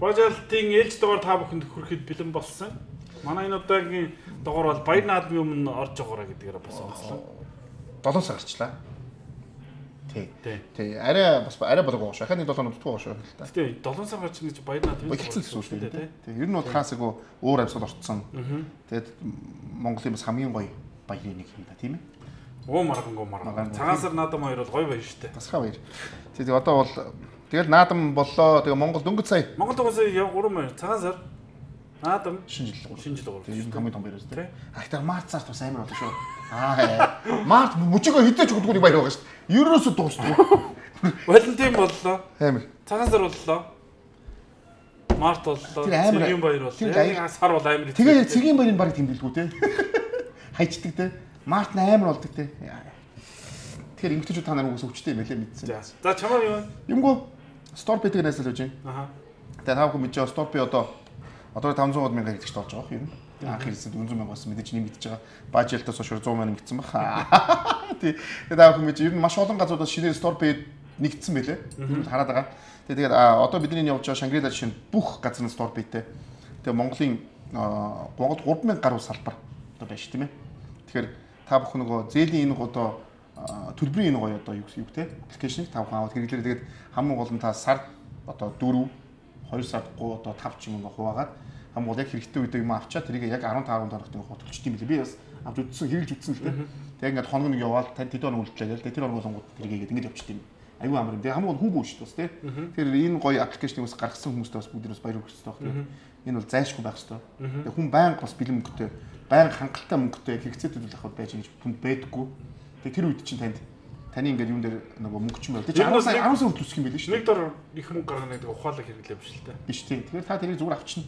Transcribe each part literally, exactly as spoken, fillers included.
Бажалтын ээлж дугаар та бүхэнд хүрэхэд бэлэн болсон. Манай энэ удаагийн дугаар бол баяр наадмын өмнө орж байгаараа гэдгээр бас онцлоо. долоон сар гарчлаа. Тий. Тий. Арай бас арай болоогүй шүү. Ахны долоо нутгүй шүү л та. Тий. долоон сар гарч гэж баяр наадмын болчихсон шүү дээ. Тий. Ер нь бол хаасаагүй уур амьсгал орцсон. Тэгээд Монголын бас хамгийн гоё баярын нэг юм да, тийм ээ. Оо маргангуу марган. Цагаан сар наадам хоёр бол гоё баяр шүү дээ. Басха баяр. Тэгээд одоо бол тэгэл наадам боллоо. Тэгээ Монгол дөнгөж сая. Монгол дөнгөж сая гурван баяр. Цагаан сар наадам шинэ жил шинэ жил гурав. Тэгээд хамгийн том баяр шүү дээ. Ахтар март сард бас амар болоо шүү. Аа. Март мөчгөө хідэж өгдөггүй баяр байгаа шүү. Ерөөсө дуусна. Валентин боллоо. Амар. Цагаан сар боллоо. Март боллоо. Цэгийн баяр боллоо. Яг сар бол амар. Тэгээ цэгийн баярын баг тэмдэглэгүй те. Хайчдаг те. Март амар болдог те. Тэгэхээр эмгтээчүүд та нарыг үгс өвчтэй юм байлээ мэдсэн. За чамаа юу? Юмгүй Storpet-ийг найзлаж байна. Аха. Тэгээ тав хүн мэдээ Storpet одоо одоо five hundred мянга хэрэгч болж байгаа юм. Анх хэлсэн four hundred мянга бас мэдээж нэмэгдэж байгаа. Бажэлтээс хойш one hundred мянга нэмэгдсэн баг. Тий. Тэгээ тав хүн мэдээ ер нь маш олон газруудаас шинээр Storpet нэгдсэн байлээ. Хараад байгаа. Тэгээ тэгээд одоо бидний явж байгаа Шангрила жишээ нь бүх газар нь Storpet-тэй. Тэгээ Монголын Монголд three thousand гаруй салбар одоо байна шүү тийм ээ. Тэгэхээр та бүхэн нөгөө зээлийн энэ одоо төлбөрийн энэ гоё одоо юу юу те аппликейшнийг та бүхэн аваад хэрэглээрэй. Тэгээд хамгийн гол нь та сард одоо four two сард одоо five ч юм уу хуваагаад хамгийн гол яг хэрэгтэй үедээ юм авчаа тэрийг яг fifteen хоногт нь төлчих юм билээ. Би бас авч үзсэн хэрэглэж үзсэн л те. Тэгээд ингээд хоног нэг яваад тань тэд хоног үлдлээ те. Тэр хоногоос тэрийг ингээд ингээд явчихсан юм. Аюу амар юм. Тэгээд хамгийн гол хүүгүй шүү дээ бас те. Тэр энэ гоё аппликейшнийг бас гаргасан хүмүүстээ бас бүгд бас баяр хүргэсэн таах те. Энэ бол зайлшгүй байх хэрэгтэй. Тэгээд хүн байнга бас бэлэн мөнгөтэй байнга хангалттай мөнгөтэй хэрэгцээтэй зүйл авах байж гэж түнд байдаггүй. Тэгээ тэр үед чинь танд таны ингээд юун дээр нөгөө мөнгө ч юм байна. Тэгээ ten сая ten сая хүртэл үсэх юм байл шүү. Нэг дор их мөнгө гаргана гэдэг ухаалаг хэрэглэв биш л дээ. Биш тийм. Тэгэхээр та тэрийг зүгээр авчна.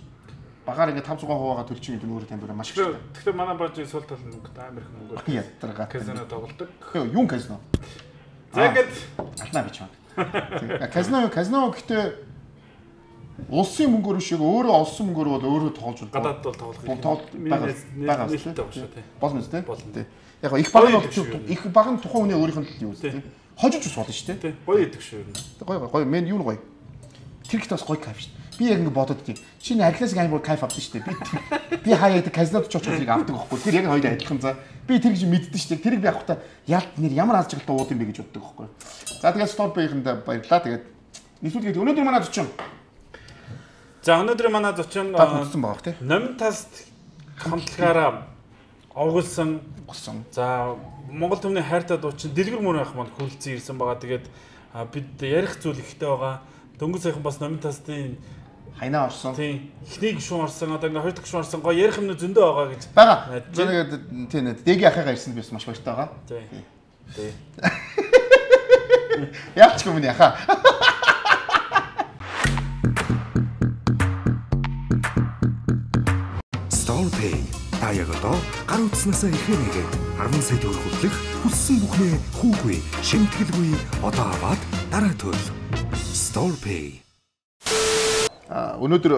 Багаар ингээд five hundred хуваагаа төлчих юм өөрөө танд маш их. Тэгэхээр манай бажийн сул тал мөнгө амар их мөнгө. Ядаргаа. Казино тоглодог. Юу казино? За ингээд алднаа бич байна. Казино казино гэхдээ улсын мөнгөөр шиг өөрөө олсон мөнгөөр бол өөрөө тоолж болно. Гадаад бол тоглох юм. Тоол байгаа байгаа шүү дээ. Болно шүү дээ. Яг их баг нь их баг нь тухайн хүний өөрийнх нь юу үстэй. Хожиж ус болно шүү дээ. Гоё идэг шүү юм. Гоё гоё мен юу гоё. Тэр ихтэй бас гоё кайф шүү дээ. Би яг ингэ бодод тийм. Чиний арилаас амар кайф авдаг шүү дээ. Би би хаяа яг казинод ч очих тэрийг авдаг байхгүй. Тэр яг хоёул адилхан за. Би тэр гэж мэддэн шүү дээ. Тэрийг би авахтаа ялт нэр ямар аз жаргалтай ууд юм бэ гэж боддог байхгүй. За тэгээд Storpet-ийнхэндээ баярлаа. Тэгээд нийлүүлгээд өнөөдөр манай зочин. За өнөөдөр манай зочин татсан байгаа тийм. Номин таст хамтлагаараа овгуулсан болсон. За Монгол түмний хайртай дуучин Дэлгэр мөр ах манд хүрэлцэн ирсэн байгаа. Тэгээд бид ярих зүйл ихтэй байгаа. Дөнгөж саяхан бас Номин тастын хайнаа орсон. Тийм. Эхний гишүүн орсон. Одоо ингээ хоёр дахь гишүүн орсон. Гоё ярих юмнууд зөндөө байгаа гэж. Бага. Тэгээд тийм дэгийн ахыгаа ирсэнд би бас маш баяртай байгаа. Тийм. Тийм. Яач юм бэ яха. Storpet та яг одоо гар утаснасаа ихээр нэгээд ten сая төгрөг хөтлөх хүссэн бүхнээ хүүгүй шимтгэлгүй одоо аваад дараа төл. Storpet. А өнөөдөр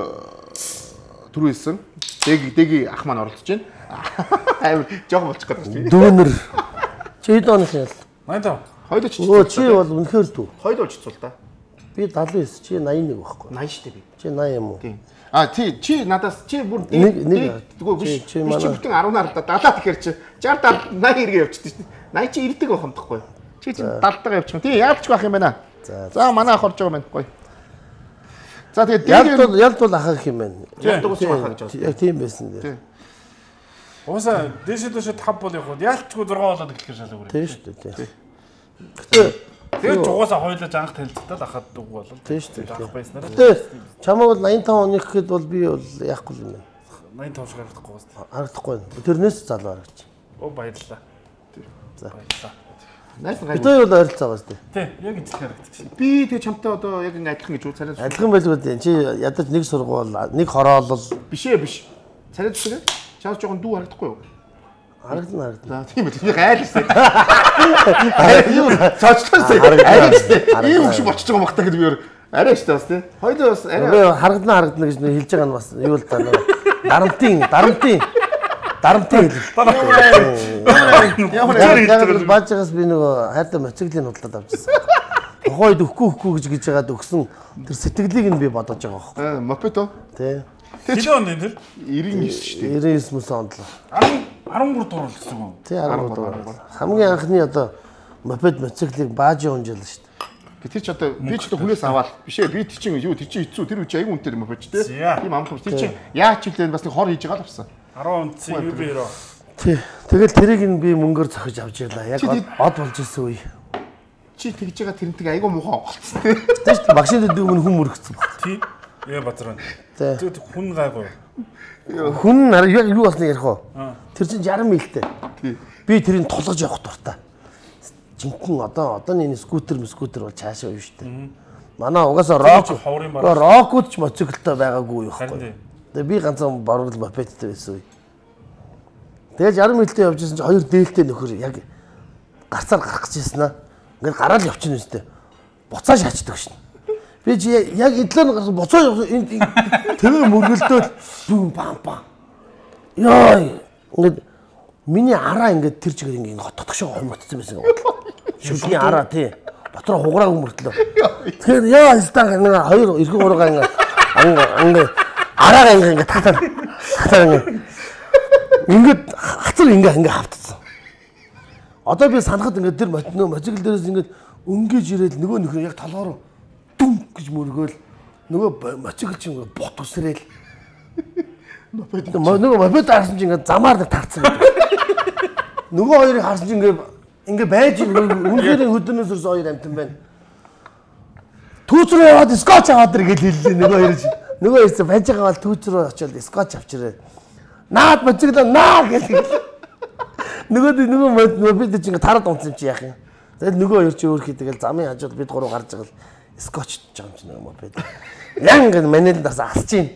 түрүү хэлсэн дэг дэги ах маань оролцож байна. Амар жоохон болчих гээд байна. Дүүнэр. Чи хэд оноос ял? ninety-five. Хоёул ч Өө чи бол үнэхээр дүү. Хоёул болж цул та. Би seventy-nine, чи ninety-one байхгүй. ninety штэ би. Чи ninety юм уу? Тийм. А тий чи надаас чи бүр нэг нэг тэггүй биш. Чи бүтэн ten харда далаа тэгэхээр чи sixty ninety эргээ явчихдаг шүү дээ. ninety чи ирдэг байх юм тахгүй. Чи чи далдаа явчих. Тий яалч байх юм байна. За манай ах орж байгаа юм байна. Гоё. За тэгээд ялд бол ялд бол ахах юм байна. Ялд уус ахах гэж байна. Яг тийм байсан дээ. Ууса дэшээ дэшээ five бол явах. Яалчгүй six болоод эхлэх шалгав үрээ. Тийм шүү дээ. Гэтэ тэгээд жугаасаа хойлож анх танилцтал ахад дуг болов. Тийм шүү дээ. Анх байснараа. Гэтэ чамаа бол ninety-five оны гэхэд бол би бол яахгүй юм байна. ninety-five шиг харагдахгүй байна. Харагдахгүй байна. Тэрнээс залуу харагч. Оо баярлалаа. За. Баярлалаа. Найс гай. Бид хоёр бол ойролцоо байгаа шүү дээ. Тий, яг ижилхэн харагдчих. Би тэгээ чамтай одоо яг ингэ адилхан гэж үү царай. Адилхан байлгүй дээ. Чи ядаж нэг сургуул, нэг хороолол биш ээ биш. Царай зүсгээ. Чаас жоохон дүү харагдахгүй юу? харагдана харагдана. За тийм үү. Би гайлсан. Юу цочлоосэй. Арайчтэй. Ийм хөш болчихж байгаа багтаа гэдэг би өөр арайчтай бас тийм. Хоёул бас арай харагдана харагдана гэж хэлж байгаа нь бас юу л таа нэг дарамтын дарамтын дарамтын хэл. Ямар баажгаас би нөгөө хайртай мотоциклын худлаад авчихсан. Тухайд өгөхгүй өгөхгүй гэж гэж яагаад өгсөн тэр сэтгэлийг нь би бодож байгаа байхгүй. Аа, мопед оо. Тий. Хэдэн он энэ тэр? девяносто девять шүү дээ. девяносто девять онд л. арван гурав дугаар л гэсэн юм. Тий, арван гурав. Хамгийн анхны одоо мопед моциклыг баажи унжаал шүү дээ. Тэр ч одоо би ч одоо хүнээс аваад биш ээ би тэр чинь юу тэр чинь хэцүү тэр үчи аягүй үнэтэй мопед ч тийм амх тэр чинь яаж ч үлээ бас нэг хор хийж байгаа л авсан. арван онц юу би яруу. Тий. Тэгэл тэрийг нь би мөнгөөр зохиж авч ялаа. Яг од болж исэн үе. Чи тэгж байгаа тэрнтэг аягүй муухай оголцсон тийм. Тий шүү дээ. Машин дэд өмнө хүн мөрөгцсөн баг. Тий. Яа базар байна. Тий. Тэг хүн гайгүй. Хүн юу болсныг ярих уу? Тэр чинь шарсан милтэй. Би тэрийг тулгаж явах дуртай. Жинхэнэ одоо одооний скутер скутер бол цаашаа юу шүү дээ. Манай угаасаа рок рокуд ч моциклтай байгаагүй юу байхгүй. Тэгээ би ганцхан борвол мопедтэй байсан үе. Тэгээ шарсан милтэй явж исэн чинь хоёр дээлтэй нөхөр яг гарцаар гарах гэжсэн аа. Ингээд гараад явчихна үстэй. Буцаа шаачдаг шин. Би чи яг эдлэн гарсан буцаа энд тэгээ мөргөлдөөл бүүн бам бам. Яа ингээд миний араа ингээд тэр чигээр ингээд хототгошоо хомогдсон байсан юм. Шүлний араа тий. Дотроо хугараагүй мөртлөө. Тэгэхээр яа стан нэг хоёр эргэн гургаа ингээд ингээд араагаа ингээд татаа. Татаа ингээд ингээд хацар ингээд ингээд хавтсан. Одоо би санахад ингээд тэр моцикл дээрээс ингээд өнгөж ирээд нөгөө нөхөр яг толгоор дүм гэж мөргөөл нөгөө моцикл чинь ингээд бот усрээл нөгөө мопед харсан чинь ингээд замаар нэг тарцсан гэдэг. Нөгөө хоёрыг харсан чинь ингээд ингээд байж үнэхээр хөдөнөөс өрс хоёр амтан байна. Түүч рүү яваад скотч аваад ир гэж хэллээ нөгөө хоёр чинь. Нөгөө хэсэг байж байгаа бол түүч рүү очиод скотч авчирээ. Наад моцикл наа гэж. Нөгөө нөгөө мопед чинь ингээд тараад унтсан чи яах юм. Тэгэл нөгөө хоёр чи өөрхий тэгэл замын хажууд бид гурав гарч байгаа л скотч гэж байгаа юм чи нөгөө мопед. Яг ингээд манил дарсаа алж чинь.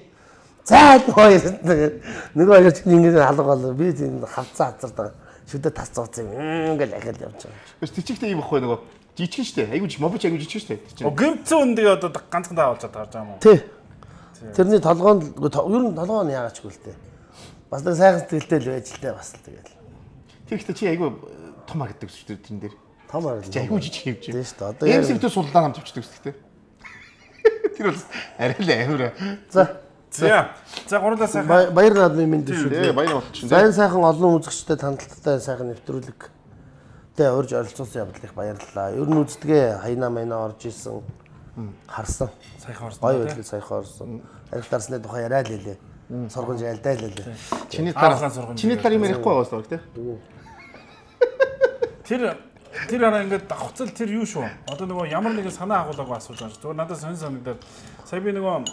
За хоёр нөгөө хоёр чи ингээд алга бол би тийм хавцаа хацардаг. Шүдэ тас цууцсан ингээд ахил явж байгаа. Бас тийчгтэй юм баггүй нөгөө жижиг штэ. Айгуу мопед айгуу жижиг штэ. О гэмцэн үндээ одоо ганцхан таавалж таарж байгаа юм уу? Тий. Тэрний толгоонд ер нь толгоо нь яагаачгүй л дээ. Бас нэг сайхан сэтгэлтэй л байж л дээ бас л тэгэл. Тэгэхдээ чи айгуу том харагддаг шүү дээ тэн дээр. Том харагддаг. Чи айгуу жижиг хэвж. Тийм шүү дээ. Одоо яг эмсэгтэй суллаа хамт авчдаг шүү дээ. Тэр бол арай л амир. За. За. За гурлаа сайхан. Баяр наадмын мэнд шүү дээ. дээ. Баяр болчихсон. Сайн сайхан олон үзэгчтэй танилцалтай сайхан нэвтрүүлэг. Тэ урьж оролцуулсан явдал их баярлалаа. Ер нь үздгээ хайна майна орж исэн. Харсан. Сайхан орсон. Гоё байдлыг сайхан орсон. Арил дарсны тухай яриа л хэлээ. Сургамж айлдаа л хэлээ. Чиний дараа чиний дараа юм ярихгүй байгаас баг тий. Тэр тэр араа ингээд давхцал тэр юу шүү. Одоо нөгөө ямар нэгэн санаа агуулгаагүй асууж байгаа шүү. Зүгээр надад сонь санагдаад сая би нөгөө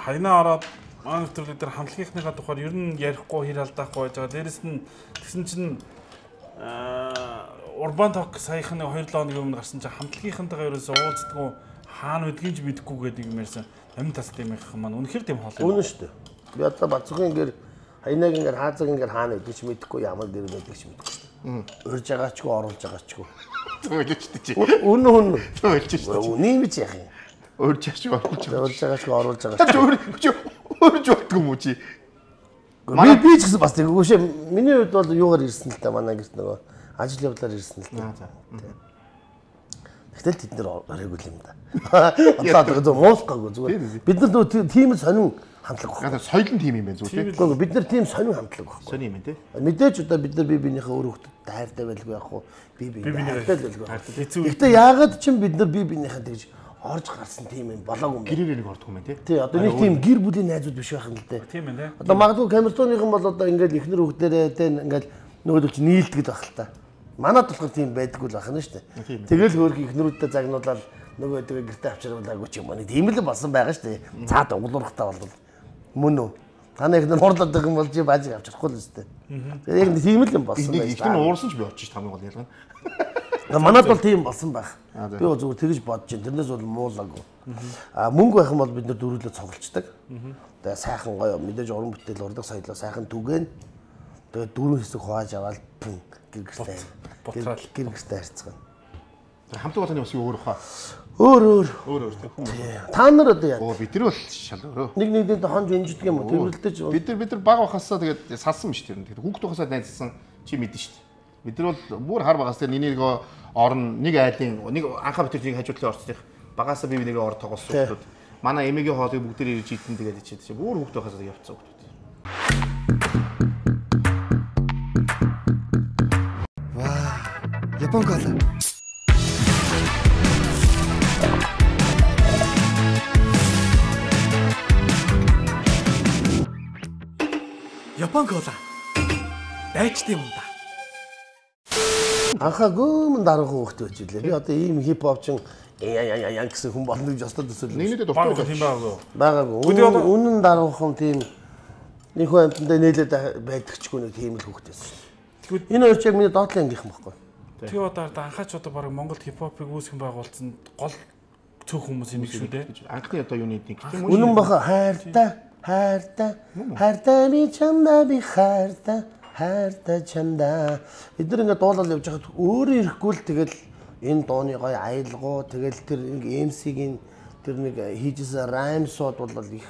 хайнаа ороод маань нэвтрүүлэг дээр хамтлагийнхныхаа тухайд ер нь ярихгүй хэр алдаахгүй байж байгаа. Дээрэс нь тэгсэн чинь урбан ток саяхан хоёр лооны өмнө гарсан чинь хамтлагийнхантайгаа ерөөсөө уулздаггүй хаана байдгийг ч мэдэхгүй гэдэг юм ярьсан. Амин тас тийм их маань үнэхээр тийм хоол юм. Үнэн шүү дээ. Би одоо бацхан ингээд хайнаг ингээд хаазаг ингээд хаана гэдэг ч мэдэхгүй ямар дээр байдаг ч мэдэхгүй. Урж байгаачгүй оруулж байгаачгүй. Төөлөчтэй чи. Үнэн үнэн. Төөлж шүү. Үнэн гэж яах юм. Урж яачгүй оруулж байгаа. Урж байгаачгүй оруулж байгаа. Өөр өөрж болтгүй юм уу чи? Би би ч гэсэн бас тэггүй шээ. Миний хувьд бол юугаар ирсэн л та манай гэрт нөгөө ажил явдлаар ирсэн л та. Тэгтэл тэд нэр оройгүй юм да. Одоо одоо муулахгүй зүгээр. Бид нар нөгөө тийм сонин хамтлаг байна. Соёлын тим юм байна зүгээр. Гэхдээ бид нар тийм сонин хамтлаг байна. Сонин юм тий. Мэдээж одоо бид нар бие биенийхээ өөр хөлтөд хайртай байлгүй яах вэ? Бие биенийхээ хайртай байлгүй. Гэхдээ яагаад ч бид нар бие биенийхээ тэгж орж гарсан тийм юм болоогүй юм. Гэрээр нэг ордог юм байна тий. Тий одоо нэг тийм гэр бүлийн найзууд биш байх юм л дээ. Тийм ээ. Одоо магадгүй камертоныхан бол одоо ингээд ихнэр хүүхдэрээ тий ингээд нөгөөдөл чи нийлдэг байх л та. Манад болохоор тийм байдаггүй л байх нь шүү дээ. Тэгэл хөөх ихнэрүүдтэй загнуулаад нөгөө тэгээ гэртээ авчруулаагүй ч юм уу. Тийм л болсон байгаа шүү дээ. Цаад углуурхтаа бол мөн үү? Таны ихнэр хурдлаад байгаа юм бол чи баажиг авчрахгүй л шүү дээ. Тэгээ яг тийм л юм болсон байна. Ихнэр нь уурсан ч би очиж тамиг бол ялгана. Манад бол тийм болсон байх. Би бол зүгээр тэгж бодож байна. Тэрнээс бол муулаагүй. А мөнгө байх юм бол бид нар дөрүлөө цуглцдаг. Тэгээ сайхан гоё мэдээж уран бүтээл урдаг соёлоо сайхан түгэн. Тэгээ дөрөв хэсэг хувааж аваад гэргэртэй. Гэргэртэй харьцгаа. Хамтлагын болооны бас өөр хаа. Өөр өөр. Өөр өөр тийм. Та нар одоо яа? Оо бид нар бол шал өөрөө. Нэг нэгнээ хонж өнждөг юм уу? Тэрвэрлдэж. Бид нар бид нар баг байхасаа тэгээд салсан биш тэр. Тэгээд хүүхд байхасаа найзсан чи мэдэн шүү дээ. Бид нар бол бүр хар багаас тэр нэг орн нэг айлын нэг анхаа битэр нэг хажуудлын орцдих багасаа бие биенээ ор тоглосон хүмүүс. Манай эмээгийн хоолыг бүгд ирж идэн тэгээд ичээд чи бүр хүүхдээ хасаад явцсан хүмүүс. Ваа. Япон кола. Япон кола. Дайчтай юм да. Анхаа гүмэн дараахан хөөхтэй байж лээ. Би одоо ийм хип хопчин яа яа яа гэсэн хүн болно гэж остод төсөөлөө. Нэгнийдээ дуртай тийм байгаагүй. Байгаагүй. Үнэн дараахан тийм нэг хүн амтандаа нээлээд байдагчгүй нэг тийм л хөөхтэйсэн шүү. Энэ хоёр ч яг миний доотлын ангийнхан байхгүй. Тэгээ одоо анхаач одоо баг Монголд хип хопыг үүсгэн байгуулсан гол цөөх хүмүүс юм шүү дээ. Анхны одоо юуны нэг тийм үнэн баха хайртай хайртай хайртай би чамда би хайртай хайртай чамда эдгээр ингээд дуулал явж хахад өөрөө ирэхгүй л тэгэл энэ дууны гоё аялгуу тэгэл тэр нэг эм си-гийн тэр нэг хийжсэн раймсууд бол их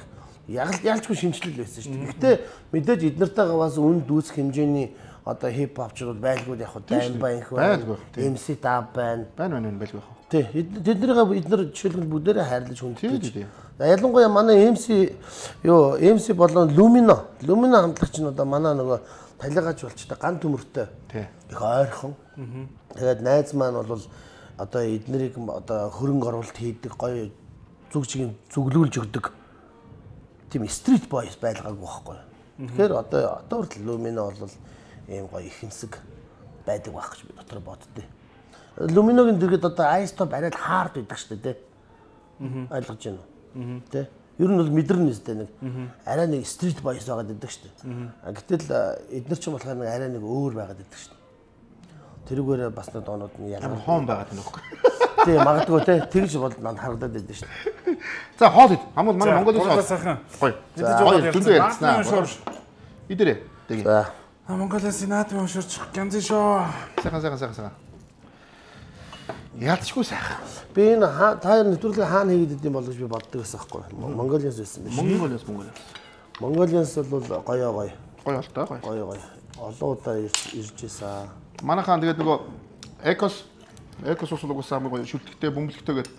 яг ялчгүй шинжилэл байсан шүү дээ. Гэхдээ мэдээж эднэртэйгээ бас үн дүүсэх хэмжээний одоо хип хопчрууд байлгүй яг хаа дайм баянх байна. эм си дав байна. Байна байна байлгүй яг. Тий. Тэднэрийг эднэр жишээлбэл бүгдээрээ хайрлаж хүндэтгэж. Ялангуяа манай эм си юу эм си болон Lumino. Lumino хамтлагч нь одоо манай нөгөө талигач болчтой ган төмөртэй. Тий. Их ойрхон. Тэгээд найз маань бол одоо эднэрийг одоо хөрөнгө оруулалт хийдэг гоё зүг чигийн зүглүүлж өгдөг. Тийм стрит бойс байлгаагүй байхгүй. Тэгэхээр одоо одоо хүртэл Lumino бол ийм гоё ихэнсэг байдаг байх гэж би дотор боддتي. Lumino-гийн дэргэд одоо iStop арай хард байдаг шүү дээ, тий. Ойлгож байна уу? Тий. Ер нь бол мэдэрнэ үстэй нэг арай нэг стрит бойс байгаад байдаг шүү дээ. Гэтэл эдгээр ч болохоор нэг арай нэг өөр байгаад байдаг шүү дээ. Тэрүүгээрээ бас нэг доонууд нь ялгар хоон байгаад байна уу? Тий, магадгүй тий. Тэгж бол надад харагдаад байдаг шүү дээ. За хоол ид. Хамгийн манай Монголын хоол сайхан. Гоё. Гоё дүндээ ярьцгаа. Идэрээ. Тэгээ. За. А Монголын наадмын унширч гянзын шоо. Сайхан сайхан сайхан сайхан. Яалтчгүй сайхан. Би энэ та нэвтрүүлгийг хаана хийгээд идэм бол гэж би боддог байсан байхгүй. Монголиас байсан биш. Монголиас Монголиас. Монголиас бол гоё гоё. Гоё бол таа гоё. Гоё гоё. Олон удаа ирж ийсэн. Манайхаа тэгээд нөгөө Экос Экос ус угсаа хамгийн гоё шүлтгтэй бөмбөлгтэй гээд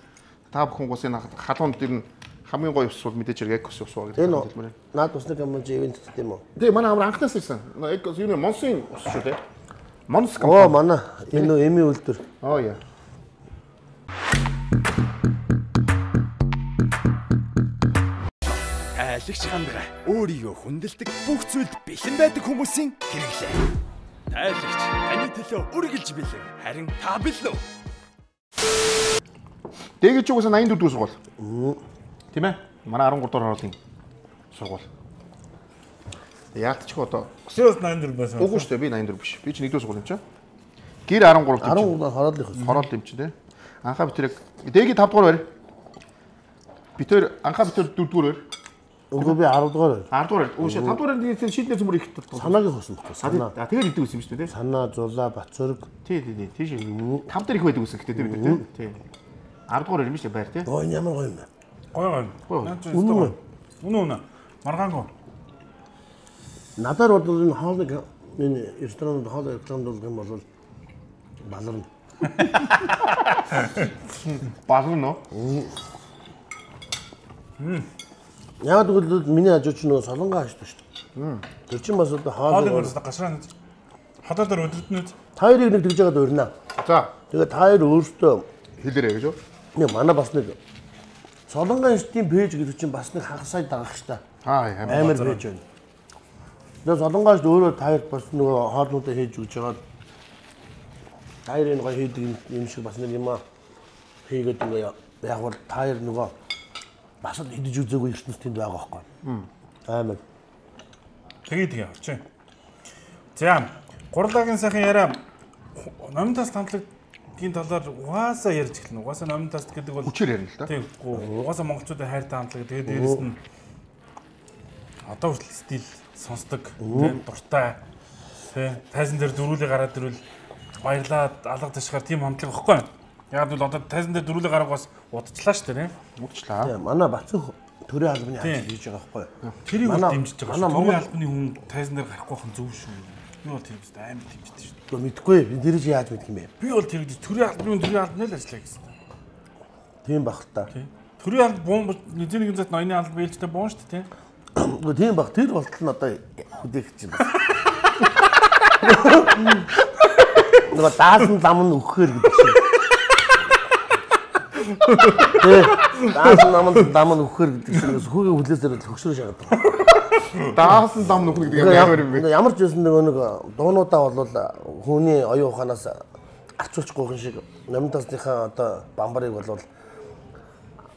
та бүхэн ус энэ халуунд дэр нь хамгийн гоё ус бол мэдээж хэрэг Экос ус уу гэдэг юм байна. Наад усны компани ивент гэдэг юм уу? Тий, манай амар анхнаас ирсэн. Экос юу нэ Монсын ус шүү дээ. Монс Оо компани. манай энэ эми үлдэр. Оо яа. Тайлагч хандгаа өөрийгөө хүндэлдэг бүх зүйлд бэлэн байдаг хүмүүсийн хэрэглээ. Тайлагч таны төлөө үргэлж бэлэн. Харин та бэлэн үү? Дэгэж угаасаа восемьдесят дөрөв сургууль. Тийм ээ. Манай дөрвөн дугаар хоолын сургууль. Яалтчих одоо. Өсөөс восемьдесят дөрөв байсан. Үгүй шүү дээ. Би восемьдесят дөрөв биш. Би ч нэгдүгээр сургууль юм чи. Гэр дөрвөн тийм. дөрвөн дугаар хорооллын хөс. Хороол юм чи те. Анхаа битэрэг дэгийн пет дугаар барь. Битэр анхаа битэр дөрөв дугаар барь. Үгүй би десет дугаар. десять дугаар. Өөшөө пет дугаар дээр шийднэ зүмөр их тат. Санаагийн хөс мөхгүй. Санаа. А тэгээд идэв гэсэн юм шүү дээ. Санаа, зулаа, Бацүрэг. Тий, тий, тий. Тийш. пет дээр их байдаг гэсэн гэхдээ бид нар тий. десять дугаар юм шүү дээ байр тий. Оо энэ ямар гоё юм бэ? Гоё гоё. Үнэн. Үнэн үнэн. Маргаангүй. Надаар бол энэ хоолыг энэ ресторанд хоол рекламд болгох юм бол баларна. Баларна. Мм. Яг тэгвэл миний хажууч нөгөө солонгоо хааштай шүү дээ. Тэр чинь бас одоо хоолыг өөрөөсөө гашраа нэг хотоор дээр өдөртнөд та хоёрыг нэг тэгж яагаад урина. За. Тэгээд та хоёр өөртөө хэлээрэй гэж юу? Не манай бас нэг солонгоо институтийн пэйж гэдэг чинь бас нэг хагас сая дагах ш та. Аа амар пэйж байна. Тэгээд солонгооч өөрөө та хоёр бас нөгөө хоолнуудаа хийж өгч байгаа. Та хоёр энэ гоё хийдэг юм шиг бас нэг юм аа хийгээд нөгөө яг бол та хоёр нөгөө бас л идэж үзээгүй ертөнц тэнд байгаа байхгүй. Амар. Тэгээ тэгээ орчин. За, гурлагийн сайхан яриа номинтас хамтлагийн талаар угаасаа ярьж эхэлнэ. Угаасаа номинтас гэдэг бол хүчээр ярина л да. Тийм. Угаасаа монголчуудын хайртай хамтлаг. Тэгээд дээрэс нь одоо хүртэл стил сонсдог, тийм дуртай. Тийм. Тайзан дээр дөрүүлээ гараад ирвэл баярлаад алга ташгаар тийм хамтлаг واخхой. Яг л одоо тайзан дээр дөрүүлээ гарах бас удажлаа шүү дээ. Удажлаа. Тийм. Манай Бацүх төрийн албаны ажил хийж байгаа байхгүй. Тэрийг дэмжиж байгаа шүү. Төрийн албаны хүн тайзан дээр гарахгүй хэн зөв шүү. Би бол тэр үст амар тэмцдэг шүү. Гэхдээ мэдгүй би тэр чи яаж мэдх юм бэ? Би бол тэр төрийн албаны төрийн албаны л ажиллаа гэсэн. Тийм баг л та. Төрийн албан бум нэгэн нэгэн зат ноёны албан ээлжтэй буун шүү дээ, тийм. Үгүй тийм баг тэр болтол нь одоо хүдээгч юм байна. Нөгөө даасан зам нь өгөхээр гэдэг шиг. Тэ даасан зам нь зам нь өгөхээр гэдэг шиг хүүгийн хүлээсээр хөгшрөө шагаад байна. Даасан зам нөхөн гэдэг юм ямар юм бэ? Ямар ч байсан нөгөө нэг дуунуудаа бол хүний оюун ухаанаас арчуулчихгүй шиг номтасныхаа одоо бамбарыг бол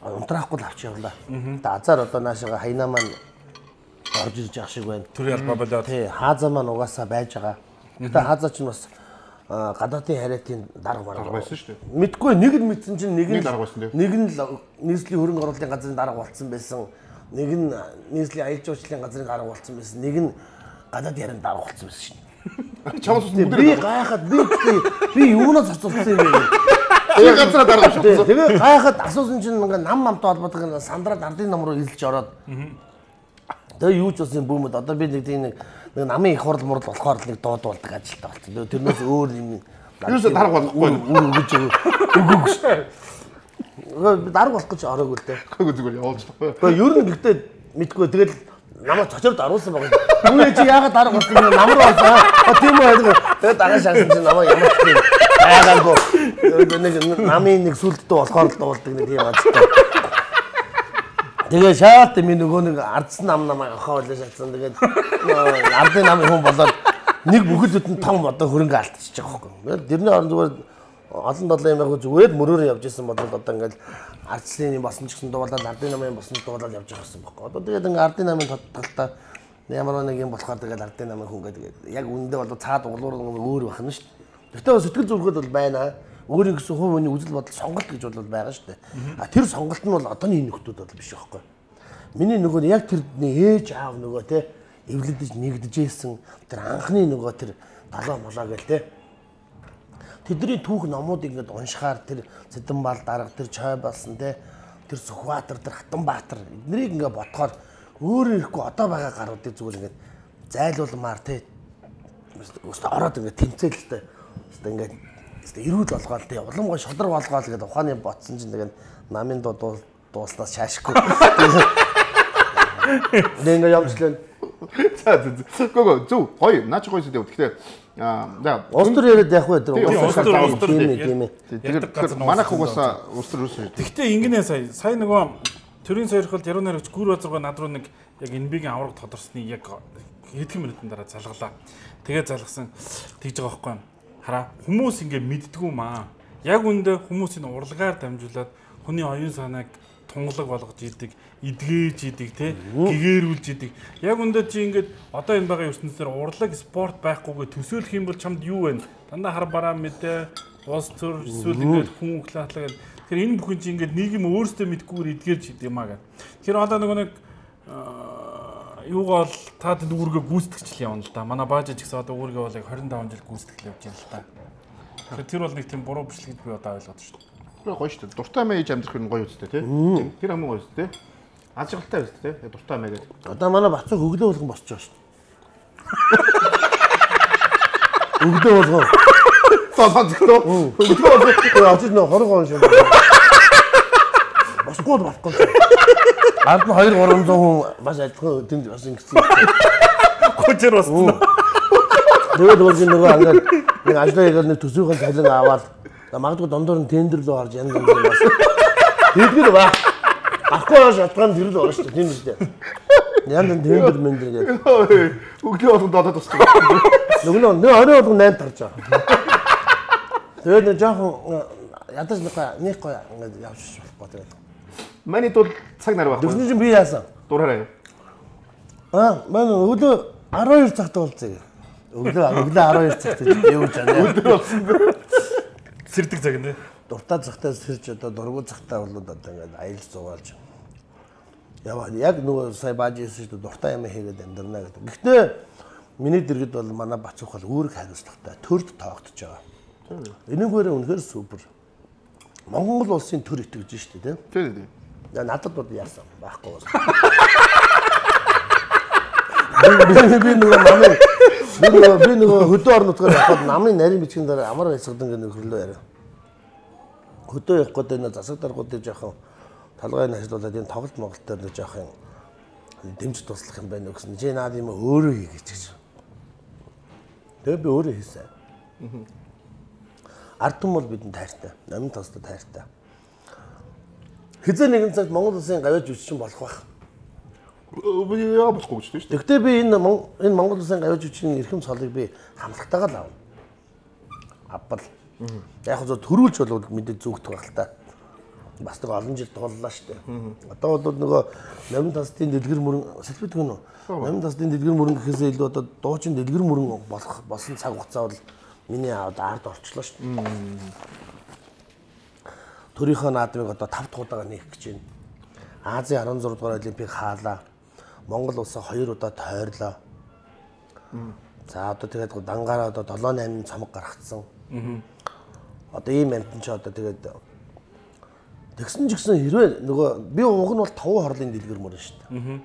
унтраахгүй л авч явлаа. Тэ азар одоо наашаага хайнаа маань орж ирж явах шиг байна. Төрийн албаа болоод. Тий, хаазаа маань угаасаа байж байгаа. Гэтэ хаазаа ч бас гадаадын хариатын дарга марга байсан шүү дээ. Мэдгүй нэг нь мэдсэн чинь нэг нь дарга байсан дээ. Нэг нь нийслэлийн хөрөнгө оруулалтын газрын дарга болцсон байсан. Нэг нь нийслэлийн аялал жуулчлалын газрын дарга болцсон байсан. Нэг нь гадаад ярин дарга болцсон байсан шин. Чамс би гайхаад би би юунаас цоцолсон юм бэ? Тэгээ газраа дарга шатсан. Тэгээ гайхаад асуусан чинь ингээ нам намтай холбоотой сандраад ардын нам руу илж ороод. Тэгээ юу ч бас юм бүүмэд одоо би нэг тийм нэг намын их хурал мурал болохоор нэг дуудуулдаг ажилтаа болсон. Тэрнээс өөр юм юусаа дарга болохгүй өгөж өгөөг шүү. Би дарга болох гэж ороогүй л дээ. Гайгүй зүгээр явуулж тахгүй. Тэгээ ер нь гэхдээ мэдгүй тэгэл намайг цочорд оруулсан байгаа. Түүний чи яагаад дарга болох юм нам руу олсоо. Тийм үү. Тэгээ дараа шаасан чи намайг ямар ч юм байгаагүй. Нэг намын нэг сүлдтэй болохоор л дуулдаг нэг тийм ажилтаа. Тэгээ шаалт минь нөгөө нэг ардсан нам намайг авахаа болоо шатсан. Тэгээд ардын намын хүн болоод нэг бүхэлд нь том одоо хөрөнгө алдчихж байгаа байхгүй. Тэрний орон зүгээр олон долоо юм яг зүгээр мөрөөр явж исэн бодвол одоо ингээл ардслын юм босон ч гэсэн дуулаад ардын намын босон дуулаад явж байгаа юм байхгүй. Одоо тэгээд ингээ ардын намын тодтолтой ямар нэг юм болохоор тэгээд ардын намын хүн гэдэг яг үндэ бол цаад углуур өөр бахна шүү дээ. Гэтэ сэтгэл зүрхэд бол байна. Өөрийн гэсэн хувь хүний үзэл бодол сонголт гэж бол байгаа шүү дээ. А тэр сонголт нь бол одооний нөхдүүд бол биш байхгүй. Миний нөгөө яг тэр ээж аав нөгөө те эвлэдэж нэгдэжсэн тэр анхны нөгөө тэр далаа молоо гэл те. Тэдний түүх номуудыг ингээд уншихаар тэр Цэдэнбаал дарга тэр Чой болсон те тэр Сүхбаатар тэр Хатанбаатар эднийг ингээд бодохоор өөрөө ирэхгүй одоо байгаа гаруудыг зүгээр ингээд зайлуулмаар те өстө ороод ингээд тэмцээлтэй өстө ингээд эрүүл болгоол тий уламгой шодрог болгоол гэдэг ухааны ботсон чинь тэгээд намын дуу дууснаас шаашгүй. Нэнгэ явчлаа. За за. Гого зү гоё наач гоё зүйл. Тэгэхээр аа устөр яриад явах бай тэр устөр устөр тийм ээ. Тэгэхээр манайх угаасаа устөр ус. Тэгтээ ингэнэ сая сая нөгөө төрийн сойрхолд яруу найрагч гүр базарга над руу нэг яг энбигийн авраг тодорсны яг хэдхэн минутын дараа залгалаа. Тэгээ залгасан тэгж байгаа байхгүй юу? Хараа хүмүүс ингэ мэддгүү маа. Яг үндэ хүмүүсийн урлагаар дамжуулаад хүний оюун санааг тунгалаг болгож идэг, эдгээж идэг, те гэгэрүүлж идэг. Яг үндэ чи ингээд одоо энэ байгаа ертөнцийн урлаг спорт байхгүйгээ төсөөлөх юм бол чамд юу вэ? Дандаа хар бараа мэдээ, уус төр эсвэл ингээд хүн углаатлаа гэл. Тэр энэ бүхэн чи ингээд нийгэм өөрсдөө мэдгүйгээр эдгэрж идэг юм аа гэх. Тэр одоо нөгөө нэг юугаал таад үүргээ гүйцэтгэж явна л да. Манай бааж ч гэсэн одоо үүргээ бол яг двадцать таван жил гүйцэтгэл явж байна л да. Тэгэхээр тэр бол нэг тийм буруу биш л гэж би одоо ойлгоод шүү дээ. Гоё гоё шүү дээ. Дуртай амиа ээж амьдрах нь гоё үстэй тий. Тэр хамгийн гоё үстэй. Ажиглалтай үстэй тий. Дуртай амиа гэдэг. Одоо манай бацаа хөглөө болгон босч байгаа шүү дээ. Хөглөө болгоо. Цаасан зөвхөн хөглөө болгоо. Очиж нөө хорог он шиг. Босгүй болохгүй. Ард нь хоёр гурамсаа хүн бас адилхан тэнд бас ингэсэн. Көчөр болсон. Тэгээд өөрийн нөгөө ангаад нэг ажлаа хийгээд нэг төсвийн цалин аваад магадгүй дондор нь тендер рүү орж янз янз бас. Тэдгээр ба. Ахгүй яаж шалтгаан тэр л байна шүү дээ. Тийм үү дээ. Янз янз тендер мендер гэдэг. Өглөө болгон додоод тусдаг. Нөгөө нөө орой болгон найд тарж байгаа. Тэгээд нэг жоохон ядаж нэг гоё ингээд явж болохгүй тэгээд. Маний тул цаг нар байхгүй. Дөрвөн чинь би яасан? Дураарай. Аа, манай өглөө арван хоёр цагт болцсон. Өглөө өглөө арван хоёр цагт явж байгаа. Өдөр болсон. Сэрдэг цаг нэ. Дуртай цагтаа сэрж одоо дургуй цагтаа бол одоо ингээд аялал зугаалж. Яваа яг нөгөө сая бааж ирсэн шүү дээ дуртай юм хийгээд амьдрна гэдэг. Гэхдээ миний дэргэд бол манай бацуух бол үүрэг хариуцлагатай төрд тоогдож байгаа. Энэгээр үнэхээр супер. Монгол улсын төр итгэж шүү дээ тийм. Тийм тийм. Надад бол яасан байхгүй байна. Би би нөгөө намын Би нөгөө би нөгөө хөдөө орон нутгаар явхад намын нарийн бичгийн дараа амар хайсгадан гэнэ хөрлөө яриа. Хөдөө явах гэдэг нь засаг даргуудыг жоохон талгайг нь ажиллуулад энэ тоглолт Монголд дээр жоохон дэмж туслах юм байна гэсэн. Жи наад юм өөрөө хийгээч гэж. Тэгээ би өөрөө хийсэн. Ард түмэн бол бидэнд тайртай. Намын тостой тайртай. Хизээ нэгэн цагт Монгол улсын гавьяа жүжигчин болох байх. Би яа болохгүй гэж тийм шүү дээ. Тэгвэл би энэ энэ Монгол улсын гавьяа жүжигчний эрхэм цолыг би хамтлагтайгаа л авна. Авбал. Яг зөв төрүүлж бол мэдээ зүгдэх байх л та. Бас нэг олон жил тууллаа шүү дээ. Одоо бол нөгөө намын тасдын дэлгэр мөрөн сэлбэдэг нь. Намын тасдын дэлгэр мөрөн гэхээсээ илүү одоо дуучин дэлгэр мөрөн болох болсон цаг хугацаа бол миний одоо ард орчлоо шүү дээ. Төрийнхөө наадмыг одоо тав дахь удаага нээх гэж байна. Азийн арван зураг дугаар олимпийг хаалаа. Монгол улсаа хоёр удаа тойрлоо. За одоо тэгээд дангаараа одоо долоо наймын цамаг гаргацсан. Одоо ийм амтэн ч одоо тэгээд тэгсэн ч гэсэн хэрвээ нөгөө би уг нь бол таван хорлын дэлгэр мөрөн шүү дээ.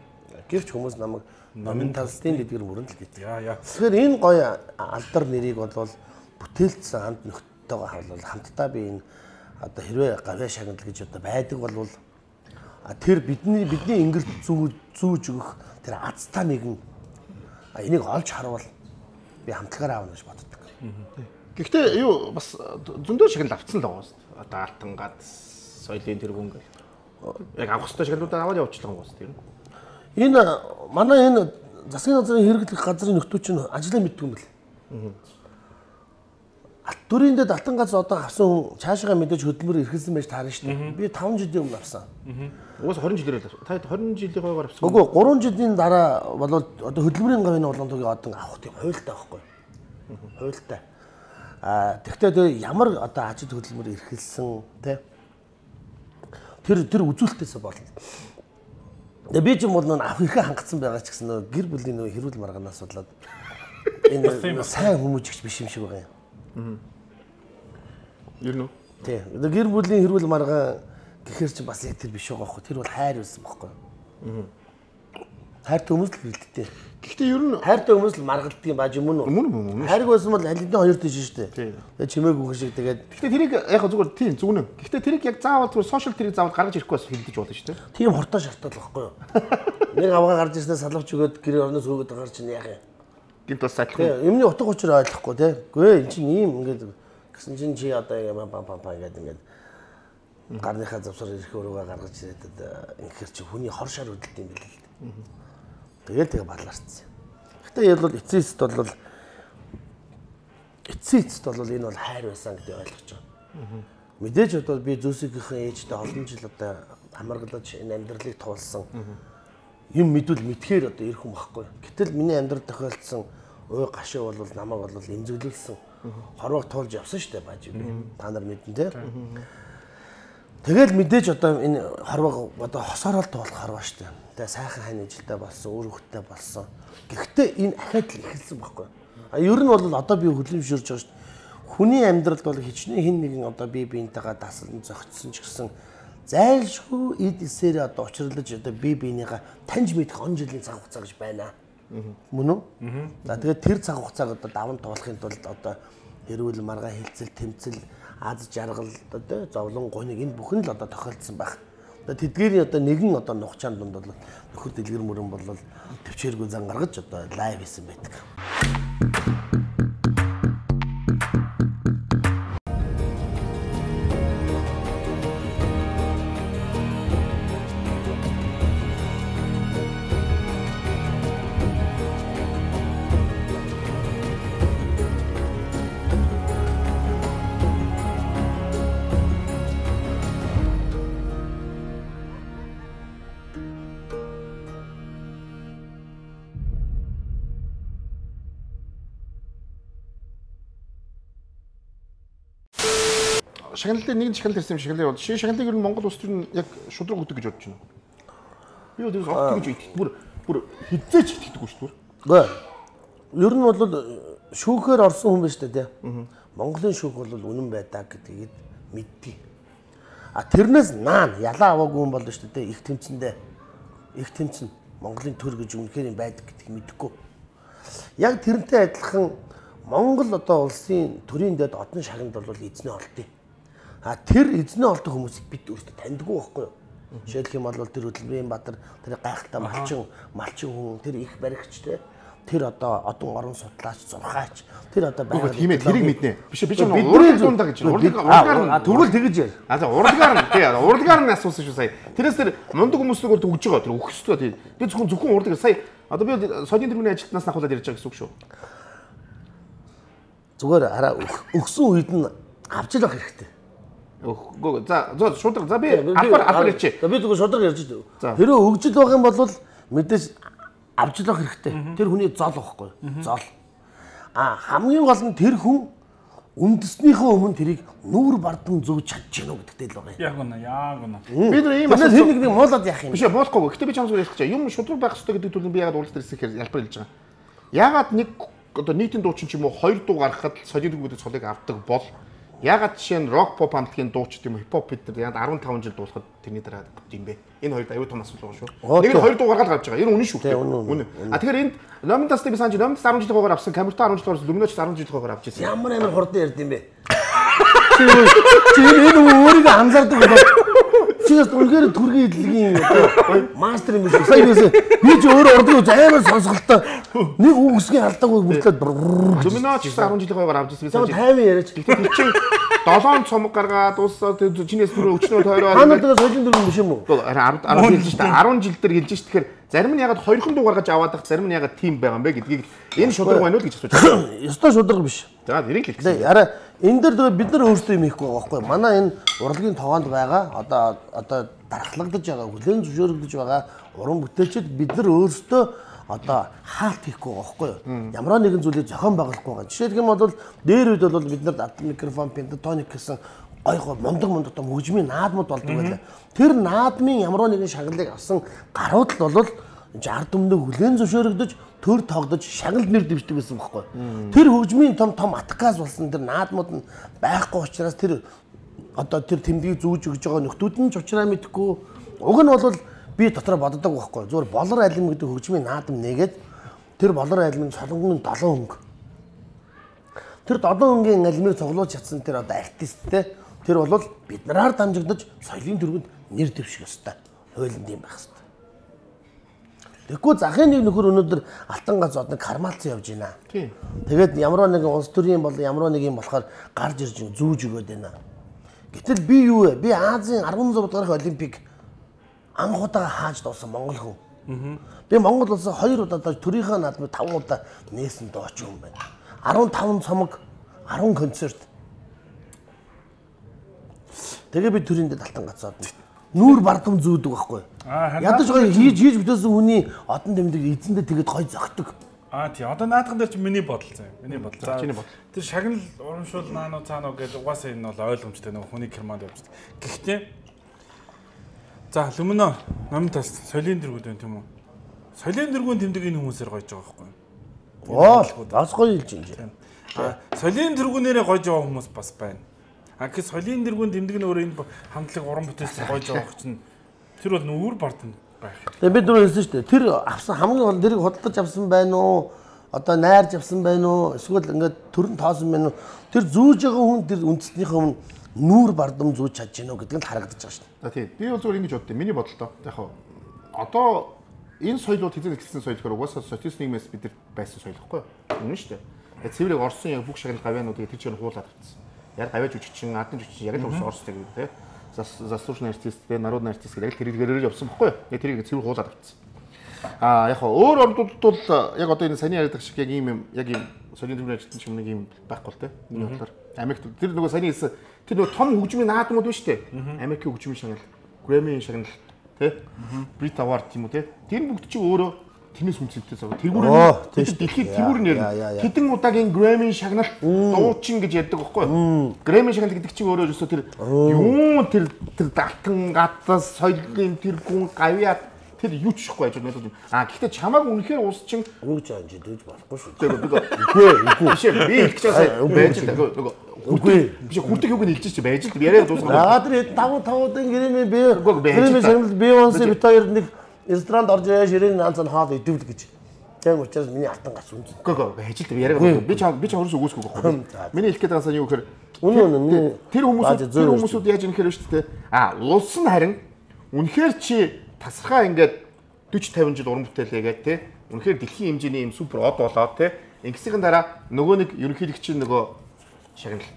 Гэвч хүмүүс намайг намын талстын дэлгэр мөрөн л гэдэг. Яа яа. Тэгэхээр энэ гоё алдар нэрийг бол бүтээлцсэн хамт нөхдөйгөө хавлал хамтдаа би энэ одоо хэрвээ гавьяа шагнал гэж одоо байдаг бол тэр бидний бидний ингэрт зүү зүүж өгөх тэр азтай нэгэн энийг олж харвал би хамтлагаар аавна гэж боддог. Гэхдээ юу бас зөндөө шагнал авцсан л байгаа шүү дээ. Одоо алтангад соёлын тэргүүн гэх. Яг авах ёстой шагналуудаа аваад явуулчихлаа гоос тийм. Энэ манай энэ засгийн газрын хэрэглэх газрын нөхдөө чинь ажлаа мэддэг юм бэл. Алт дүрийн дэд алтан газ одоо авсан хүн цаашаа мэдээж хөдөлмөр эрхэлсэн байж таарна шүү дээ. Би таван жилийн өмнө авсан. Уус двадцать жилээр л та двадцать жилийн гойгоор авсан. Үгүй гурван жилийн дараа бол одоо хөдөлмөрийн гавьяаны улаантуугийн одоо авах тийм хуйлтай байхгүй. Хуйлтай. А тэгтээ ямар одоо ажил хөдөлмөр эрхэлсэн тий тэр тэр үзүүлэлтээс болно. Тэгээ би ч юм бол нөө авах ихэ хангацсан байгаа ч гэсэн нөө гэр бүлийн нөө хэрүүл маргаанаас болоод энэ сайн хүмүүжигч биш юм шиг байгаа юм. Ер нь. Тий. Гэр бүлийн хэрүүл маргаан гэхэр чи бас яг тэр биш байгаа байхгүй. Тэр бол хайр байсан байхгүй. Хайртай хүмүүс л бэлддэг. Гэхдээ ер нь хайртай хүмүүс л маргалддаг юм бааж юм уу? Мөн мөн. Хайрг байсан бол аль хэдийн хоёр тийш шүү дээ. Тэгээ чимээг үхэн шиг тэгээд гэхдээ тэрийг яг зүгээр тийм зүгнэ. Гэхдээ тэрийг яг заавал зүгээр сошиал тэрийг заавал гаргаж ирэхгүй бас хилдэж болно шүү дээ. Тийм хортой шалтгаал байхгүй юу? Нэг авгаа гарч ирснээр салавч өгөөд гэр орноос өгөөд гарч чинь яах юм? Гинт бас сайдлах. Юмны утга учир ойлгохгүй тий. Гүй эн чинь ийм ингээд гэсэн чинь чи одоо юм пам пам пам гэдэг ингээд гарныхаа завсар ирэх өрөөгөө гаргаж ирээд ингэхэр чи хүний хор шар хөдөлт юм байл л дээ. Тэгэл тэгээ балаарцсан. Гэхдээ ял бол эцээст бол эцээст бол энэ бол хайр байсан гэдэг ойлгож байгаа. Мэдээж одоо би Зөсигийнхэн ээжтэй олон жил одоо хамаргалж энэ амьдралыг туулсан юм мэдвэл мэдхээр одоо ирэх юм байхгүй. Гэтэл миний амьдрал тохиолдсон ой гашуу бол намайг бол эмзэглүүлсэн. Хорвог туулж явсан шүү дээ бааж би. Та нар мэдэн тий. Тэгэл мэдээж одоо энэ хорвог одоо хосоорол туулах хорвоо шүү дээ. Тэгээ сайхан хань ижилтэй болсон, өөр хөлтэй болсон. Гэхдээ энэ ахаад л эхэлсэн байхгүй. А ер нь бол одоо би хөдөлмөршөрж байгаа шүү дээ. Хүний амьдралд бол хичнээн хин нэгэн одоо бие биентэйгээ дасалн зохицсон ч гэсэн зайлшгүй эд эсээр одоо учирлаж одоо бие биенийгээ таньж мэдэх он жилийн цаг хугацаа гэж байна. Мөн үү? За тэгээд тэр цаг хугацааг одоо даван туулахын тулд одоо хэрүүл маргаан хилцэл тэмцэл аз жаргал одоо зовлон гуниг энэ бүхэн л одоо тохиолдсон байх. Одоо тэдгээрийн одоо нэгэн одоо нухчаан дунд бол нөхөр дэлгэр мөрөн бол төвчээргүй зан гаргаж одоо лайв хийсэн байдаг. Шагналын нэгэн шагнал ирсэн юм шагналын бол шин шагналыг ер нь Монгол улс төр нь яг шудраг өгдөг гэж бодож байна. Би өдөрс огт гэж итгэдэг. Бүр бүр хизээч итгэдэггүй шүү дээ. Гэхдээ ер нь бол шүүхээр орсон хүн байна шүү дээ тий. Монголын шүүх бол үнэн байдаг гэдгийг мэддэг. А тэрнээс наан ялаа аваагүй хүн болно шүү дээ. Их тэмцэндээ их тэмцэн Монголын төр гэж үнэхээр юм байдаг гэдгийг мэдэхгүй. Яг тэрнтэй адилхан Монгол одоо улсын төрийн дэд одон шагнад бол эзний олдъё. А тэр эзний олдох хүмүүсийг бид өөрсдөө таньдгүй байхгүй юу? Жишээлх юм бол тэр хөдөлмөрийн баатар, тэр гайхалтай малчин, малчин хүн, тэр их баригч те. Тэр одоо одон орон судлаач, зурхаач, тэр одоо байгаад тийм ээ тэрийг мэднэ. Биш биш урлагийн дундаа гэж. Урлагаар нь тэгвэл тэгэж яа. А за урлагаар нь тий урлагаар нь асуусан шүү сая. Тэрээс тэр мундаг хүмүүсийг бол төгж байгаа. Тэр өгсдөө тий. Би зөвхөн зөвхөн урлагаар сая одоо би соёлын тэргүүний ажилтнаас ахуулаад ярьж байгаа гэсэн үг шүү. Зүгээр хараа өгсөн үед нь авч л байх хэрэгтэй. Үгүй за за шудраг за би албаар албаар ярьчих. За би зүгээр шудраг ярьж дээ. Хэрэв өгжил байгаа юм бол мэдээж авч л байх хэрэгтэй. Тэр хүний зол واخгүй. Зол. А хамгийн гол нь тэр хүн үндэснийхээ өмнө тэрийг нүүр бардам зөвж чадчих гэнэ гэдэгтэй л байгаа юм. Яг үнэ, яг үнэ. Би тэр ийм асуулт хэн нэг муулаад яах юм. Биш болохгүй. Гэтэ би чамд ярьж байгаа. Юм шудраг байх хэрэгтэй гэдэг төлөв би ягаад уулзалт ирсэн хэлбэр хэлж байгаа. Ягаад нэг одоо нийтийн дуучин ч юм уу хоёр дуу гаргахад соёлын дүүгүүдийн цолыг авдаг бол ягаад жишээ нь рок поп хамтлагийн дууч юм хип хоп бид нар ягаад арван таван жил дуусахад тэрний дараа юм бэ? Энэ хоёрт аюу тум асуудал байгаа шүү. Нэг нь хоёр дуу гаргаад гарч байгаа. Энэ үнэн шүү. Үнэн. А тэгэхээр энд Номинтас би санаж Номинтас арван жилийн хойгоор авсан, Камерта арван жилийн хойгоор Люминоч арван жилийн хойгоор авч ирсэн. Ямар амар хурдан ярьд юм бэ? Чи энэ өөрийгөө анзаардаг болоо. Чигээс үнээр түргийн идэлгийн одоо мастер юм шиг. Сая бисээ би ч өөрөө ордог амар сонсголтой. Нэг үгсгийн алдаагүй бүртлээд Люминоч арван жилийн хойгоор авч ирсэн. Би тайван яриач. Тэр чинь долоон цомог гаргаад дуусаа чинээс түрүү өчнөө тойроо. Та надаас соёлын дөрөв биш юм уу? арван жил шүү дээ. арван жил дээр хэлж ш. Тэгэхээр зарим нь ягаад хоёрхан дуу гаргаж аваад байх, зарим нь ягаад тим байгаа юм бэ гэдгийг энэ шудраг байна уу гэж асууж байна. Ёстой шудраг биш. За тэрийг л хэлсэн. Араа энэ дээр бид нар өөрсдөө юм хийхгүй байгаа байхгүй. Манай энэ урлагийн тогоонд байгаа одоо одоо дарахлагдаж байгаа, хүлээн зөвшөөрөгдөж байгаа уран бүтээлчид бид нар өөрсдөө одоо хаалт хийхгүй байгаа байхгүй юу? Ямар нэгэн зүйлийг зохион байгуулахгүй байгаа. Жишээлх юм бол дээр үед бол бид нар микрофон, пентатоник гэсэн гой гой мундаг мундаг том хөгжмийн наадмууд болдог байлаа. Тэр наадмын ямар нэгэн шагналыг авсан гарууд л бол ард түмэнд хүлээн зөвшөөрөгдөж төр тогдож шагнал нэр дэвшдэг байсан байхгүй. Тэр хөгжмийн том том атгаас болсон тэр наадмууд нь байхгүй учраас тэр одоо тэр тэмдгийг зүүж өгж байгаа нөхдүүд нь ч учраа мэдэхгүй. Уг нь бол би дотроо боддог байхгүй. Зүгээр болор айлм гэдэг хөгжмийн наадам нэгээд тэр болор айлмын солонгон долоон хөнгө. Тэр долоон хөнгөний айлмыг цуглуулж чадсан тэр одоо артисттэй тэр бол бид нараар дамжигдаж соёлын төрөнд нэр дэвших ёстой. Хуулинд юм байх ёстой. Тэгэхгүй захын нэг нөхөр өнөөдөр алтан гац од нэг кармалцсан явж байна. Тэгээд ямар нэгэн улс төрийн бол ямар нэг юм болохоор гарч ирж зүүж өгöd байна. Гэтэл би юу вэ? Би Азийн арван зураг дахь олимпик анх удаа хааж дуусан монгол хүн. Би Монгол улсаа хоёр удаа төрийнхөө наадмыг таван удаа нээсэн дооч юм байна. арван таван цомог, арван концерт. Тэгээ би төрийн дэд алтан гацаад нүүр бардам зүүдэг байхгүй. Ядаж гоё хийж хийж бүтээсэн хүний одон тэмдэг эзэндээ тэгээд гоё зөгтөг. Аа тий. Одоо наадхан дээр чи миний бодол заяа. Миний бодол. За чиний бодол. Тэр шагнал урамшуул наануу цаануу гэж угаасаа энэ бол ойлгомжтой нэг хүний керманд явж байгаа. Гэхдээ за Люмино Номинтас соёлын дэргүүд байна тийм үү? Соёлын дэргүүн тэмдэг энэ хүмүүсээр гойж байгаа байхгүй. Оо, бас гоё хэлж байна. Аа соёлын дэргүүнээрээ гойж байгаа хүмүүс бас байна. А гэс соёлын дэргүүн тэмдэг нь өөрөө энэ хамтлаг уран бүтээлч гойж байгаа чинь тэр бол нүүр бардам байх. Тэгээ бид түрүү хэлсэн шүү дээ. Тэр авсан хамгийн гол дэрийг худалдаж авсан байна уу? Одоо найрж авсан байна уу? Эсвэл ингээд төрн тоосон байна уу? Тэр зүүж байгаа хүн тэр үндэснийхээ өмнө нүүр бардам зүүж чадж гинөө гэдэг нь харагдаж байгаа шүү дээ. За тийм. Би бол зүгээр ингэж боддоо. Миний бодолтой. Яг хаа одоо энэ соёлууд хэзээ эхэлсэн соёл гэхээр угаасаа социалист нийгмээс бид нар байсан соёл гэхгүй юу? Үнэн шүү дээ. Цэврийг Орсын яг бүх шагнал гавьяануудыг тэр чинь хуулаад авчихсан. Яг гавьяаж үчигчин, ардын жүжигчин яг л Орстой гэдэг тийм. Заслуженный артист, народный артист гэдэг яг тэрээр явсан байхгүй юу? Яг тэрийг цэвэр хуулаад авчихсан. Аа яг хаа өөр орнуудад бол яг одоо энэ саний яриад шиг яг ийм юм яг ийм соёлын төвийн ажилтан юм нэг ийм байхгүй л тийм. Энэ бодлоор Америкт тэр нөгөө саний хэлсэн тэр нөгөө том хөгжмийн наадмууд байна шүү дээ. Америкийн хөгжмийн шагнал, Грэммийн шагнал тийм. Brit Award тийм үү тийм. Тэр бүгд чи өөрөө тэнэс үнцэнтэй зав. Тэргүүрээ дэлхийд тэргүүр нэр хэдэн удаагийн Грэммийн шагнал дуучин гэж яддаг байхгүй юу? Грэммийн шагнал гэдэг чинь өөрөө өсөө тэр юу тэр тэр далтан гатас соёлын тэр гүн гавьяа тэр юу ч ихгүй ажил надад. А гэхдээ чамааг үнэхээр уус чин юу ч анж дэж болохгүй шүү. Тэр үгүй үгүй биш би хэлчих чаасаа байж л нөгөө үгүй биш хүртэх юуг нь хэлж чи байж л яриад дуусгах. Аа тэр таван тавуудын Грэмми би Грэмми шагнал Бейонсе бит хоёр нэг ресторанд орж ирээ ширээн наанцан хаал идэвл гэж. Тийм учраас миний алтан гац үнэн. Гөө гөө хажил яриагаа би чам би чам хөрөөс өгөөсгүй байхгүй. Миний хэлэх гээд байгаа нь юу гэхээр тэр хүмүүс тэр хүмүүсүүд яаж юм хэрэг шүү дээ. А улс нь харин үнэхээр чи тасархаа ингээд forty fifty жил уран бүтээл хийгээд те үнэхээр дэлхийн хэмжээний юм супер од болоод те ингэсийн дараа нөгөө нэг ерөнхийлөгч нөгөө шагнал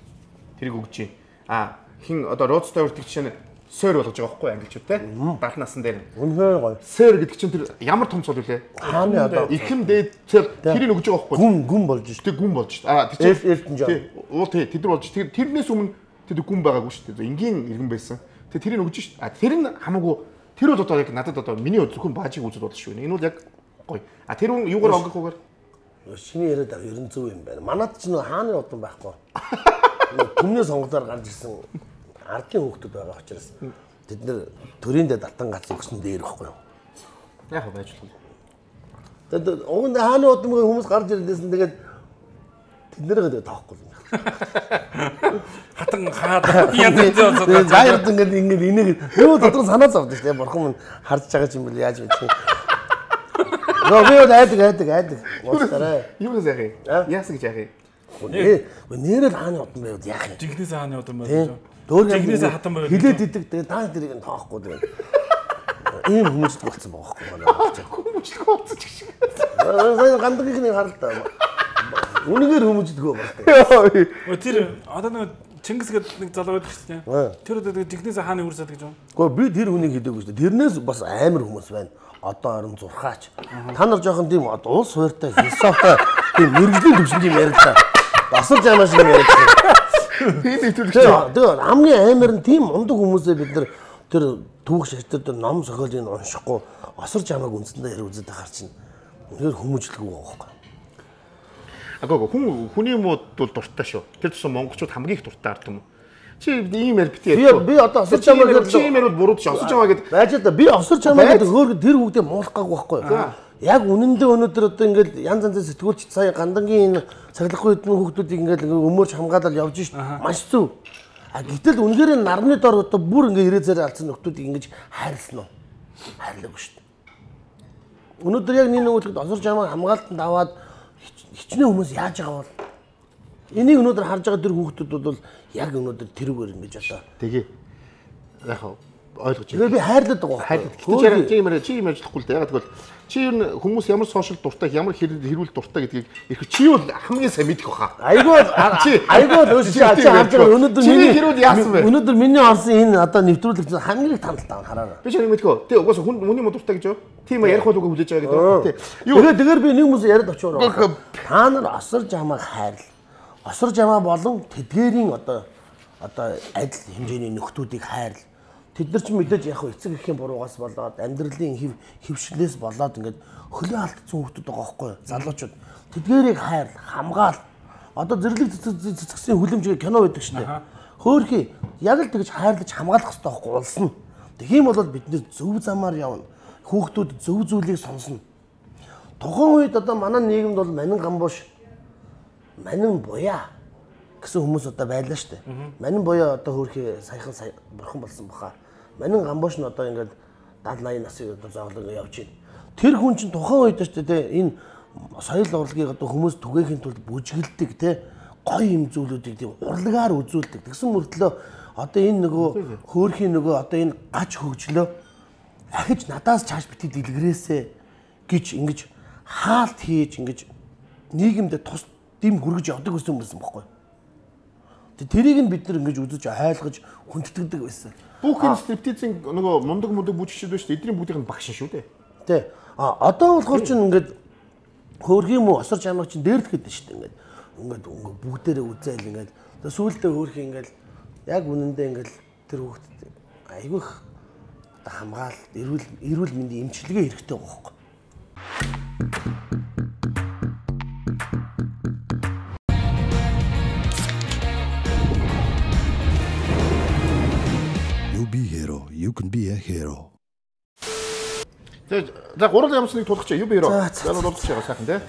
тэрийг өгч чинь а хин одоо Rod Stewart гэх чинь сойр болгож байгаа байхгүй англичууд те бат насан дээр үнэхээр гоё сойр гэдэг чинь тэр ямар том цол үлээ хааны одоо ихэм дээд тэрийг өгж байгаа байхгүй гүн гүн болж шүү дээ гүн болж шүү а тэр Элтон Джон уу тий тэд нар болж тэр тэрнээс өмнө тэд гүн байгаагүй шүү дээ энгийн иргэн байсан тэр тэрийг өгж шүү а тэр нь хамаагүй тэр бол одоо яг надад одоо миний зөвхөн баажиг үзэл бодож шүү энэ бол яг гоё а тэр хүн юугаар онгохгүйгээр шиний яриад байгаа ерэн зөв юм байна манад ч нэг хааны удам байхгүй түмний сонголоор гарч ирсэн ардын хүүхдүүд байгаа учраас тэд нэр төрийн дэд алтан гац өгсөн дээр ирэхгүй юу. Яг байж болно. Тэгээд уг нь хааны удамгийн хүмүүс гарч ирлээсэн тэгээд тэд нэрээ тоохгүй юм. Хатан хаад янз янз тэгээд зайрд ингээд ингээд энийг юу дотор санаа зовдсон шүү дээ. Бурхан минь харж байгаа юм бэл яаж мэдэх юм. Робиод айдаг айдаг айдаг. Уустараа. Юу гэж яах юм? Яасан гэж яах юм? Нэрэл хааны удам байвал яах юм? Жигнэс хааны удам байвал. Дөөргнээс хатан байвал хилээд идэг тэгээ та тэрийг нь тоохгүй тэгээ. Ийм хүмүүст болцсон байгаа байхгүй. Хүмүүст болцсон ч шиг. Аа гандгийнхний харалтай. Үнэгээр хүмүүждэг байгаа. Өө тэр одоо нэг Чингис гэдэг нэг залуу байдаг шүү дээ. Тэр одоо жигнэс хааны үрсэд гэж байна. Гэхдээ би тэр хүнийг хэлээгүй шүү дээ. Тэрнээс бас амар хүмүүс байна. Одоо орон зурхаач. Та нар жоохон тийм уус хууртай философи тийм мэрэгжлийн төвшингийн яриад басар жамаа шиг яриад. Тийм нэвтрүүлэгч. Тэгээ хамгийн амар нь тийм ундаг хүмүүсээ бид нар тэр түүх шаштай тэр ном зохиолыг уншихгүй осор жамааг үндсэндээ ярь үзээд байгаа чинь үнээр хүмүүжлэхгүй байгаа байхгүй. Агаагүй хүн хүний мод бол дуртай шүү. Тэр тусам монголчууд хамгийн их дуртай ард юм. Чи ийм яар битээ. Би би одоо осор жамаа гэдэг чи ийм яар бол буруу шүү. Осор жамаа гэдэг байж та би осор жамаа гэдэг хөөр тэр хүүхдээ муулах гаагүй байхгүй. Яг үнэндээ өнөөдөр одоо ингээд янз янзын сэтгүүлч сая гандангийн энэ цаглахгүй хэдэн хүүхдүүдийг ингээд өмөрч хамгаалал явж шít. Маш зүв. А гэтэл үнэхээр нарны дор одоо бүр ингээд ирээ зэрэг алдсан нөхдүүдийг ингэж хайрлсан уу? Хайрлаагүй шít. Өнөөдөр яг нэг нөгөөд осор жамаа хамгаалтанд аваад хичнээн хүмүүс яаж байгаа бол энийг өнөөдөр харж байгаа тэр хүүхдүүд бол яг өнөөдөр тэрүүгээр ингэж одоо тэгээ яг ойлгож байна. Би хайрлаад байгаа. Хайрлаад. Гэтэл чи юмэр чи юм ажиллахгүй л дээ. Яг тэгвэл чи ер нь хүмүүс ямар сошиал дуртай, ямар хэрүүл дуртай гэдгийг их чи бол хамгийн сайн мэдэх баха. Айгүй айгүй өөс чи харж байгаа өнөөдөр миний хэрүүл яасан бэ? Өнөөдөр миний орсон энэ одоо нэвтрүүлэгч хамгийн их танилтаа хараа. Би ч нэг мэдгүй. Тэ угаасаа хүн хүний мод дуртай гэж юу? Тийм ярих бол үгүй хүлээж байгаа гэдэг. Юу. Тэгээд тэгээр би нэг хүмүүс яриад очоор. Та нар осор жамааг хайрл. Осор жамаа болон тэдгээрийн одоо одоо адил хэмжээний нөхдүүдийг хайрл. Тэд нар ч мэдээж яг эцэг эхийн буруугаас болоод амьдралын хэв хөвшлээс болоод ингээд хөлөө алдсан хүмүүс байгаа байхгүй юу? Залуучууд. Тэдгээрийг хайр, хамгаал. Одоо зэрлэг цэцгсийн хүлэмжийг кино байдаг шүү дээ. Хөөхий яг л тэгж хайрлаж хамгаалах хэрэгтэй байхгүй улс нь. Тэгхийн бол бид нэр зөв замаар явна. Хүүхдүүд зөв зүйлийг сонсно. Тухайн үед одоо манай нийгэмд бол манин гамбууш, манин буяа гэсэн хүмүүс одоо байлаа шүү дээ. Манин буяа одоо хөөхий саяхан бурхан болсон баха. Манин гамбууш нь одоо ингээд даатал eighty насыг одоо зоглон явж байна. Тэр хүн чинь тухайн үед шүү дээ энэ соёл урлагийг одоо хүмүүс түгээхийн тулд бүжгэлдэг те гоё юм зүйлүүдийг тийм урлагаар үзүүлдэг. Тэгсэн мөртлөө одоо энэ нөгөө хөөрхийн нөгөө одоо энэ гач хөгжлөө ахиж надаас чааш бити дэлгэрээсэ гэж ингэж хаалт хийж ингэж нийгэмд тус дэм хүргэж явдаг гэсэн юм байсан байхгүй. Тэг тэрийг нь бид нар ингэж үзэж айлгаж хүндэтгдэг байсан. Бүх энэ стриптизийн нөгөө мундаг мундаг бүжигчд байна шүү дээ. Эдний бүгдийн багш шүү дээ. Тий. А одоо болохоор чинь ингээд хөөрхийн мө осор жамаг чинь дээрлэхэд байна шүү дээ. Ингээд ингээд бүгдээрээ үзээл ингээд сүүлдээ хөөрхийн ингээд яг үнэндээ ингээд тэр хүүхдэд айгүйх хамгаал эрүүл эрүүл мэндийн эмчилгээ хэрэгтэй байгаа байхгүй. You be hero, you can be a hero. За за гурал ямсныг тулах чи юу би hero. За дуулчих байгаа сайхан тий.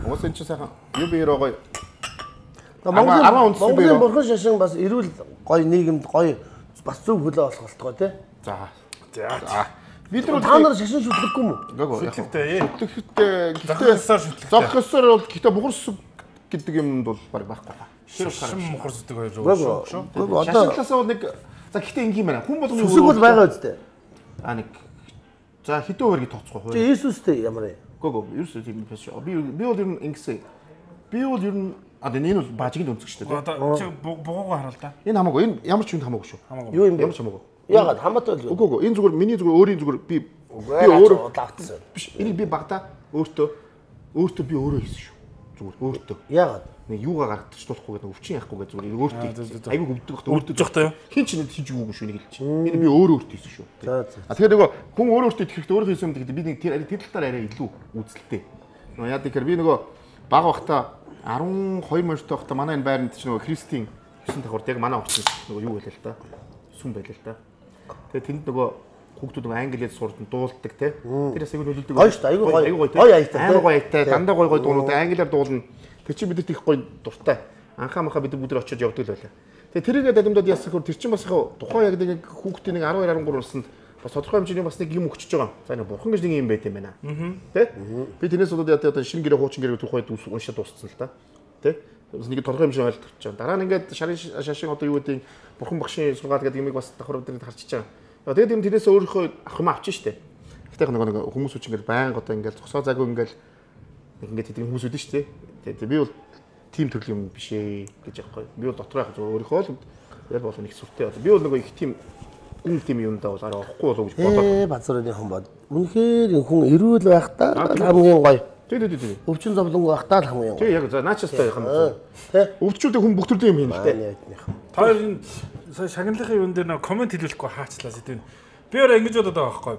Уус энэ чи сайхан юу би hero гоё. Монголын Монголын бурхан шашин бас эрүүл гоё нийгэмд гоё бас зөв хөлөө болох болтгоо тий. За. За. Бид нар та нар шашин шүтлэхгүй юм уу? Шүтлэгтэй. Шүтлэгтэй. Гэхдээ шүтлэгтэй. Зогх ёсоор бол гэхдээ бухар сүг гэдэг юмд бол баг байхгүй байна. Шашин мухар сүдэг хоёр шүү. Одоо шашинлаасаа бол нэг за гэхдээ ингийн байна. Хүн болгоны сүсэг бол байгаа үстэй. А нэг за хэдэн хувийг тооцохгүй хөө. Чи Иесустэй ямар юм? Гого ерөөсөө тийм биш. Би би бол ер нь ингэсэн. Би бол ер нь а энэ бол бажигийн өнцөг шүү дээ. Одоо чи бугуугаа харуул та. Энэ хамаагүй. Энэ ямар ч юм хамаагүй шүү. Юу юм бэ? Ямар ч хамаагүй. Яагаад хамаатай л. Үгүй үгүй. Энэ зүгээр миний зүгээр өөрийн зүгээр би би өөрөө лагтсан. Биш. Энийг би багтаа өөртөө өөртөө би өөрөө хийсэн шүү. Зүгээр өөртөө. Яагаад? Нэг юугаа гаргачихлахгүй гэдэг өвчин яахгүй гэдэг зүгээр өөртөө айгүй өвдөх өөртөө жоохтой юу? Хин ч нэг хийж өгөөгүй шүү нэг хэлчих. Энэ би өөрөө өөртөө хийсэн шүү. За за. А тэгэхээр нөгөө хүн өөрөө өөртөө итгэхдээ өөрөө хийсэн юм гэдэг би нэг тэр тэр талаар арай илүү үзэлтэй. Нөгөө яа гэхээр би нөгөө баг бахта арван хоёр морьтой бахта манай энэ байранд ч нөгөө Христийн гэсэн давхарт яг манай орчинд нөгөө юу байлаа л та. Сүм байлаа л та. Тэгээ тэнд нөгөө хүүхдүүд нөгөө англиэд сурдан дуулдаг те. Тэр бас айгүй нөлөөлдөг. Гоё шүү дээ. Айгүй гоё. Гоё аятай. Айгүй гоё аятай. Дандаа гоё гоё дуунууд англиар дуулна. Тэр чинь бидэрт их гоё дуртай. Анхаа махаа бид бүдэр очиж явдаг л байлаа. Тэгээ тэрийгээ далимдаад яасан хөр тэр чинь бас тухайн яг нэг хүүхдийн нэг арван хоёр арван гурав наснд бас тодорхой хэмжээний бас нэг юм өгчөж байгаа. За нэг бурхан гэж нэг юм байт юм байна. Тэ? Би тэрнээс болоод яа одоо шинэ гэрээ хуучин гэрээ тухайд уншаад дууссан л та. Тэ? Бас нэг тодорхой хэмжээ ойлголт авч байгаа. Дараа нь ингээд шарын шашин одоо юу гэдэг бурхан багшийн сургаал гэдэг юмыг бас давхар өдрөд харчиж байгаа. Тэгээд юм тэрнээс өөрийнхөө авах юм авчих штэ. Гэтэ нэг нэг хүмүүс үч ингээд байнга одоо ингээд зогсоо заагүй ингээд нэг ингээд тэдний хүмүүс үүдэн штэ. Тэгээд би бол тим төрлийн юм биш ээ гэж яахгүй. Би бол дотроо яг зөв өөрийнхөө л яг бол нэг сүртэй. Би бол нөгөө их тим гүн тим юмдаа бол арай орохгүй болов гэж бодлоо. Ээ базрын хүн бод. Үнэхээр хүн эрүүл байхдаа хамгийн гоё. Тий, тий, тий. Өвчин зовлонгүй байхдаа л хамгийн гоё. Тий, яг за наачстай юм. Тий. Өвчтөд хүн бүх төрлийн юм хийн л дээ. Та энэ сая шагналын юун дээр нэг комент хэлүүлэхгүй хаачлаа сэдв. Би өөрөө ингэж бодоод байгаа байхгүй.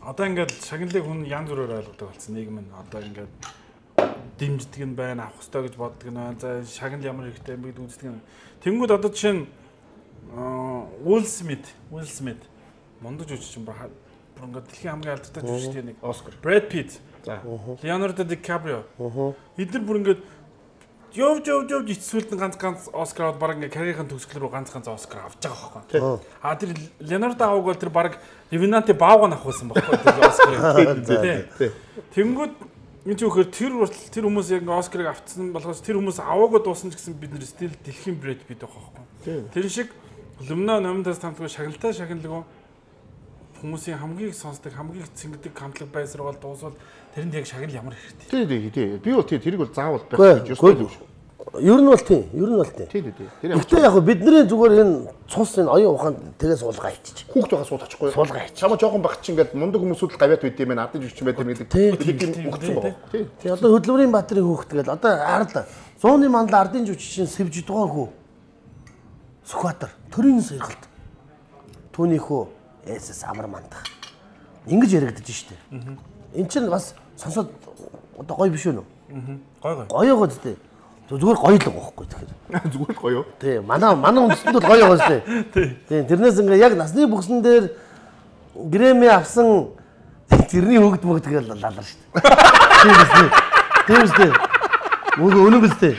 Одоо ингээд шагналыг хүн янз бүрээр ойлгодог болсон нийгэм нь. Одоо ингээд дэмждэг нь байна, авах хэрэгтэй гэж боддог нь байна. За шагнал ямар хэрэгтэй юм бэ гэж үздэг нь. Тэнгүүд одоо жишээ нь Уилл Смит, Уилл Смит мондож үжиж юм ба бүр ингээд дэлхийн хамгийн алдартай жүжигчтэй нэг Оскар. Брэд Питт. За. Леонардо Ди Каприо. Эдгээр бүр ингээд Жов жов жов жицсүүлд ганц ганц Оскар аваад баг ингээ карьерийн төгсгөл рүү ганц ганц Оскар авч байгаа байхгүй. А тэр Леонардо аваг бол тэр баг Ливинанти баавга авахсан байхгүй тэр Оскар. Тэнгүүд энэ ч үхээр тэр тэр хүмүүс яг Оскарыг авцсан болохоос тэр хүмүүс аваагүй дуусна ч гэсэн бид нэр стил дэлхийн Брэд Питт байх байхгүй. Тэр шиг Лумна номдоос тамтгүй шагналтай шагналгүй хүмүүсийн хамгийн сонсдог хамгийн цэнгдэг хамтлаг байсрал дуусвал тэрэнд яг шагнал ямар хэрэгтэй. Тий, тий, тий. Би бол тий тэрийг бол заавал байх гэж ёстой шүү. Ер нь бол тийм, ер нь бол тийм. Тий, тий, тий. Гэхдээ яг бидний зүгээр энэ цус энэ оюун ухаанд тэгээ суулгаа ичиж. Хүүхд байгаа суулгачихгүй. Суулгаа ичиж. Чамаа жоохон баг чинь ингээд мундаг хүмүүсүүд л гавьяат байд юм байна. Ардын жүжигчин байд юм гэдэг. Тэг өгсөн байгаа. Тий. Тий, одоо хөдөлмөрийн баатрын хүүхд тэгэл одоо хараад зууны мандал ардын жүжигчин сэвж дугаагүй. Сүхбаатар төрийн сэргэлт. Түүнийхүү эсэс амар мандах. Ингэж яригдаж штэ. Энд чинь бас сонсоод одоо гоё биш үү? Гоё гоё. Гоё гоо зү. Зүгээр гоё л гохгүй тэгэхээр. Зүгээр л гоё. Тий, манай манай үндэстэнд бол гоё гоо зү. Тий, тэрнээс ингээ яг насны бүхсэн дээр Грэмми авсан тэрний хөгд мөгд тэгэл лалар штэ. Тийм үстэй. Тийм үстэй. Мөн өнөө бистэй.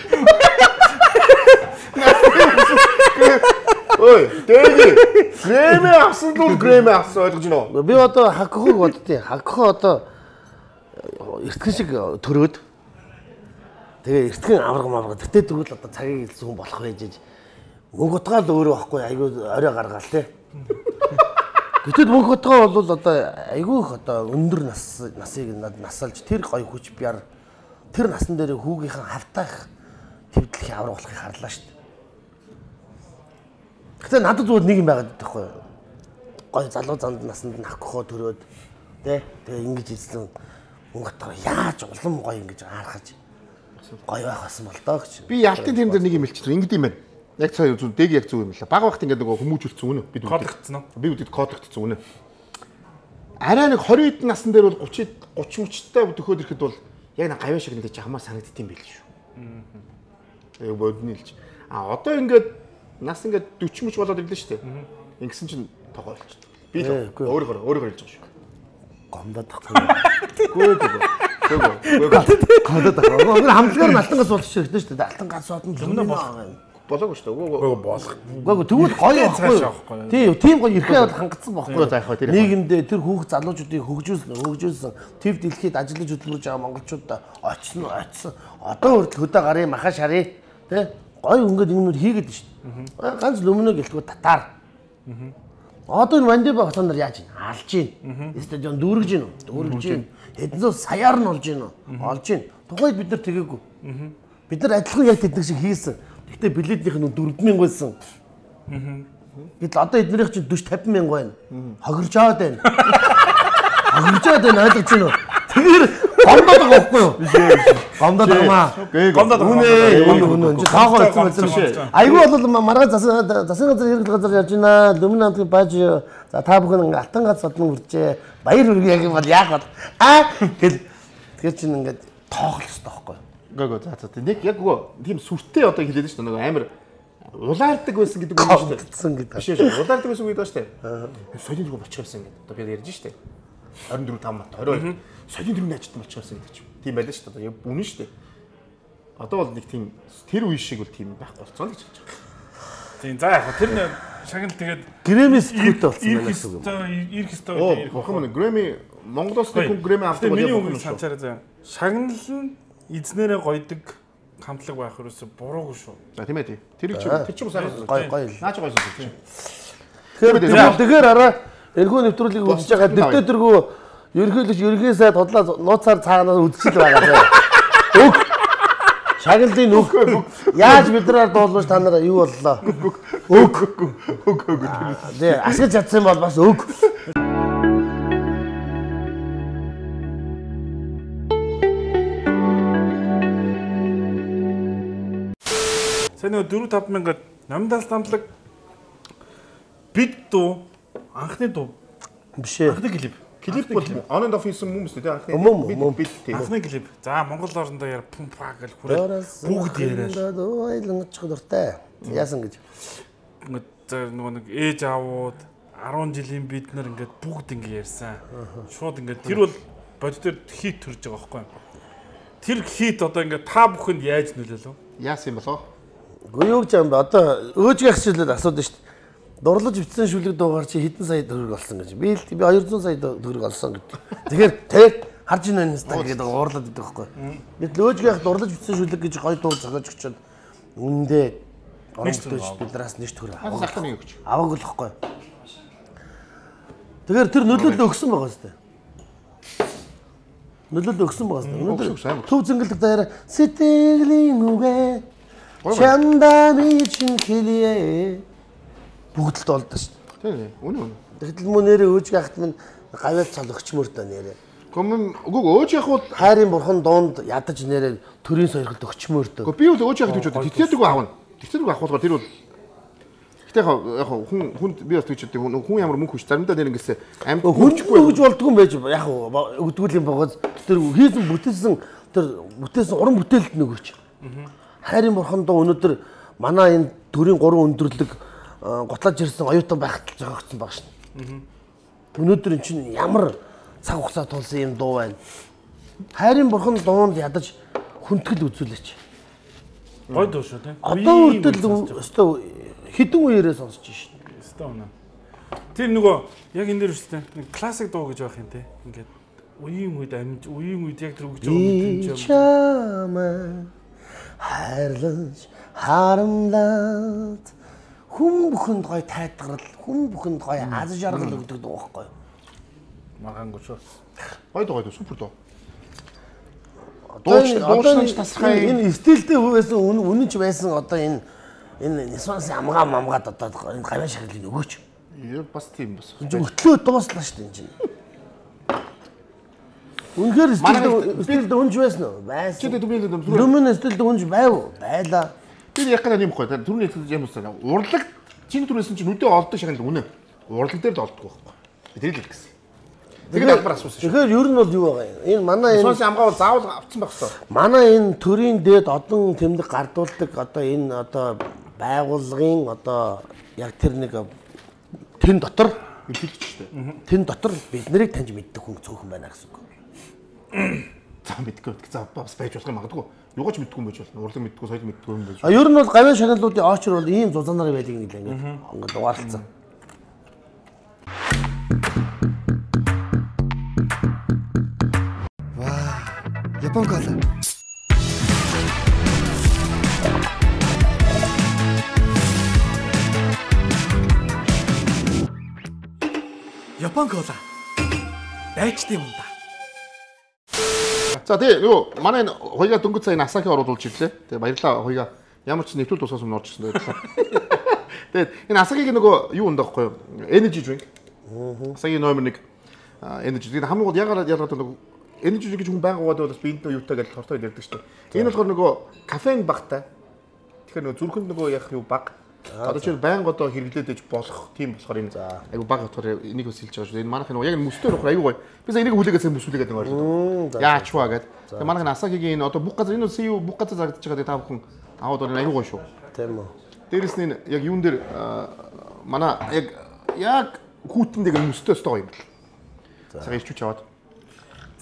Ой, дэги. Грэмми авсан л Грэмми авсан ойлгож байна уу? Би одоо хакхог боддیں۔ Хакхо одоо эртхэн шиг төрөөд тэгээ эртхэн авраг мавраг тэгтээ тэгвэл одоо цагийг илсэн хүн болох байж мөнгө утгаал өөрөө байхгүй айгүй орой гаргаал тий. Гэтэл мөнгө утгаа бол одоо айгүй их одоо өндөр нас насыг насалж тэр гоё хүч бяр тэр насан дээр хүүгийнхэн хавтаах төвдлөхийн авраг болохыг харлаа шүү дээ. Гэтэ надад зүгээр нэг юм байгаад байхгүй юу? Гой залуу занд насанд нь хакхоо төрөөд тий тэгээ ингэж хэлсэн мөнгөтөө яаж улам гоё ингэж аархаж гоё байх байсан бол доо гэж. Би ялтын тэм дээр нэг юм хэлчихлээ. Ингэдэм юм байна. Яг цаа зүг дэг яг зүг юм лээ. Баг багт ингээд нөгөө хүмүүжүүлсэн үнэ. Бид кодэгдсэн үү? Би үдэд кодэгдсэн үнэ. Арай нэг двадцать эд насн дээр бол тридцать тридцать мөчтэй төхөөд ирэхэд бол яг нэг гавьяа шиг нэг жахмаар санагддсан байл шүү. Аа. Яг бодны хэлж. А одоо ингээд нас ингээд forty мөч болоод ирлээ шүү дээ. Ингэсэн чинь тогоо болчихсон. Би өөрөөр өөрөөр хэлж байгаа шүү. Гомдод тахгүй. Гөө гөө. Гөө гөө. Гадаад тахгүй. Өөр хамтлагаар алтан газ болчих хэрэгтэй шүү дээ. Алтан газ сууд нь өмнө болох. болоогүй шүү дээ. Үгүй болох. Үгүй тэгвэл гоё байхгүй. Тийм, тийм гоё ирэхээ бол хангацсан байхгүй. Нийгэмдээ тэр хүүхд залуучуудыг хөгжүүлсэн, хөгжүүлсэн, төв дэлхийд ажиллаж хөдөлмөрж байгаа монголчуудаа очсон, очсон. Одоо хүртэл хөдөө гарын маха шарыг тий гоё ингээд юмнууд хийгээд шүү дээ. Ганц Лөмнө гэлтгүй татаар. Одоо энэ Мандиба хотон нар яаж ийн? Алж ийн. Стадион дүүргэж ийн үү? Дүүргэж ийн. Хэдэн зуун саяар нь олж ийн үү? Олж ийн. Тухайд бид нар тэгээгүй. Бид нар адилхан яг тэднийг шиг хийсэн. Гэхдээ билетийнх нь дөрвөн мянга байсан. Гэтэл одоо эднэрийнх чинь дөрвөн тавин мянга байна. Хогирж аваад байна. Хогирж аваад байна ойлгож байна уу? Тэгэхээр гомдоод байгаа байхгүй юу? Гомдоод байгаа. Гомдоод байгаа. Үнэ үнэ үнэ. Таагаа хэлсэн байсан шээ. Айгүй бол маргаа засаг засаг газар хэрэглэх газар явж байна. Лөмнө хамтгийн бааж за та бүхэн алтан гац содон хүрчээ. Баяр хүргэе гэх юм бол яах вэ? Аа гэл тэгэхээр чинь ингээд тоохлох хэрэгтэй байхгүй юу? Гэгөө за за нэг яг үгүй тийм сүртэй одоо хэлээд шүү дээ нэг амар улаардаг байсан гэдэг үг шүү дээ. Гэдэг. Биш шүү. Улаардаг байсан үг гэдэг шүү дээ. Соёлын дөрөв болчихсон гэдэг. Одоо би ярьж шүү дээ. двадцать четыре там двадцать two соёлын дөрөвний ажилтан болчихсон гэдэг чинь. Тийм байлаа шүү дээ. Яг үнэн шүү дээ. Одоо бол нэг тийм тэр үе шиг бол тийм байхгүй болцсон л гэж хэлж байгаа. Тийм за яг тэр шагнал тэгээд Грэмис төвтэй болсон байна гэсэн үг. Ирэх хэвээр. Оо хохом Грэми Монголоос нэг хүн Грэми авдаг бол яг үнэн санчаараа заа. Шагнал нь эзнэрээ гойдог хамтлаг байх ерөөсө буруугүй шүү. За тийм ээ тий. Тэр чи тэр чи сайн гоё гоё. Наач гоё шүү. Тэгэхээр тэгэхээр араа эргүү нэвтрүүлгийг үзэж байгаа дэвтэ дэргүү ерхийлж ерхий сайд тодлоо нууцаар цааганаас үдчихэл байгаа. Өг шагналын өг яаж бидрээр дуулууш та нараа юу боллоо? Өг өг өг. Тэ асгаж чадсан бол бас өг. Сайн нэг дөрвөн таван мянга намдаас намтлаг бид дуу анхны дуу биш ээ. Анхны клип. Клип бол on and off хийсэн хүмүүс үү анхны бид бид тийм. Анхны клип. За Монгол орндоо яар пум паа гэл хүрээ бүгд яриад. Ойлонгоч дуртай. Яасан гэж. Ингээд нөгөө нэг ээж аавууд арван жилийн бид нар ингээд бүгд ингэ ярьсан. Шууд ингээд тэр бол бодитоор хит төрж байгаа байхгүй юу? Тэр хит одоо ингээд та бүхэнд яаж нөлөөлөв? Яасан юм болоо? Гү юу гэж юм бэ? Одоо өөжгийн хсэлээд асуудаг шүү дээ. Дурлаж битсэн шүлэг дуугаар чи хэдэн сая төгрөг олсон гэж. Би би two hundred сая төгрөг олсон гэдэг. Тэгэхээр тэр харж ийн энэ стаг гэдэг уурлаад байдаг байхгүй. Бид өөжгийнх дурлаж битсэн шүлэг гэж гоё дуу зохиож өгчөөд үнэндээ орон бүтээлч бидраас нэш төгрөг авах. Аваагүй л байхгүй. Тэгэхээр тэр нөлөөлөл өгсөн байгаа шүү дээ. Нөлөөлөл өгсөн байгаа шүү дээ. Төв зингэлдэг даяараа сэтгэлийн үгээ чандами чин хэлье бүгд л болдоо шүү дээ. Тийм ээ. Үнэ үнэ. Тэгтэл мөн нэрээ өөжг ахт минь гавьяал цол өгчмөр дөө нэрээ. Гүм үгүй өөж яг бол хайрын бурхан доонд ядаж нэрээ төрийн сойрхолд өгчмөр дөө. Гэхдээ би бол өөж яг гэж боддог. Тэтгэлэг аавна. Тэтгэлэг авах болохоор тэр бол Гэтэ яг хүн хүнд би бас тэгж боддог. Хүн ямар мөнгө хүч заримдаа нэр ингэсэн амьд хүчгүй өгж болдгүй юм байж яг өгдгүүл юм байгаа. Тэр хийсэн бүтээсэн тэр бүтээсэн уран бүтээлд нөгөөч. Хайрын бурхан доо өнөөдөр манай энэ төрийн гурван өндөрлөг готлаж ирсэн оюутан байхад л жогогдсон баг шин. Өнөөдөр эн чинь ямар цаг хугацаа тулсан юм дуу байна. Хайрын бурхан дуунд ядаж хүндэтгэл үзүүлээч. Гой дуу шүү тийм. Одоо үрдэл өстө хідэн үеэрээ сонсож шин. Өстө өнө. Тэр нөгөө яг энэ дээр үстэй нэг классик дуу гэж байх юм те. Ингээд үеийн үед амьд үеийн үед яг тэр өгж байгаа юм чинь. Хайрлаж харамлаад хүн бүхэнд гоё тайтгарал, хүн бүхэнд гоё аз жаргал өгдөг дуу байхгүй юу? Маргаангүй шүү. Гоё дуу гоё дуу супер дуу. Дууч дууч тасхай энэ стилтэй байсан үнэн ч байсан одоо энэ энэ нисванс амгаа мамгаад одоо энэ гавьяа шагналын өгөөч. Яа бас тийм бас. Өтлөө дууслаа шүү дээ энэ чинь. Үнэхээр стилтэй үнж байсан уу? Байсан. Чи дөрмийн дөрмийн стилтэй үнж байв. Байлаа. Тэр яг гэнэ юм гоё. Түрүүний юм уу? Урлаг чиний түрээсэн чинь нүдээ олдог шагнал үнэ. Урлаг дээр л олддог байхгүй. Би тэр л хэлсэн. Тэгээд албар асуусан шүү. Тэгэхээр ер нь бол юу байгаа юм? Энэ манай энэ сонс амгаа бол заавал авцсан байх хэрэгтэй. Манай энэ төрийн дээд одон тэмдэг гардуулдаг одоо энэ одоо байгууллагын одоо яг тэр нэг тэн дотор хэлэгч шүү дээ. Тэн дотор бид нарыг таньж мэддэг хүн цөөхөн байна гэсэн үг. сайн мэдгүй. За бас байж болох юм магадгүй. Юугаач мэдгүй юм байж болно. Урлаг мэдгүй, соёл мэдгүй юм байж. А ер нь бол гавьяа шагналуудын очор бол ийм зузаанаар байдаг нэг л ингэ ингээд дугаарлцсан. Ваа. Япон кола. Япон кола. Дайчтай юм да. За тэгээ юу манай хоёугаа дөнгөж сая Асаки оруулж ирлээ. Тэгээ баярлалаа хоёугаа ямар ч нэвтрүүлэг тусгасан юм орж ирсэн баярлалаа. Тэгээд энэ Асакигийн нөгөө юу өндөхгүй юу? Energy drink. Асаки номер нэг energy. Тэгээд хамгийн гол ягаад ялгаад нөгөө energy drink гэж хүн байнга уугаад бас биентэй юутай гэж хортой ярьдаг шүү дээ. Энэ болохоор нөгөө кафеин багтай. Тэгэхээр нөгөө зүрхэнд нөгөө яг юу баг. Одоо чинь байнга одоо хэрэглээд иж болох тийм болохоор энэ айгу баг болохоор энийг бас хэлж байгаа шүү. Энэ манайх нөгөө яг мөстөр болохоор айгу гоё. Би сая энийг хүлээгээд мөсүүлээд байгаа юм байна. Яач ваа гэд. Тэгээ манайх Асакигийн энэ одоо бүх газар энэ сая бүх газар зарагдаж байгаа та бүхэн аваад орно айгу гоё шүү. Тийм үү. Дээрэс нь яг юун дээр манай яг яг хүүтэндээ мөстөө өстой гоё юм бэл. Сая ирчүүч аваад.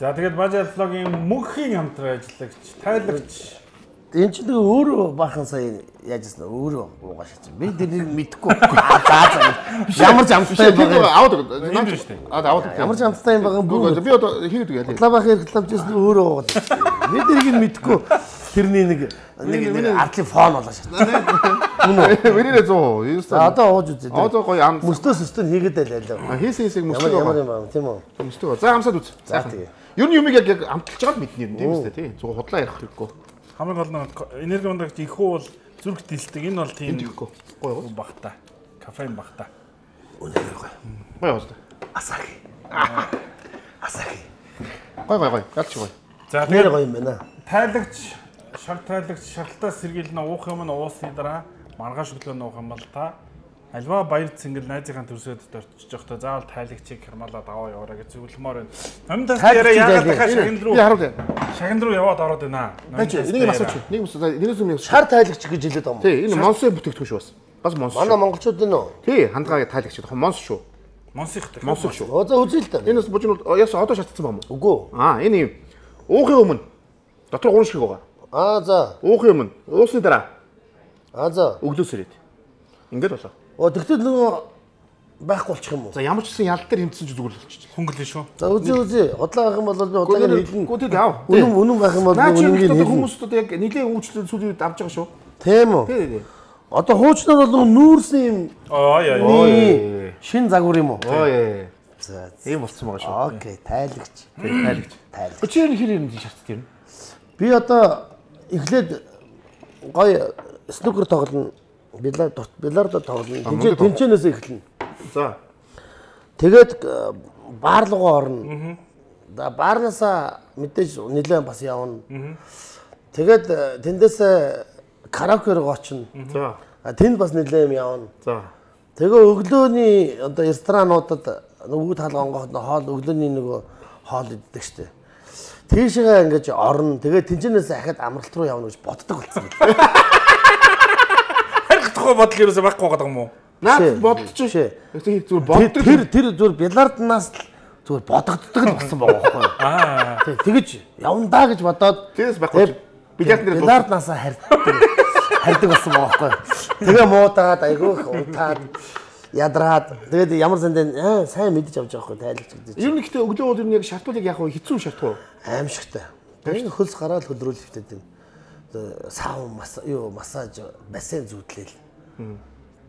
За тэгээд Бажал влогийн мөнхийн хамтран ажиллагч, тайлагч. Энэ ч нэг өөрөө бахан сая яажсэн өөрөө уугаа шатсан. Би тэрийг мэдэхгүй. Ямар ч амттай байгаа. Аваад юм шүү дээ. Аа аваад. Ямар ч амттай юм байгаа бүгд. Би одоо хийгээд үгүй. Лабах рекламжсэн өөрөө уугаад. Би тэрийг мэдэхгүй. Тэрний нэг нэг артлын фон болоо шатсан. Вэрээ зөө. Одоо ууж үзээ. Одоо гоё ам. Мөстөөс өстөө хийгээд байлаа. Хийсэн хийсэг мөстөө. Ямар юм аа тийм үү? Мөстөө. За хамсаад үз. За тэгээ. Ер нь юмыг яг амталж байгаа л мэднэ юм тийм үстэй тий. Зөв худлаа ярих хэрэггүй. Хамгийн гол нь энерги ундагч ихүү бол зүрх дэлдэг. Энэ бол тийм гоё багтаа. Кафеин багтаа. Үнэхээр гоё. Гоё байна. Асаки. Асаки. Гоё гоё гоё. Галч гоё. За тэр гоё юм байна. Тайлагч, шар тайлагч шартаас сэргийлнэ уух юм нь уусны дараа маргааш өглөө уух юм бол та альва баяр цэнгэл найзынхаа төрсөд дөрчиж явахдаа заавал тайлагчийг хямаалаад аваа яваарай гэж зөвлөмөр байна. Номдоос яриа яагаад дахиад шагнал руу би харуул. шагнал руу яваад ороод байна. Энийг асууч. Нэг юм нэрээс юм. Шар тайлагч гэж хэлээд байгаа юм. Тий, энэ монсын бүтээгдэхүүн шүү бас. Бас монс. Манай монголчууд энэ үү? Тий, хандгаа тайлагч гэдэг монс шүү. Монсихтэй. Монс шүү. Оо за үзье л та. Энэ бас бужин яас одоо шатцсан байна уу? Үгүй. Аа, энэ юм. Уухын өмнө дотор гуун шиг байгаа. Аа за. Уухын өмнө, уусны дараа. Аа за. Өглөөс ирээд. Ингээд болоо. Оо тэгтэл нөгөө байхгүй болчих юм уу? За ямар ч гэсэн ял дээр хэмтсэн ч зүгээр л болчих. Хөнгөлөө шүү. За үзье үзье. Удлаа авах юм бол би удаагаар хэлнэ. Гү тэг яав. Үнэн үнэн байх юм бол би үнэнгийн хэлнэ. Хүмүүстүүд яг нэлээд өвчлөл сүүлийн үед авч байгаа шүү. Тийм үү? Тий, тий. Одоо хуучнаар бол нүүрсэн юм. Аа яа. Шин загвар юм уу? Оо яа. За. Ийм болцсон байгаа шүү. Окей, тайлагч. Тайлагч. Тайлагч. Чи энэ хэр юм шатт юм? Би одоо эхлээд гоё снукер тоглоно. Билар билардо тоглоно. Тинчээ тинчэнээс эхэлнэ. За. Тэгээд баар руугаа орно. За баарнасаа мэдээж нэлээд бас явна. Тэгээд тэндээс караоке руу очино. За. Тэнд бас нэлээд юм явна. За. Тэгээ өглөөний одоо ресторануудад нөгөө талга онгоход хоол өглөөний нөгөө хоол иддэг штеп. Тийшээ ингэж орно. Тэгээ тэнцэнээс ахад амралт руу явна гэж боддог болсон юм. Харих тухай бодол ерөөсөй байхгүй байгаа юм уу? Наад бодчих шээ. Зүгээр боддог. Тэр тэр зүгээр бяларднаас зүгээр бодогддог л болсон байгаа байхгүй юу? Аа. Тэгэж явандаа гэж бодоод тэрс байхгүй. Билет нэр бяларднаасаа харьдаг. Харьдаг болсон байгаа байхгүй юу? Тэгээ муудаад айгүйх унтаад ядраад тэгээд ямар сандаа аа сайн мэдэж авч байгаа байхгүй тайлагч гэдэг. Ер нь гэхдээ өглөө бол ер нь яг шартуулыг яг хэцүү шартгүй. Аимшигтай. Тэгээд хөлс гараад хөдрөөл хөвтөд юм. Сав мас юу массаж бассейн зүудлээл.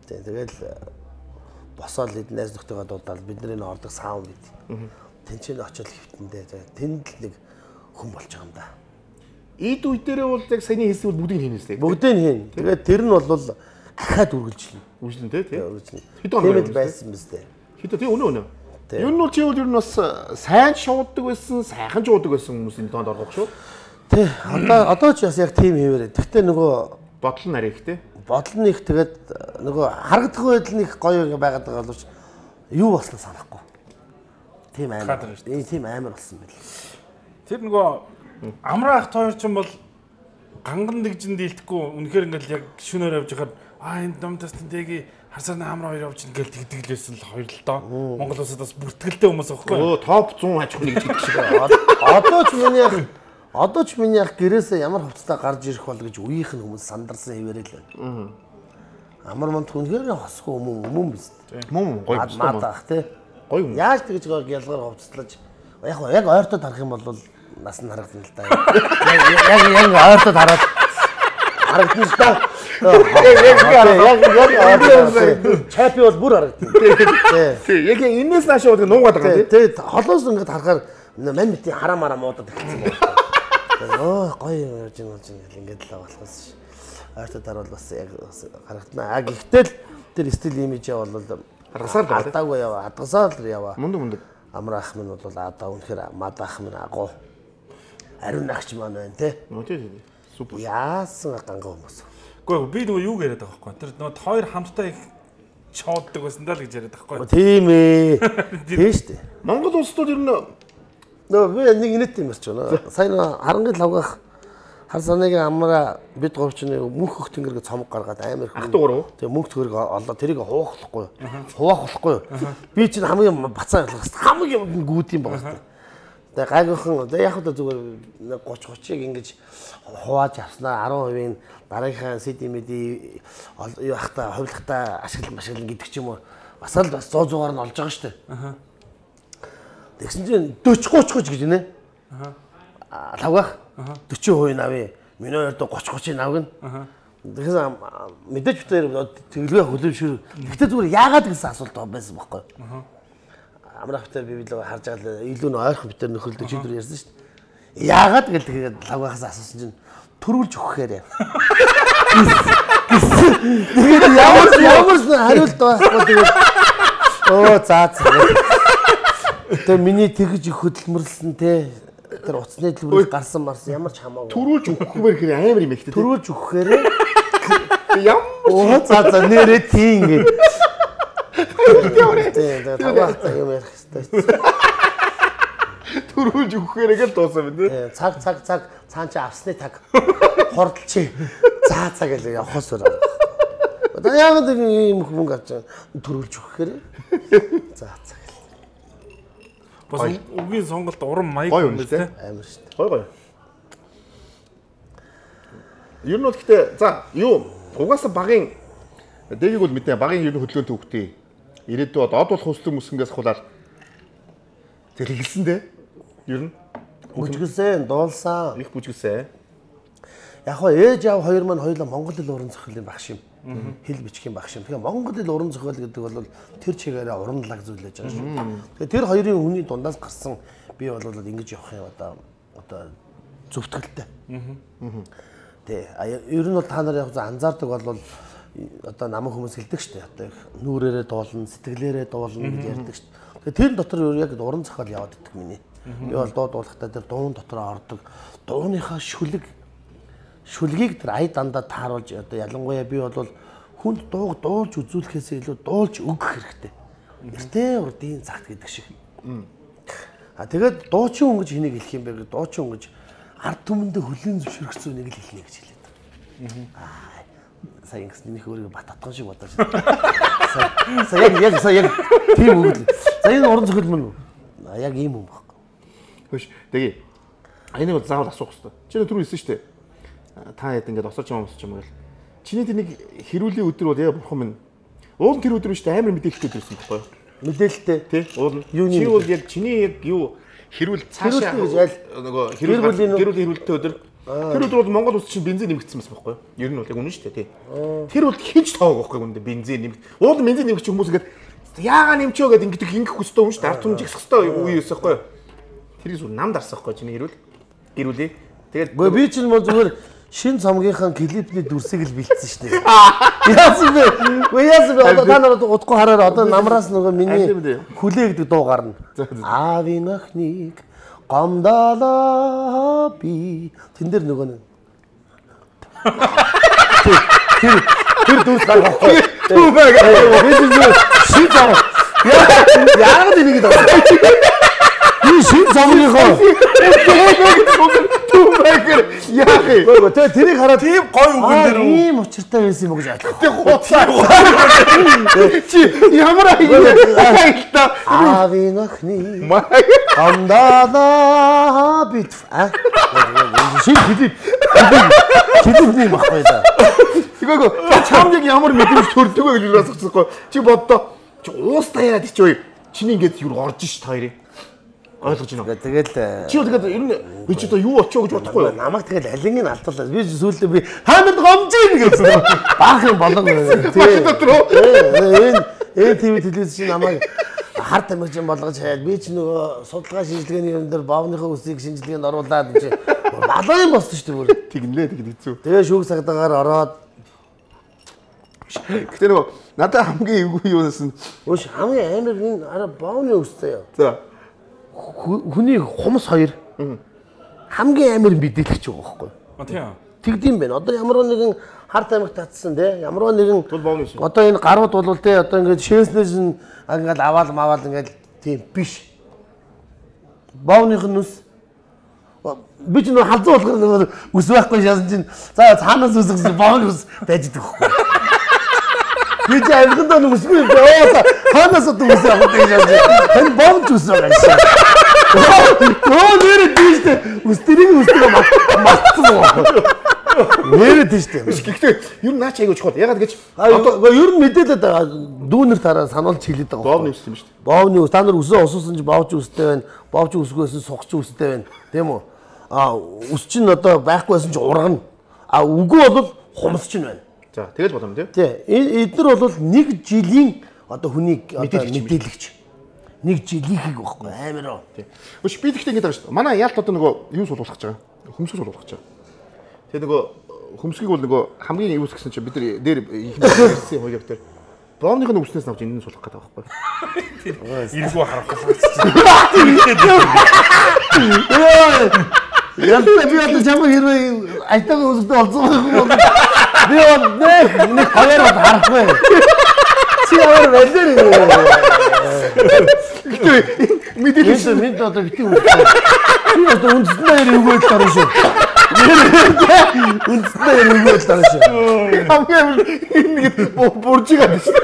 Тэгээд босоод эднээс нөхдөйгээ дуудаад бидний н ордог сав бид. Тэнцэн очил хөвтөндөө тэнд л нэг хүн болж байгаа юм да. Ийд үе дээрээ бол яг саяны хийсэн бол бүгдийг хийнэ үстэй. Бүгдийг хийн. Тэгээд тэр нь бол ахаад үргэлжлэнэ. Үргэлжлэн тий. Үргэлжлэнэ. Хэдэн хоног байсан биз дээ. Хэдэн тий өнөө өнөө. Ер нь бол чи бол ер нь бас сайн шууддаг байсан, сайхан шууддаг байсан хүмүүсийн тоонд орох шүү. Тий. Одоо одоо ч бас яг тийм хэвээрээ. Гэхдээ нөгөө бодол нь арай ихтэй. Бодол нь их тэгээд нөгөө харагдах байдал нь их гоё байгаад байгаа боловч юу болсноо санахгүй. Тийм амар. Ээ тийм амар болсон байл. Тэр нөгөө амраах тойр ч юм бол ганган дэгжин дийлдэхгүй үнэхээр ингээл яг шөнөөр явж байхад аа энэ номдоос тэнтэйги харсааны амраа хоёр явж ингээл тэгдэглээсэн л хоёр л доо. Монгол улсад бас бүртгэлтэй хүмүүс аахгүй. Өө топ зуун аж ахуйн гэж хэлдэг шиг. Одоо ч миний Одоо ч миний ах гэрээсээ ямар хувцастай гарч ирэх бол гэж үеийнх нь хүмүүс сандарсан хэвээрээ л байна. Амар манд хүнхээр хосгүй юм юм биз дээ. Мөн гоё маа даах тий. Гоё юм. Яаж тэгж гялгаар хувцаслаж яг яг ойртод харах юм бол нас нь харагдана л да. Яг яг ойртод хараад харагдана л да. Яг яг яг чапи бол бүр харагдана. Тий. Яг энэс нааш бол нуугаад байгаа тий. Тий. Холоос ингээд харахаар мань мэтийн хараа мараа муудад эхэлсэн байна. Оо гоё яаж юм чинь ингээд л болохоос ш. Ойртод харвал бас яг харагдана. А гэхдээ л тэр стил имижээ бол хадгасаар л хадаагүй яваа. Хадгасаар л яваа. Мундаг мундаг. Амар ах минь бол одоо үнэхээр мад ах минь агуу. Ариун агч маань байна те. Нөө тий. Супер. Яасан ганган хүмүүс. Гэхдээ би нөгөө юу яриад байгаа байхгүй. Тэр нөгөө хоёр хамтдаа их чооддаг байсан даа л гэж яриад байгаа байхгүй. Тийм ээ. Тийм шүү дээ. Монгол улсууд ер нь нөө би нэг инэт юм ярьж байна. Сайн харангийн лавгах хар санаагийн амраа бид говчны мөнх хөх тэнгэргээ цомог гаргаад амар их ахтуурав. Тэгээ мөнх төгрөг олоо тэрийг хуваахлахгүй. Хуваах болохгүй. Би чинь хамгийн бацаа ялгах хамгийн гүүд юм байна. Тэгээ гайгүйхан тэгээ яг л зүгээр гуч гучиг ингэж хувааж авснаа арван хувийн дараагийнхаа сэдимэди юу ахта хувилахта ашиглан машиглан гэдэг ч юм уу бас л бас сто зуугаар нь олж байгаа шүү дээ. Аа. Тэгсэн чинь дөрвөн гуйч гэж нэ. Аа. Лавгах дөрвөн хувийн авъя. Миний хоёрдоо гуйч гуйчийг авгна. Аа. Тэгсэн мэдээж битээр тэглэгээ хөлөвшөр. Гэхдээ зүгээр яагаад гэсэн асуулт байсан байхгүй. Аа. Амрах битээр би билээ харж байгаа л илүү н ойрхон битээр нөхөлдөг чигээр ярьсан шүү дээ. Яагаад гэдэг лавгахаас асуусан чинь төрүүлж өгөхээр. Тэгээд ямар ямар хариулт байхгүй тэгээд оо заа заа. Тэр миний тэгж их хөдөлмөрлсөн те тэр уцсны төлбөрөөр гарсан марсан ямар ч хамаагүй. Төрүүлж өгөхөөр хэрэг амар юм ихтэй. Төрүүлж өгөхээр ямар оо заа заа нэрээ тийм ингэ. Тэгээд таваахтай юм ярих хэрэгтэй. Төрүүлж өгөхөөрээ л дуусаа байна те. Цаг цаг цаг цаан чи авсны таг хордлчи. Заа цаа гэж явахаас өөр. Одоо яг нэг юм хүмүүс авч төрүүлж өгөхээр. Заа цаа. Бас үгийн сонголт уран маяг юм байна те. Амар шүү дээ. Гой гой. Ер нь бол гэхдээ за юу угаасаа багын дэгийг бол мэдээ багын ер нь хөдөлгөөн төвхтэй. Ирээдүйд од болох хүслэг мөсгөнгээс хулаад тэр хэлсэн дээ. Ер нь бүжгэлсэн, дуулсан. их бүжгэлсэн. Яг хоо ээж аав хоёр маань хоёулаа монгол хэл уран зохиолын багш юм. Хэл бичгийн багш юм. Тэгэхээр монгол хэл уран зохиол гэдэг бол тэр чигээрээ уранлаг зүйлээж байгаа шүү. Тэгэхээр тэр хоёрын хүний дундаас гарсан би бол ингэж явах юм одоо одоо зөвтгөлтэй. Тэ ер нь бол та нар яг анзаардаг бол одоо намайг хүмүүс хэлдэг шүү дээ. Одоо нүрээрээ дуулна, сэтгэлээрээ дуулна гэж ярьдаг шүү. Тэгэхээр тэр дотор яг уран зохиол яваад идэх миний. Би бол дуу дуулахдаа тэр дуун дотроо ордог. Дууныхаа шүлэг шүлгийг тэр ая дандаа тааруулж одоо ялангуяа би бол хүнд дууг дуулж үзүүлэхээс илүү дуулж өгөх хэрэгтэй. Эртээ урдын цагт гэдэг шиг. А тэгээд дуучин хүн гэж хэнийг хэлэх юм бэ гэдэг дуучин хүн гэж ард түмэндээ хөлийн зөвшөөрөгцөө нэг л хэлнэ гэж хэлээд. Аа сая ингэс нөх өөрийгөө бат татган шиг бодож. Сая яг яг сая яг тийм үг л. За энэ уран зохиол мөн үү? Яг ийм юм байна. Хөөш тэгээ. Энийг бол заавал асуух хэрэгтэй. Чи түрүү хэлсэн шүү дээ. Та хэд ингээд осооч юм осооч юм гэл. Чиний тэр нэг хэрүүлийн өдөр бол яа бурхан минь. Уул тэр өдөр шүү дээ амар мэдээлэлтэй өдөр байсан байхгүй юу? Мэдээлэлтэй тий. Уул. Чи бол яг чиний яг юу хэрүүл цаашаа нөгөө хэрүүл хэрүүлийн хэрүүлтэй өдөр. Тэр өдөр бол Монгол улс чинь бензин нэмэгдсэн байсан байхгүй юу? Ер нь бол яг үнэн шүү дээ тий. Тэр бол хинч тоог байхгүй юм дэ бензин нэмэгд. Уул бензин нэмэгч хүмүүс ингээд яагаа нэмчөө гэдэг ингээд ингэх хөстэй юм шүү дээ. Ард түмжих хөстэй үе байсан байхгүй юу? Тэр зүйл нам дарсан байхгүй чиний хэрүүл. Гэрүүлээ. Тэгээд би чинь мөн зүгээр шин цомгийнхаа клипний дүрсийг л бэлдсэн шүү дээ. Яасан бэ? Вэ яасан бэ? Одоо та нараа удахгүй хараар одоо намраас нөгөө миний хүлээ гэдэг дуу гарна. Аавын охиныг гомдолоо би. Тэн дээр нөгөө нэг тэр тэр дүрс гаргахгүй. Түү бай. Шин цом. Яагаад энийг даа? Би шин цомгийнхаа Түмэгэр яах Гөө тэгээ тэрийг хараад тийм гоё үг энэ дэр ийм учиртай байсан юм уу гэж ойлгох. Тэг хуцаа. Чи ямар аялта. Аавын охины амдаа бит. А? Шин хэлий. Хэлий махгүй да. Тэгвэл чамд яг ямар мэдрэмж төрдөг вэ гэж асуучихгүй. Чи боддоо. Чи уус таяад чи ой. Чиний ингээд юу орж ш та хоёрыг. Ойлгож байна уу? Тэгэл чи тэгээд ер нь би ч одоо юу очоо гэж бодохгүй юу? Намайг тэгэл алингийн алдуулаад би сүүлдээ би хаанад гомжийн гэсэн. Баах юм болон тийм дотроо. Энэ энэ ТV телевиз чи намайг харт амирчин болгож хаяад би ч нөгөө судалгаа шинжилгээний юм дээр бовныхоо үсийг шинжилгээнд оруулаад чи балаа юм болсон шүү дээ. Тэгнлээ тэгэд хэцүү. Тэгээ шүүх цагдаагаар ороод гэтээ нөгөө надад хамгийн эвгүй юунаас нь өөш хамгийн амар энэ араа бовны үстэй юу. За хүний хумс хоёр хамгийн амар мэдээлэгч байгаа байхгүй. А тийм. Тэгдэм байх. Одоо ямар нэгэн харт амигт татсан те ямар нэгэн тул бовны үс. Одоо энэ гарууд бол те одоо ингээд шээснээс нь ингээд аваал маваал ингээд тийм биш. Бовных нь үс би ч нөө халзуу болохоор нөгөө үс байхгүй шаасан чинь за цаанаас үсгсэн бовны үс байж идэх байхгүй. Би ч амьдгандаа нэг үсгүй юм. Оо ханаас одоо үс авах гэж яаж. Тань бовч үс байгаа юм. Оо нэр тийштэй үстрийг үстрийг мартсан уу. Нэр тийштэй. Гэхдээ ер нь наач айгуу чухал. Ягаад гэж одоо ер нь мэдээлээд байгаа дүүнер тараа сануулж хэлээд байгаа. бовны үс юм шүү дээ. Бовны үс та нар үсээ осуусан чи бовч үстэй байна. Бовч үсгөөс сухч үстэй байна. Тийм үү? А үс чинь одоо байхгүйсэн чи ургана. А үгүй бол хумс чинь байна. За тэгэл бодом тий. Тий. Эднэр бол нэг жилийн одоо хүнийг одоо мэдээлэгч. Нэг жилийнхийг байхгүй амар. Тий. Өш би тэгтээ ингэж байгаа шүү дээ. Манай яалт одоо нөгөө юу суулгах гэж байгаа. Хөмсгөл суулгах гэж байгаа. Тэгээ нөгөө хөмсгийг бол нөгөө хамгийн юус гэсэн чинь бид нар дээр их мэдсэн хоёрыг дээр бовныхын үснээс авч энэ нь суулгах гэдэг байгаа байхгүй. Иргүү харахгүй. Яа би одоо чамаа хэрвээ айтайгаа үсгдээ олзоо байхгүй. Би бол нэг нэг хоёр харахгүй. Чи ямар байлэр юм. Мэдээлэл минь одоо битгий үстэй. Би одоо үндсэндээ иргүүл дараа шүү. Үндсэндээ иргүүл дараа шүү. хамгийн нэг буржигаа дээ шүү.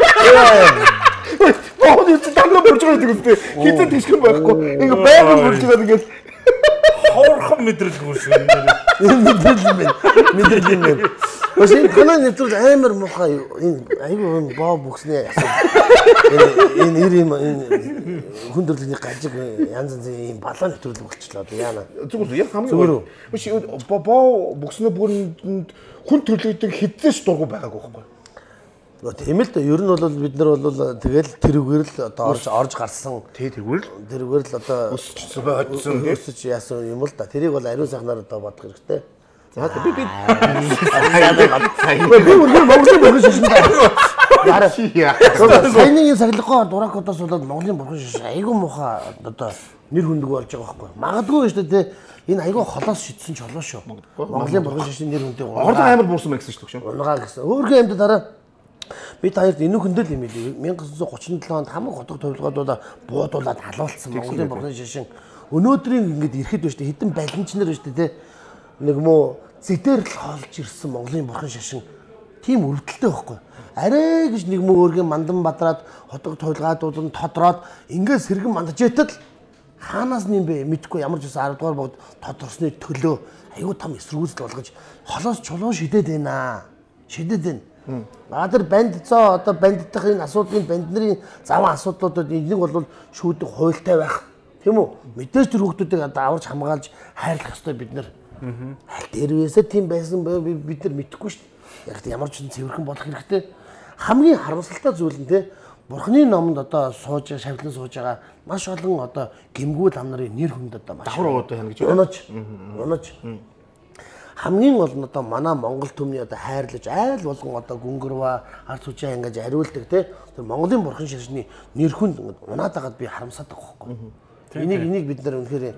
Бовны үс тандаа буржигаа гэдэг үстэй. Хитэн тийшхэн байхгүй. Ингээ байгаль буржигаа тэгээд Хоорхон мэдрэл гүрш юм. Мэдрэл юм байна. Мэдрэл юм байна. Өөс энэ танаа нэвтрүүл амар муухай энэ айгүй юм боо бүксний энэ энэ ир юм энэ хүн төрөлхний гажиг янз янзын юм балаа нэвтрүүл болчихлоо яана. Зүгээр яг хамгийн биш боо бүкснээ бүрэнд хүн төрлөдөг хідээс дургу байгаагүй байхгүй. Тийм л да ер нь бол бид нар бол тэгэл тэрүүгээр л одоо орж орж гарсан. Тэ тэрүүгээр л тэрүүгээр л одоо өсчихсөн байцсан өсөж яасан юм л да. Тэрийг бол ариун сайхнаар одоо бодох хэрэгтэй. За би би би үргэлж Монголын бурхан шишин даа. Яараа саяны сахилгоо дуракодоос болоод Монголын бурхан шишин айгүй муухай одоо нэр хүндэг болж байгаа байхгүй. Магадгүй шүү дээ. Энэ айгүй холоос шидсэн ч холоо шүү. Монголын бурхан шишин нэр хүнтэй ордон амар буурсан мэн гэсэн шүү дээ. Унгаа гэсэн. Өөргөө амьд дараа бид хоёрт энэ хүндэл юм билий. 천구 байшин тридцать онд хамаг хотог төвлөгөөдөө буудуулаад халуулсан Монголын бурхан шишин. Өнөөдрийн ингэж ирэхэд байна шүү дээ. Хэдэн балинчнэр байна шүү дээ. Нэг муу зэдэр л хоолж ирсэн Монголын бурхан шишин. Тийм өрөвдөлтэй байхгүй. Арай гэж нэг муу өөргөө мандан бадраад хотог төвлөгөөдүүд нь тодроод ингээд сэргэн мандажэтэл хаанаас нь юм бэ мэдгүй ямар ч үсэн арав дугаар бод тодорсны төлөө аюу там эсрүүцэл болгож холоос чулуун шидэд байна. Шидэд байна. Аа тэр банд цоо одоо бандтах энэ асуудлын банд нарын заван асуудлуудад нэг бол шүүдэг хуйлтай байх. Тийм үү? Мэдээж тэр хүмүүсийг одоо аварч хамгаалж хайрлах ёстой бид нар. Аль дээрвээсээ тийм байсан бид нар мэдэхгүй шүү дээ. Яг ямар ч цэвэрхэн болох хэрэгтэй. Хамгийн харамсалтай зүйл нь те Бурхны номонд одоо сууж шавлан сууж байгаа маш олон одоо гимгүүл ам нарын нэр хүнд одоо маш давхар одоо хянаж унаж унаж хамгийн гол нь одоо манай Монгол төмний одоо хайрлаж айл болгон одоо гүнгэрва ард түвшээ ингэж ариулдаг те тэр Монголын бурхан шишний нэр хүнд унаад байгаад би харамсаад байгаа байхгүй. Энийг энийг бид нар үнэхээр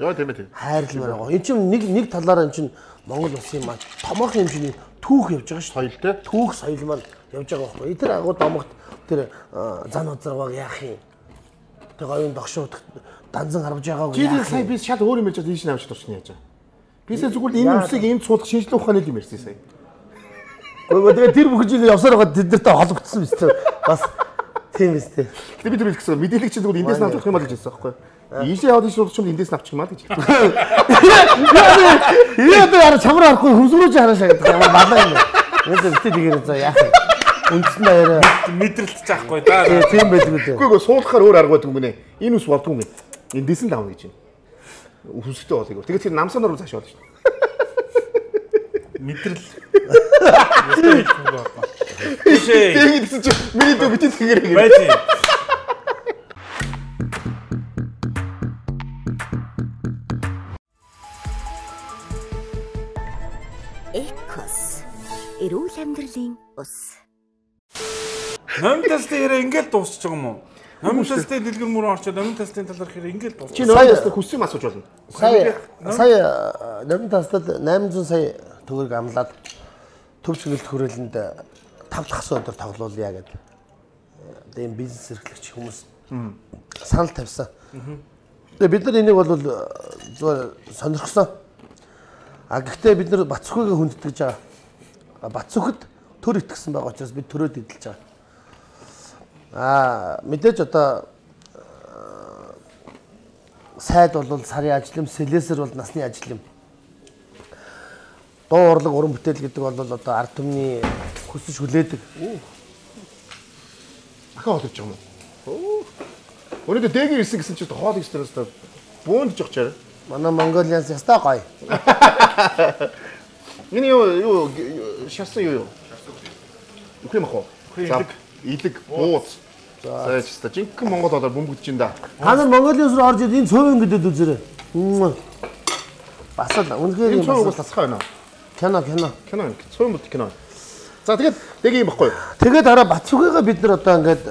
хайрлмаар байгаа. Энд чинь нэг нэг талаараа энэ чинь Монгол улсын маань томоохон хэмжээний түүх явж байгаа шүү. Соёл те түүх соёл маань явж байгаа байхгүй. Тэр агуу домогт тэр зан узарваг яах юм. Тэр гоён догшууд данзан харж байгаагүй. чи сая би шал өөр юм ярьж ийш навч туршны яаж. Бисээ зүгээр энэ үсийг энд суулгах шинжилгээ ухааны юм ярьсан сая. Гэхдээ тэгээ тэр бүх зүйл явсаар байгаа тэднэртэй холбогдсон биз дээ. Бас тийм биз дээ. Гэтэ бид хэлэх гэсэн мэдээлэл чинь зүгээр эндээс нь авчих юм аа гэж хэлсэн байхгүй. Ийшээ яваад шууд чинь эндээс нь авчих юм аа гэж хэлсэн. Яа яа яа чамраа харахгүй хөмсгөрөөж хараашаа гэдэг юм балаа юм. Нэг битээ тэгээд за яах вэ? Үндсэн даяараа мэдрэлт заахгүй да. Тийм байдаг үү. Үгүй ээ суулгахаар өөр арга байдаг юм гинэ. Энэ ус болдгүй юм. Эндээс нь давна гэж байна. Хүсэлтэй болыг. Тэгээд тэр намсанаар цааш болно шүү дээ. Мэдрэл. Ишээ. Тэгээд гэсэн чи миний дөө битээ тэгэрэг. Байти. Экос. Эрүүл амьдралын ус. Номын тестээр ингээл дуусчих юм уу? Номын тестээр дэлгэр мөр орчоод номын тестийн талаар хэрэг ингээл дуусчих. Чи номын тестээр хүссэн юм асууж болно. Сая сая номын тестад восемь зуун сая төгрөг амлаад төв чиглэлт хүрээлэнд тав дахь өдөр тоглоулъя гэдэг. Одоо энэ бизнес эрхлэгч хүмүүс санал тавьсан. Тэгээ бид нар энийг бол зүгээр сонирхсон. А гэхдээ бид нар Бацүхийг хүндэтгэж байгаа. Бацүхэд төр итгэсэн байгаа учраас бид төрөөд эдэлж байгаа. Аа мэдээж одоо сайд бол сарын ажил юм, сэлэсэр бол насны ажил юм. Дуу урлаг уран бүтээл гэдэг бол одоо ард түмний хүсэж хүлээдэг. Ахаа холж байгаа юм уу? Өнөөдөр дэгийн ирсэн гэсэн чинь хоол их стресс бөөндж явах чараа. Манай Монголиас ястаа гоё. Энэ юу юу шарсан юу юу? Үгүй мах уу? За илэг бууз. За яста жинхэнэ Монгол болоор бөмбөгдөж ин да. Та нар Монголиас руу орж энэ цөөвөн гэдэг үзээрэй. Бас л үнэхээр Энэ юм цөөвөн бас. тасхаа байна. Кино кино. Кино цөөвөн бод кино. За тэгээд дэгийн юм баггүй. Тэгээд хараа Бацүхийгээ бид нар одоо ингээд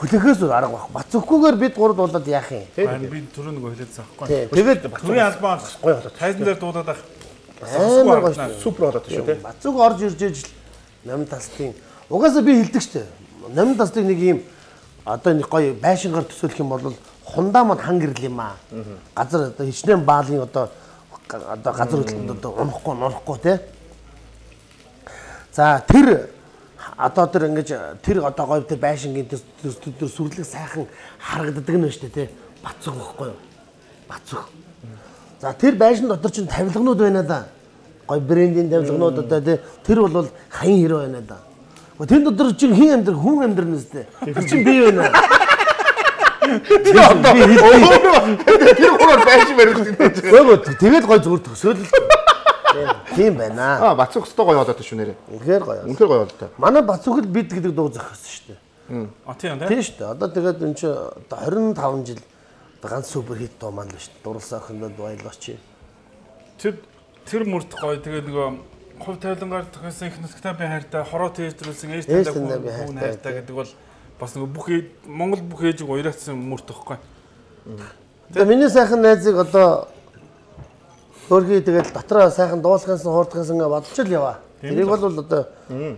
хүлээхээс арга баг. Бацүхгүйгээр бид гурав дуулаад яах юм? Харин би түрүү нэг хэлээдсэн аахгүй. Тэгээд Түрийн албаа гоё болоод. тайзан дээр дуудаад ах. амар гоё шүү. Супер болоод шүү те. Бацүг орж ирж ижил номын тастын угаасаа би хэлдэг штэ. Номын тастыг нэг юм одоо нэг гоё байшингаар төсөөлөх юм бол хундаа мод хан гэрэл юм аа. Газар одоо хичнээн баалын одоо одоо газар хөдлөлтөнд одоо унахгүй нурахгүй те. За тэр одоо тэр ингэж тэр одоо гоё тэр байшингийн тэр сүрлэг сайхан харагддаг нь шүү дээ те. Бацуг байхгүй юу? Бацуг. За тэр байшин дотор чинь тавилганууд байна да. Гоё брендийн тавилганууд одоо те тэр бол хаян хэрэг байна да. Тэр дотор чинь хин амьдрал хүн амьдрал нэстэй. Тэр чинь бий байна. Тэр хураар байшин барих гэдэг. Өөг тэгээд гоё зүгээр төсөөл. Тийм байна. Аа Бацүх өстой гоё болоод шүү нэрээ. Үнэхээр гоё. Үнэхээр гоё болоо та. Манай Бацүхэл бид гэдэг дуу зохиосон шүү дээ. А тийм тийм. Тийм шүү дээ. Одоо тэгээд энэ чинь двадцать пять жил ганц супер хит дуу маань л шүү дээ. Дурласан охиндод баярлаач. Тэр тэр мөрд гоё тэгээд нөгөө хувь тавилангаар тохиосон их нутагтай би хайртай хороо тээжрүүлсэн ээж таньдаг хүн хайртай гэдэг бол бас нөгөө бүх Монгол бүх ээжийг уяратсан мөрд тоххой. Тэгээ миний сайхан найзыг одоо хөрхий тэгэл дотроо сайхан дуулахаас хуурдахаас ингээ бодож л яваа. Тэрийг бол одоо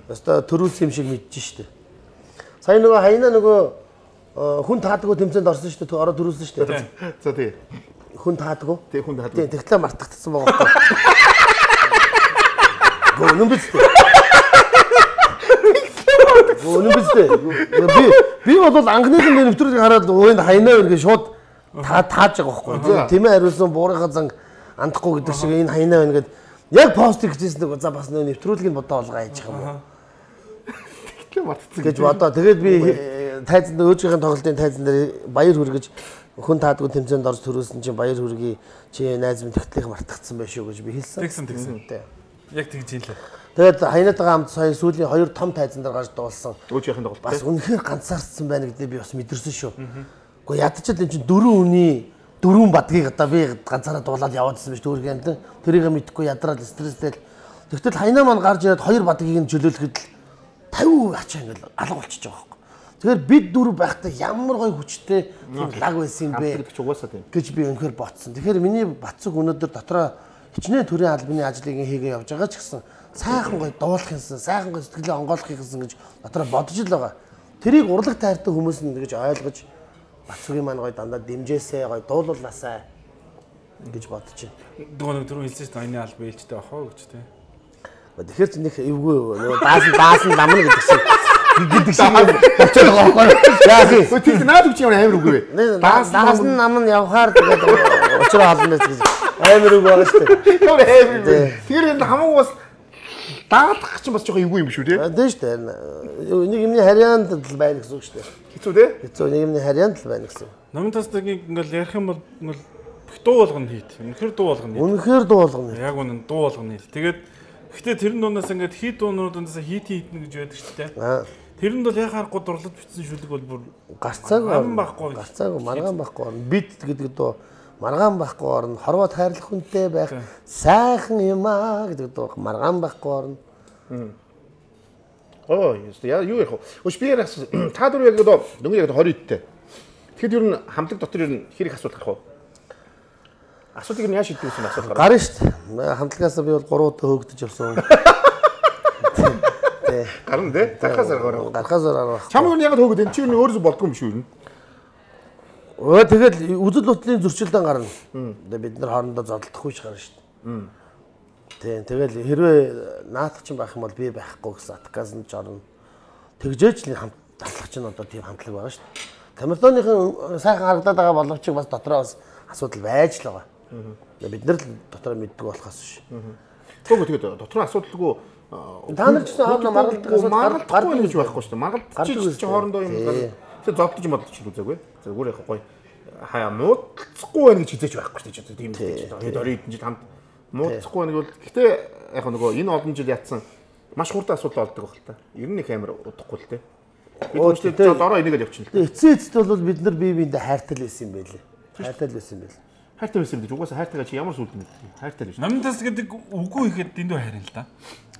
өстой төрүүлсэн юм шиг мэдэж штэ. Сая нөгөө хайна нөгөө хүн таадаггүй тэмцээнд орсон штэ ороо төрүүлсэн штэ. За тий. Хүн таадаггүй. Тий хүн таадаггүй. Тий тэгтлээ мартагдсан байгаа байхгүй. Гоо нүм биз дээ. Гоо нүм биз дээ. Би би бол анхныхан дээр нэвтрүүлгийг хараад өөнд хайнаа вэ гэж шууд та тааж байгаа байхгүй. Тэмээ хариулсан буурынхаа занг андахгүй гэдэг шиг энэ хайнаа байна гэд яг пост хийжсэн нэг за бас нөө нэвтрүүлгийг бодоо олгаа яж байгаа юм. Тэгтлээ мартцсан гэж бодоо. Тэгээд би тайзанд өөжгийн тоглолтын тайзан дээр баяр хүргэж хүн таадгүй тэмцээнд орж төрүүлсэн чинь баяр хүргэе чи найз минь тэгтлэх мартагдсан байх шүү гэж би хэлсэн. Тэгсэн тэгсэн. Яг тэгж хэлээ. Тэгээд хайнаатайгаа хамт сая сүүлийн хоёр том тайзан дээр гарч дуулсан. Өөжгийн тоглолт. Бас үнэхээр ганцаарцсан байна гэдэг би бас мэдэрсэн шүү. Гэхдээ ядчил энэ чинь дөрвөн үний дөрвөн бадгийг одоо би ганцаараа дуулаад яваадсан биш төөргөн амт. Тэрийг мэдэхгүй ядраад стресстэй. Тэгтэл хайнаа маань гарч ирээд хоёр бадгийг нь чөлөөлөхөд л пятьдесят ачаа ингээл алга болчихж байгаа байхгүй. Тэгэхээр бид дөрөв байхдаа ямар гоё хүчтэй лаг байсан юм бэ гэж би өнөхөр ботсон. Тэгэхээр миний Бацүг өнөөдөр дотроо хичнээн төрийн албаны ажлыг хийгээ явж байгаа ч гэсэн сайхан гоё дуулах юмсан, сайхан гоё сэтгэлээ онгойлох юмсан гэж дотроо бодож л байгаа. Тэрийг урлаг тайртай хүмүүс нь тэгж ойлгож Бацуугийн маань гоё дандаа дэмжээсэй, гоё дуулуулнасай гэж бодож байна. Нөгөө нэг түрүү хэлсэн шүү дээ. Аяны алба ээлжтэй ахаа гэж тий. Тэгэхээр ч нэг эвгүй нөгөө даасан даасан ламна гэдэг шиг гэдэг шиг болчиход байгаа байхгүй. Яа тий. Өө тийм наад үгүй юм амар үгүй. Даасан намн явхаар тэгээд учраа холно гэж амар үг байгаа шүү дээ. Тэр амар үгүй. Тэр энэ хамаагүй бас даадах чинь бас жоохон эвгүй юм шүү тий. Тийм шүү дээ. Нэг юмний харьяанд л байна гэсэн үг шүү дээ. Хэцүү тий. Хэцүү нэг юмний харьяанд л байна гэсэн. Номын тасдаг ингээл ярих юм бол ингээл дуу болгоно хийд. Үнэхээр дуу болгоно. Үнэхээр дуу болгоно. Яг үнэн дуу болгоно хийд. Тэгээд гэхдээ тэрэн дундаас ингээд хит дуунуудаас хит хитнэ гэж байдаг шүү дээ. Тэрэнд бол яхаарахгүй дурлал бичсэн шүлэг бол бүр гарцаагүй ам байхгүй. Гарцаагүй маргаан байхгүй. Бит гэдэг дуу маргаан байхгүй орно. Хорвоод хайрлах хүнтэй байх сайхан юм аа гэдэг дуу маргаан байхгүй орно. Оо, яа юу яах вэ? Өшбиэрээс та дөрөв яг одоо дөнгөж яг двадцать идтэй. Тэгэхэд ер нь хамтлаг дотор ер нь хэрэг асуулт гарах уу? Асуултыг нь яаж шийдэх вэ? Асуулт гарах. Гарна шүү дээ. Хамтлагаас би бол гурав удаа хөөгдөж явсан. Тэ. Гарна тий. Гарахаас гарах. Гарахаас гарах. Чам юу яг хөөгд энэ чи юу өөрөөсөө болдгоо юм шүү юу? Өө тэгэл үзэл бодлын зөрчилдөөн гарна. Тэгээ бид нар хоорондоо зодтолдохгүй ч гарна шүү дээ. Тийм тэгэл хэрвээ наадах чинь байх юм бол би байхгүй гэсэн атакаас нь ч орно. Тэгжээч л хамт татлах чинь одоо тийм хамтлаг байгаа шүү дээ. Камертоныхын сайхан харагдаад байгаа боловч бас дотроо бас асуудал байж л байгаа. Бид нар л дотроо мэддэг болохоос биш. Тэгвэл тэгээд дотроо асуудалгүй та нар ч гэсэн хоорондоо маргалдаг асуудал гардаг гэж байхгүй шүү дээ. Маргалдаг чи хоорондоо юм тэгээд зовдож бодож ч үзээгүй. Зүгээр яг гоё хаяа муудахгүй байх гэж хизээч байхгүй шүү дээ. Тийм дээ. Тэгээд орой эдэн жил хамт муудахгүй байх бол гэхдээ яг нөгөө энэ олон жил ятсан маш хурдан асуудал болдог байх л та. Ер нь их амар удахгүй л те. Бид өөрсдөө дороо энийгээ явчихна л. Эцсийн эцэд бол бид нар бие биендээ хайртай л байсан юм байлээ. Хайртай л байсан юм байл. Хайртай байсан гэж угаасаа хайртайгаа чи ямар сүлд мэдээ. Хайртай л биш. Номын тас гэдэг үгүй ихэд дэндүү харин л да.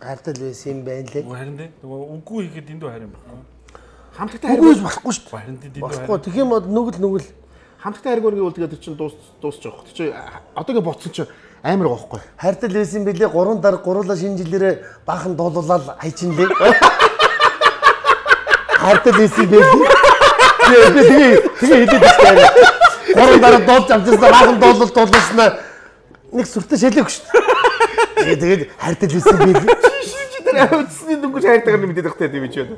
Хайртай л байсан юм байна лээ. Харин дээ. Нөгөө үгүй ихэд дэндүү харин байхгүй. Хамтлагтай харин болохгүй шүү дээ. Харин дэндүү харин. Болохгүй. Тэгэх юм бол нүгэл нүгэл хамтлагтай харин гэвэл тэгээд чинь дуус дуусч байгаа. Тэг чи одоогийн боцсон чи амар байгаа байхгүй. Хайртай л байсан билээ. Гурван дарга гурлаа шинэ жилээрээ баахан дуулуулаад хайчин лээ. Хайртай л байсан билээ. Тэгээ тэгээ хэдэж байна. Гурван дараа дуулж авчихсан баахан дуулал дуулуулснаа нэг сүртэй шалээгүй шүү дээ. Тэгээд хайртай л байсан билээ. Чи тэр авцсны дүнгэж хайртайгаар мэдээд багтай тийм ч байна.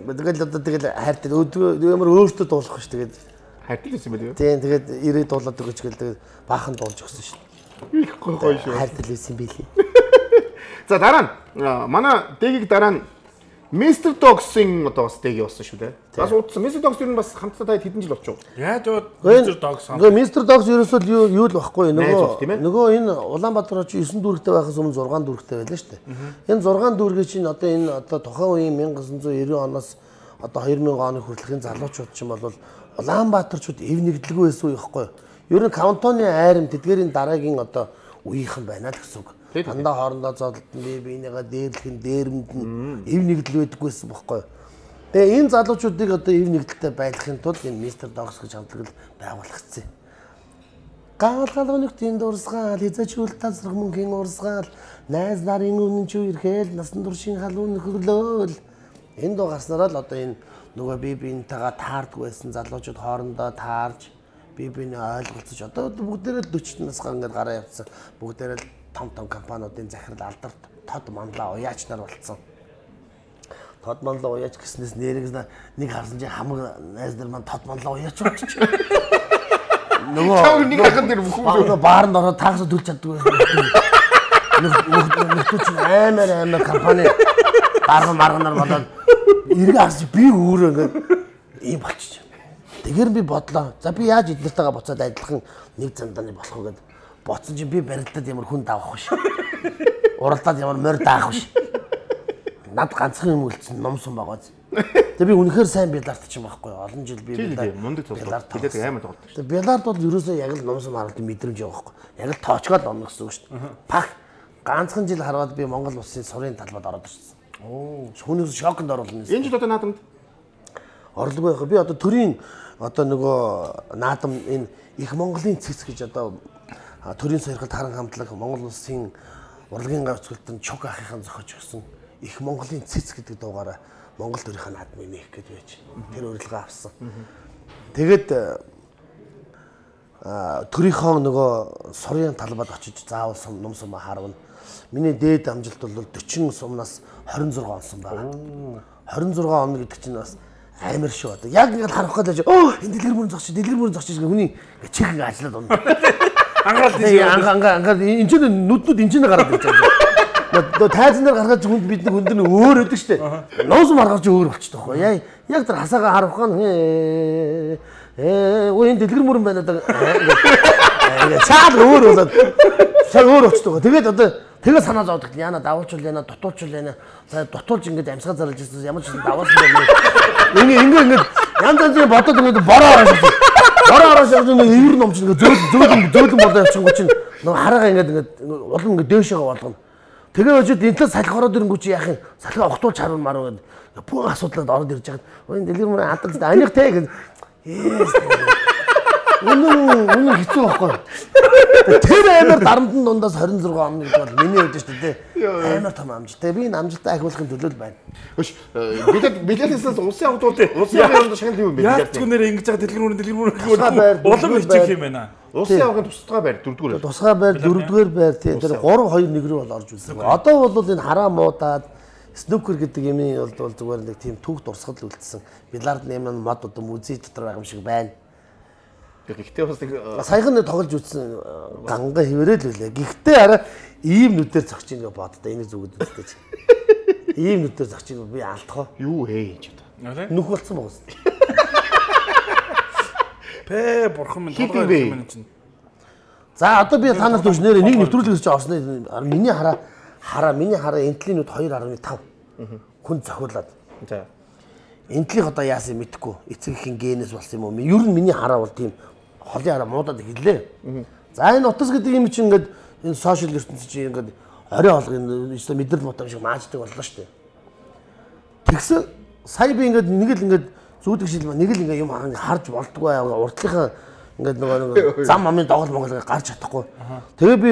Тэгэл одоо тэгэл хайртай ямар өөртөө дуулах шүү тэгээд хайртай л байсан байл юу? Тийм тэгээд ирээд дуулаад өгч гэл тэгээд баахан дуулж өгсөн шүү дээ. Их гоё гоё шүү. Хайртай л байсан билээ. За дараа нь манай дэгийг дараа нь Mister Dogs-ын одоо бас дэг явуулсан шүү дээ. Бас удсан. Mister Dogs юу бас хамтдаа таад хэдэн жил болчихоо. Яаж яваад Mister Dogs хамт. Mister Dogs ерөөсөө юу юу л байхгүй нөгөө нөгөө энэ Улаанбаатар чи девять дүүрэгтэй байхаас өмнө сix дүүрэгтэй байлаа шүү дээ. Энэ six дүүргээ чинь одоо энэ одоо тухайн үеийн nineteen ninety оноос одоо two thousand оны хүртэлх энэ залуучууд чинь бол Улаанбаатарчууд эв нэгдэлгүй байсан уу яахгүй. Ер нь кантоны айрам тэдгэрийн дараагийн одоо үеийнхэн байна л гэсэн үг. Дандаа хоорондоо зодолтон бие биенийгаа дээрлэхэн дээрэмд нь эв нэгдэл байдаггүйсэн бохгүй. Тэгээ энэ залуучуудыг одоо эв нэгдэлтэй байлгахын тулд энэ Mister Dogs гэж хамтлаг байгуулагдсан. Гаалгалгын нүктийн дурсгаал, хязгаарчул тасрах мөнхийн урсгаал, найз нарын үнэн чүү ирэхэл насан туршийн халуун нөхөрлөөл. Энэ дуу гарснараа л одоо энэ нөгөө бие биентэйгээ таардгүй байсан залуучууд хоорондоо таарж бие биенээ ойлголцож одоо бүгдээрээ forty насгаа ингээд гараа явцсан. Бүгдээрээ том том компаниудын захирал алдарт тод манлаа уяач нар болцсон. Тод манлаа уяач гэснээс нэрээс нэг харсан чинь хамаг найз нар маань тод манлаа уяач болчих. Нөгөө нэг хахан дээр бүхэн баарнд ороод таагс төлж чаддгүй. Нөхдөж амар амар компани дарга марганаар болоод эргээ харж би өөрөө ингээд ийм болчих. Тэгэр би бодлоо. За би яаж эднэртэйгээ буцаад адилхан нэг замдааны болох вэ гэдэг. Боцсон чинь би барилдаад ямар хүн давах биш. Уралдаад ямар морь даах биш. Над ганцхан юм үлдсэн ном сум байгаа. Тэгээ би үнэхээр сайн биллард ч юм байхгүй. Олон жил би мундаг тоглолт. Тэгээд амар тоглолт шүү. Тэгээ биллард бол ерөөсөө яг л ном сум харалтын мэдрэмж байгаа байхгүй. Яг л тоочгоод онно гэсэн үг шүү дээ. Пах ганцхан жил хараад би Монгол улсын сурын талбад ороод ирсэн. Оо, хүнээс шоконд оруулна. Энэ жил одоо наадамд орлого байх. Би одоо төрийн одоо нөгөө наадам энэ их Монголын цэц гэж одоо төрийн сойрхолд харан хамтлаг Монгол улсын урлагийн гавцгалтанд чуг ахыхын зохиож өгсөн их Монголын цэц гэдэг дуугаараа Монгол төрийн наадам нэх гэж байж. Тэр урилга авсан. Тэгээд төрийнхөө нөгөө сурын талбад очиж заавал сум ном сум харвна. Миний дээд амжилт бол forty сумнаас twenty-six он сум байна. twenty-six он гэдэг чинь бас амар шүү. Одоо яг ингээд харах гэдэг чинь оо энэ дэлгэр мөрөн зогч, дэлгэр мөрөн зогч гэх хүний чих ингээд ажиллаад байна. Ангаад тийм ангаа ангаа энэ чинь нүднүүд энэ чинь гараад ирж байгаа. Одоо тайзан дээр гаргаж хүнд бид нэг хүнд нь өөр өдөг штэ. Ноос маргаж өөр болчихдог байхгүй. Яг яг тэр хасаага харах ган ээ өө энэ дэлгэр мөрөн байна одоо ингээд цаад өөр болоод цаа өөр болчихдог. Тэгээд одоо тэгээ санаа зовдөг. Яна давуулчул яна дутуулчул яна. За дутуулж ингээд амьсгаа зарлаж ирсэн ямар ч юм давуулсан байна. Ингээ ингээ ингээ янз янзын бодоод ингээд бороо ороод бороо ороод нэг ивэр номч ингээд зөөл зөөлөн зөөлөн болоо явчихгүй чинь нэг хараага ингээд ингээд улам ингээд дээшээ болгоно. Тэгээ очиод энэ талаас салхи ороод ирэнгүү чи яах юм? Салхи огтуулж харвал маруу гэдэг. Бүх асуудлаад ороод ирж байгаа. Энэ дэлгэр мөрөө хадгалж аних те гэдэг. Үнэн үнэн хэцүү байхгүй. Тэр амар дарамтны дундаас twenty-six он гэдэг бол миний хувьд шүү дээ. Амар том амжилттай. Би энэ амжилтаа ахиулахын төлөө л байна. Хөш билет билетээс улсын авдууд улсын авдууд шагнал юу юм бэ? Яг түнээр ингэж байгаа дэлгэр мөрөн дэлгэр мөрөн гэвэл улам хичээх юм байна. Улсын авгын тусгай байр дөрөвдүгээр. Тусгай байр дөрөвдүгээр байр тий. Тэр three two one рүү бол орж үзсэн. Одоо бол энэ хараа муудаад снукер гэдэг юм бол зүгээр нэг тийм түүх дурсгал үлдсэн. Биллард нэмэн мод одоо музей дотор байгаа юм шиг байна. Гэхдээ бас нэг саяхан нэг тоглож үзсэн ганга хിവэрэл үлээ. Гэхдээ арай ийм нүдээр зогч ийн гэж боддоо энийг зүгд үзтэй чи. Ийм нүдээр зогч ийн би алдах. Юу ээ ч одоо. Нүх болцсон байгаа юм. Пэ бурхан минь толгой юм чинь. За одоо би та нарт өгснээр нэг нэвтрүүлэг хийж орсны миний хараа хараа миний хараа энтлийн нүд two point five хүн зохиулаад. За. Энтлих одоо яасан мэдэхгүй. Эцэгхийн генез болсон юм уу? Ер нь миний хараа бол тийм холын хараа муудаад эхэллээ. За энэ утас гэдэг юм чинь ингээд энэ сошиал ертөнцийн чинь ингээд орой олгын өстой мэдрэл мотом шиг мааждаг боллоо шүү дээ. Тэгсэн сая би ингээд нэг л ингээд зүүдэг шил нэг л ингээд юм харж болдгоо урдлынхаа ингээд нөгөө зам амын доголь монгол гарч чадахгүй. Тэгээ би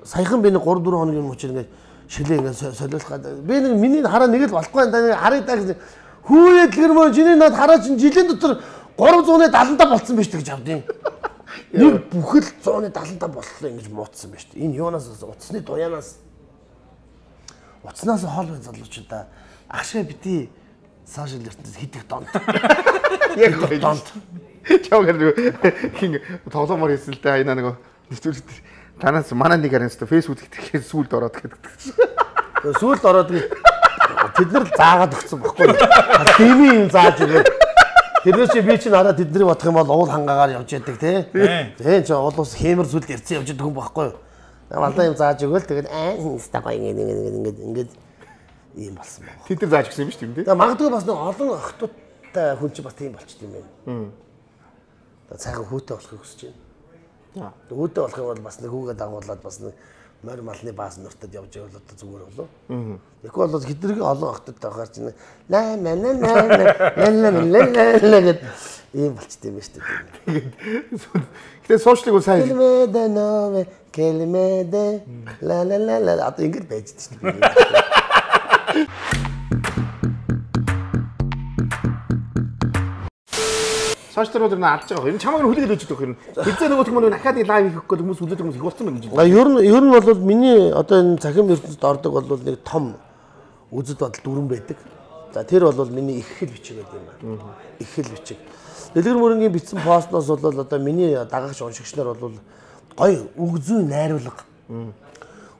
саяхан би нэг three four хоногийн мөчөр ингээд шилээ ингээд солиулах. Би нэг миний хараа нэг л болохгүй энэ харыг даа гэсэн хүүе дэлгэр мөн чиний над хараа чинь жилийн дотор three seventy-five болцсон байж гэж авдیں۔ Нэг бүхэл one seventy-five боллоо ингэж муудсан байж. Энэ юунаас утасны дуянаас утаснаас хоол бай залуучуудаа агшаа бити сошиал ертөнцид хидэх донд. Яг донд. Чавгэр хин тоглоомор хийсэн л дээ айна нэг нэвтрүүлэг танаас манай нэг харин өстө фэйсбүүк гэхээр сүулд ороод гэдэг. Сүулд ороод тэд нар заагаад өгсөн баггүй. Дими юм зааж өгөөд. Тэрнээс чи би чинь хараа тэднийг бодох юм бол уул хангаагаар явж яадаг тий. Тийм ч уул ус хэмэр сүлд ирсэн явж байгаа хүн баггүй. Алдаа юм зааж өгөөл тэгээд аа стагай ингэ ингэ ингэ ингэ ийм болсон баг. Тэд нар зааж өгсөн юм шүү дээ. Тэгээд магадгүй бас нэг олон охтуудтай хүн чи бас тийм болчих юм байна. Тэгээд цайхан хүүтэй болохыг хүсэж байна. Хүүтэй болох юм бол бас нэг хүүгээ дагуулад бас нэг морь малны бааз нуртад явж байвал одоо зүгээр болов. Тэгэхгүй бол хэдрэг олон охтодтой байхаар чинь ла ла ла ла ла ла гэд ийм болчтой юм шүү дээ. Гэтэ сошиалыг сайн Келмедэ новэ келмедэ ла ла ла ла одоо ингэж байж дээ шүү дээ. Сошиал руу нэ алж байгаа. Энэ чамайг хүлээгээд өгч байгаа юм. Хэзээ нөгөө хүмүүс дахиад лайв хийх гээд хүмүүс хүлээдэг хүмүүс их болсон байна гэж байна. Ер нь ер нь бол миний одоо энэ цахим ертөнцид ордог бол нэг том үзэл бодол дүрэн байдаг. За тэр бол миний их хэл бичиг гэдэг юм байна. Их хэл бичиг. Дэлгэр мөрөнгийн бичсэн постноос бол одоо миний дагагч уншигч нар бол гоё үг зүй найруулга.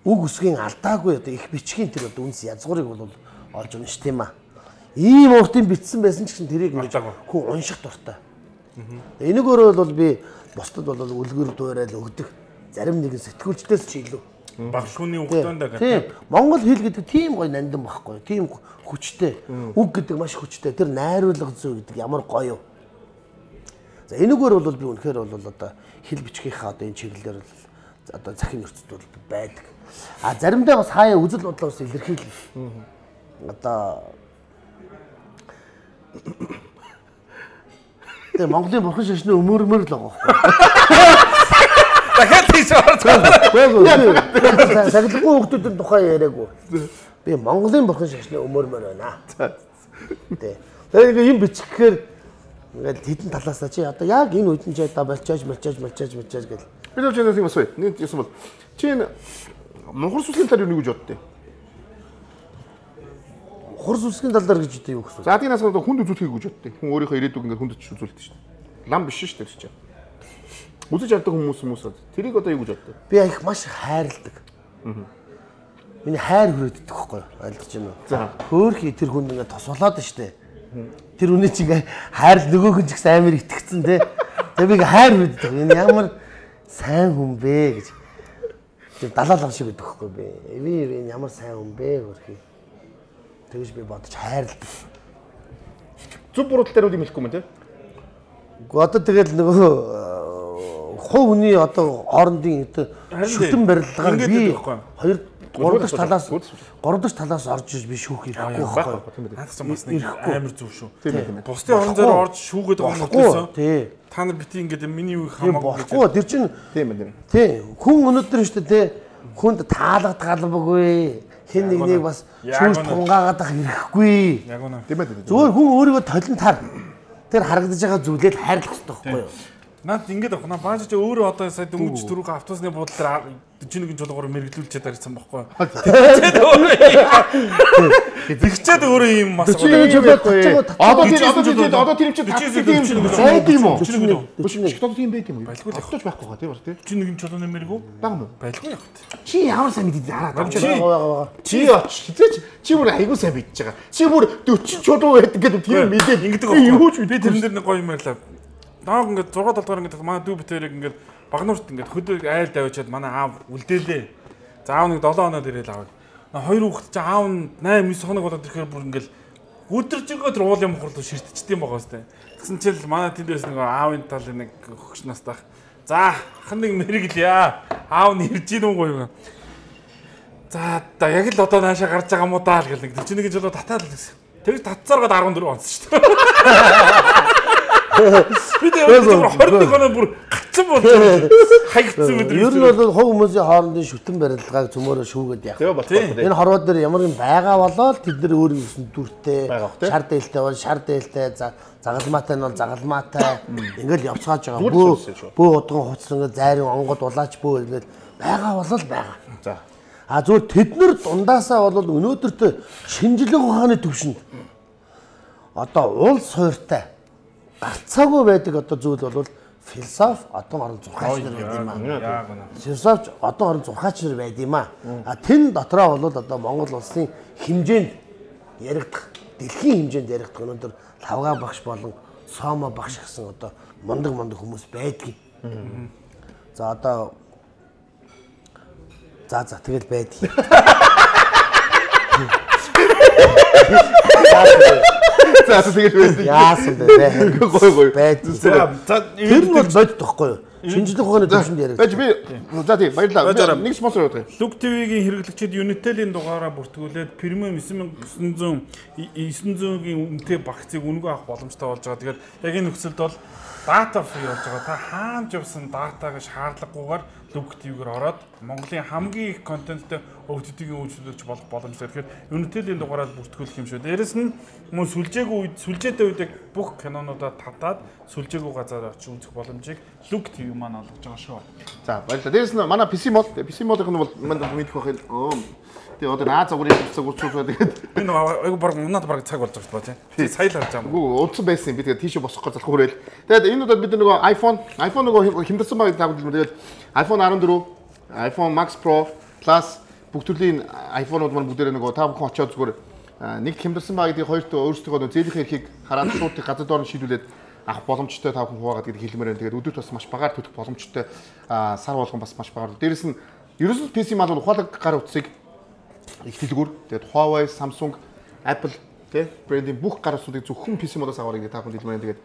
Үг үсгийн алдаагүй одоо их бичгийн тэр одоо үнс язгуурыг бол олж унш тийм аа. Ийм уртын бичсэн байсан ч гэсэн тэрийг хүн унших дуртай. Энийг өөрөө бол би бусдад бол үлгэр дуурайл өгдөг. Зарим нэгэн сэтгүүлчдээс ч илүү. Баг шүүний хугацаанд гэдэг. Монгол хэл гэдэг тийм гоё нандин байхгүй. Тийм хүчтэй. Үг гэдэг маш хүчтэй. Тэр найруулга зүй гэдэг ямар гоё юу. За энэгээр бол би үнэхээр бол одоо хэл бичгийнхаа одоо энэ чиглэлээр бол одоо захин ертөд бол байдаг. А заримдаа бас хаяа үзэл бодлоо бас илэрхийлэх. Одоо Тэгээ Монголын бурхан шашны өмөрмөр л байгаа байхгүй. Дахиад тийш орсон. Сахилгүй хүмүүсийн тухай яриаггүй. Би Монголын бурхан шашны өмөрмөр байна. Тий. Тэгээ юм бичихээр Ингээд хитэн талаасаа чи одоо яг энэ үед нь ч одоо болчоож болчоож болчоож болчоож гэл. Би л чанаас юм асууя. Нэг юм бол чи энэ Монгол сүсгийн талаар юу гэж боддیں۔ Хурс үсгийн талаар гэж үтэй юу гэсэн. За тиймээс одоо хүнд үзүүлэхийг гэж боддیں۔ Хүн өөрийнхөө ирээдүг ингээд хүнд ч үзүүлдэг шүү дээ. Лам биш шүү дээ чи. Үзэж авдаг хүмүүс хүмүүс тэрийг одоо юу гэж боддیں۔ Би их маш хайрладаг. Миний хайр хүрээддэг байхгүй юу? Айлдаж байна уу? За. Хөөхий тэр хүнд ингээд тосолоод штэ. Тэр үнэ чи ингээ хайр нөгөөх нь ч гэсэн амар итгэцэн те. Тэгээ би ингээ хайр хүрээддэг. Энэ ямар сайн хүн бэ гэж. Тэр далаалав шиг гэдэг байхгүй би. Би энэ ямар сайн хүн бэ хөрхий. Тэгэж би бодож хайрладаг. Зүг буруу тал дээр үл юм хэлэхгүй юм те. Гэхдээ одоо тэгэл нөгөө хувь хүний одоо хоорондын шүтэн барилгаар би хоёр гурав дахь талаас гурав дахь талаас орж иж би шүүх ирэхгүй байхгүй. Наадах ч бас нэг амар зүв шүү. Бусдын орон зайд орж шүүгээд байгаа юм уу? Тий. Та нар бити ингээд миний үг хамаагүй. Бохгүй тэр чинь тийм ээ. Тий. Хүн өнөөдөр нь шүү дээ. Хүнд таалгад галбаггүй. Хэн нэгнийг бас шүүж тунгаагаад ах ирэхгүй. Яг үнэ. Тийм ээ. Зүгээр хүн өөрийгөө толин тар. Тэр харагдаж байгаа зүйлээд хайрлах хэрэгтэй байхгүй юу? Наад ингэж авах. Наа бааж чи өөрөө одоо сая дөнгөж дөрөв автобусны буудлын дээр жинхэнэ жолгоор мэрэгдүүлчихэд харсан байхгүй. Тэгчээд өөрөө. Тэгчээд өөрөө юм мас гоё. Одоо тэр одоо тэр одоо тэр чинь тасдаг юм байд юм уу? Биш ч одоо тийм байд юм уу? Байлгүй автобус байхгүй гоо тийм бар тийм. жинхэнэ жолооны мэрэгүү Бага мó. байлгүй яг. Чи ямар сайн мэдээд хараад байгаа. Чи оч хизээч чи бүр айгуу сайн мэдчихэж байгаа. Чи бүр дөрвөн чулуу байдаг гэдэг тийм мэдээд ингэдэг байгаа. Юу ч би тэрэн дээр нэг гоё юм ярьлаа. Нааг ингээд шесть толгоор ингээд манай дүү битэрийг ингээд багнуурт ингээд хөдөө айл давчаад манай аав үлдээлээ. За аав нэг долоо хоноод ирээл аав. Хоёр хүүхэд чи аав нь восемь девять хоног болоод ирэхээр бүр ингээд өдөрж байгаа тэр уул юм хурлуу ширтчихдээ байгаа сте. Тэгсэн чинь манай тэндээс нэг аавын талын нэг хөгш настах. За хан нэг мэрэглэе. Аав нь ирж ийн үгүй юу. За да яг л одоо наашаа гарч байгаа юм уу даа л гэл нэг чи нэг жолоо татаад л гэсэн. Тэгж татцааргаад дөрвөн онц шүү дээ. Би тэгээд двадцать нэг хоног бүр гацсан болчихсон. Хаягдсан мэт. Ер нь бол хов хүмүүсийн хоорондын шүтэн барилгааг цөмөөрөө шүүгээд явах. Энэ хорвоо дээр ямар юм байгаа болоод тэд нар өөр юмсэн дүртэй, шар дээлтэй бол шар дээлтэй, загалмаатай нь бол загалмаатай ингээл явцгааж байгаа. Бөө бөө удган хуцсан ингээд зайрын онгод улаач бөө ингээд байгаа болол байгаа. За. А зүгээр тэд нар дундаасаа бол өнөөдөртөө шинжлэх ухааны төвшөнд одоо уул суурьтай гарцаагүй байдаг одоо зүйл бол философи одон орон зурхаач нар байд юм аа. Философч одон орон зурхаач нар байд юм аа. А тэн дотроо бол одоо Монгол улсын хэмжээнд яригдах, дэлхийн хэмжээнд яригдах өнөөдөр лавга багш болон соомо багш гэсэн одоо мундаг мундаг хүмүүс байдгийг. За одоо за за тэгэл байдгийг. За тэгэл байдаг. Яасан бэ? Гой гой. Байдаг. За тэр нь бол бодит тохгүй юу? Шинжлэх ухааны төвшөнд яриад. Бэж би за тийм баярлалаа. Нэг спонсор явуулъя. Look ти ви-гийн хэрэглэгчид Unitel-ийн дугаараа бүртгүүлээд премиум девять thousand nine hundred-ийн үнэтэй багцыг үнэгүй авах боломжтой болж байгаа. Тэгэхээр яг энэ нөхцөлд бол дата фри болж байгаа. Та хаана ч явсан датаг шаардлагагүйгээр Look ти ви-гээр ороод Монголын хамгийн их контенттэй о ти ти-ийн үйлчлүүлэгч болох боломжтой. Тэгэхээр Unitel-ийн дугаараа бүртгүүлэх юм шүү. Дээрэс нь мөн сүлжээгүй үед сүлжээтэй үед бүх кинонуудаа татаад сүлжээгүй газар очиж үзэх боломжийг Look ти ви маань олгож байгаа шүү. За баярлалаа. Дээрс нь манай пи си мод, пи си модын нь бол манд мэдэх байх юм. Тэгээ одоо наа загварын хэвцэг урчуулгаа тэгээд энэ айгу баг унаад баг цаг болж байгаа тийм. Сая л харж байгаа юм. Үгүй удсан байсан юм. Би тэгээд тийшээ босох гэж залах хүрээл. Тэгээд энэ удаад бид нөгөө iPhone, iPhone нөгөө хэмдэрсэн баг таагүй юм. Тэгээд iPhone fourteen, iPhone Max Pro Plus бүх төрлийн iPhone-ууд маань бүгдээрээ нөгөө та бүхэн очиод зүгээр нэг хэмдэрсэн баг гэдгийг хоёрт өөрсдөө зээлийнхээ эрхийг хараад шууд газар доор нь шийдүүлээд авах боломжтой та бүхэн хуваагаад гэдэг хэлмээр байна. Тэгээд өдөрт бас маш багаар төлөх боломжтой сар болгон бас маш багаар. Дээрээс нь ерөөсөө пи си маань ухаалаг гар утсыг их дэлгүүр тэгээд Huawei, Samsung, Apple тэ брендийн бүх гар утсуудыг зөвхөн пи си модоос аваарай гэдэг та бүхэн хэлмээр байна. Тэгээд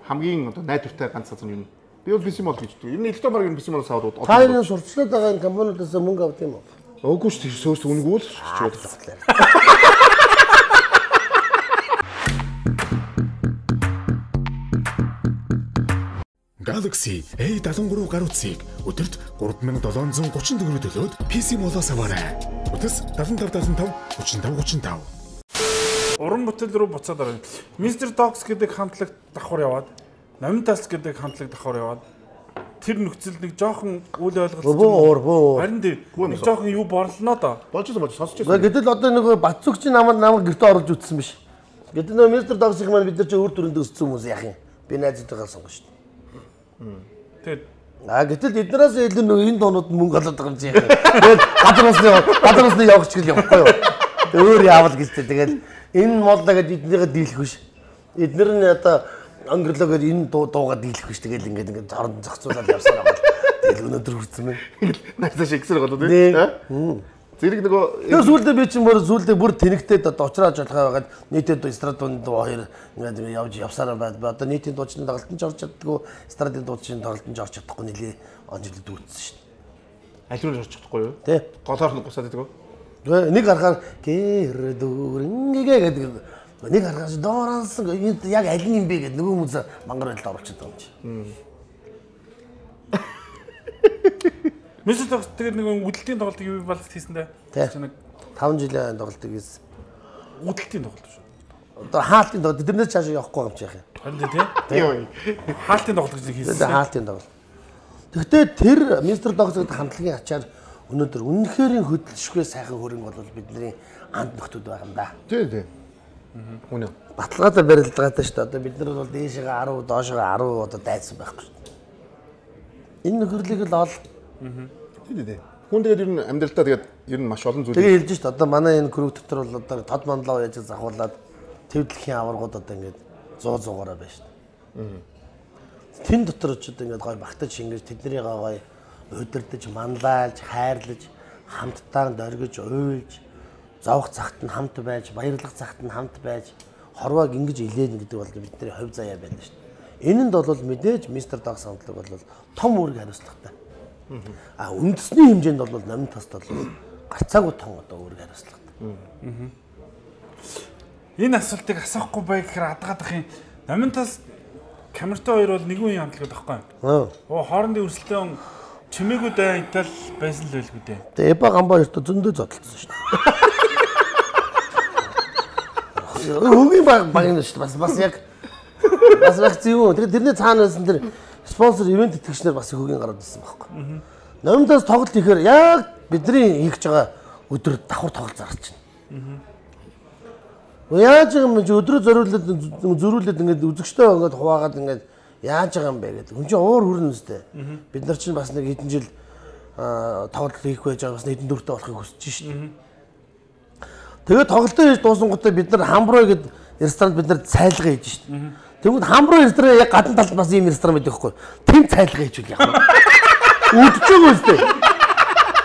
хамгийн одоо найдвартай ганц газар юм. Би бол пи си мод гэж дээ. Ер нь электромаркийн пи си модоос аваад та энэ сурчлаад байгаа энэ компаниудаас мөнгө авд юм уу? Өөгүй шүү дээ. Сөөс үнэгүй л шүүж байна. Galaxy A seventy-three гар утсыг өдөрт three thousand seven hundred thirty төгрөг төлөөд пи си модоос аваарай. Утас seven five five five, three five three five. уран бүтээл рүү буцаад орно. Mister Dogs гэдэг хамтлаг давхар яваад, Номинтас гэдэг хамтлаг давхар яваад тэр нөхцөл нэг жоохон үл ойлголцсон. Харин тийм нэг жоохон юу борлоноо доо. Болж байгаа сонсож байсан. Гэтэл одоо нэг Батцүгчийн намайг намайг гэртээ оруулж үтсэн биш. Гэтэл нөө Mister Dogs-ийн маань бид нар ч өөр төрөнд өссөн хүмүүс яах юм. Би найзтайгаа сонгоно шүү дээ. Тэгээд а гэтэл эднээс илүү нөө энэ дуунууд мөнгө олоод байгаа юм чи яах юм. Тэгээд гадраас гадраас нь явах чиг л явахгүй юу. Өөр яавал гэжтэй. Тэгээд энэ модлаа гэдэг эднийгээ дийлэх биш. Эднэр нь одоо өнгөрлөгөөр энэ дуу дуугаа дийлэх биш. Тэгээд ингээд ингээд зорон зохицуулаад явсаар байгаа. Тэгээд өнөөдөр хүрсэн мэн. Найзаа шигсэр болоо тий. Зэрэг нөгөө тэр сүүлдээ би чинь бүр сүүлдээ бүр тэнэгтээд одоо уучраад жолхоо байгаад нийтэд эстрадын дуу хоёр ингээд явж явсараа байд. Одоо нийтийн дуучны тоглолтод орж чаддгүй, эстрадын дуучны тоглолтод орж чадахгүй нэлээ онжлог дүүцсэн шүү дээ. аль руу орж чадахгүй юу? Тий. Голоор нь гусаад идэг үү? Нэг харахаар гэр дүүрэнгээ гэдэг нэг харахаар доорансан яг аль нь юм бэ гэдэг нөгөө хүмүүс мангар байлд оруулчихад байгаа юм чи. Mister Dogs тэгээд нэг үдэлтийн тоглолтыг юу балт хийсэн дээ. Нэг таван жилийн тоглолтыг хийсэн. Үдэлтийн тоглолт шүү. Одоо хаалтын тоглолт тэрнээс цаашаа явахгүй юм чи яах юм. Харин тий. Хаалтын тоглолт гэж хийсэн. Тэгээд хаалтын тоглолт. Гэхдээ тэр Mister Dogs гэдэг хамтлагийн ачаар өнөөдөр үнэхээр хөдөлшгүй сайхан хөрөнгө бол бидний анд нөхдөд байгаа юм да. Тий, тий. Үнэ. Баталгаатай барилдагаатай шүү дээ. Одоо бид нар бол дээшээ десять, доошоо десять одоо дайсан байхгүй шүү дээ. Энэ нөхөрлийг л ол. Тий, тий. Хүн тэгээд ер нь амьдралдаа тэгээд ер нь маш олон зүйл. Тэгээ хэлж шүү дээ. Одоо манай энэ крүү дотор бол одоо тод манлаа яаж захуулаад твдлэхийн аваргууд одоо ингээд сто сто-аараа байна шүү дээ. Тэн дотор ч одоо ингээд гой багтаж ингэж тэднийг гой удирдах, манлайлж, хайрлаж, хамтдаа дөргиж, уйлж, зовх цагт нь хамт байж, баярлах цагт нь хамт байж, хорвоог ингэж илээн гэдэг бол бидний хувь заяа байна шүү дээ. Энэнд бол мэдээж Mister Dogs хамтлаг бол том үүрэг хариуцлагатай. А үндэсний хэмжээнд бол Номинтаст бол гарцаагүй том одоо үүрэг хариуцлагатай. Энэ асуултыг асуухгүй бай гэхээр адгаадах юм. Номинтас камертай хоёр бол нэг үеийн хамтлагд байхгүй юу? Оо хоорондын өрсөлдөөн чимээгүй дай Итали байсан л байлгүй дээ. Тэгээ Эба Гамбаа хоёртой зөндөө зодтолсон шүү дээ. Хөгийн баг баг юм шүү дээ. Бас бас яг бас яг зүү. Тэгээ тэрний цаанаасан тэр спонсор ивент итгэгчнэр бас хөгийн гараад ирсэн байхгүй. Номинтас тоглолт ихээр яг бидний хийж байгаа өдөр давхар тоглолт зарч байна. Яаж юм чи өдрөө зориулаад зөрүүлээд ингээд үзэгчтэй ингээд хуваагаад ингээд яаж байгаа юм бэ гэдэг. Хүн чинь уур хүрнэ үстэй. Бид нар чинь бас нэг хэдэн жил тоглолт хийх байж байгаа бас хэдэн дөрөвтэй болохыг хүсэж шин. Тэгээд тоглолтоо хийж дуусангуудаа бид нар хамброо гэдэг ресторанд бид нар цайлгаа хийж шин. Тэгвэл хамброо ресторан яг гадна талд бас ийм ресторан байдаг хгүй. Тэм цайлгаа хийжүүл яг. Үдчихэж байгаа үстэй.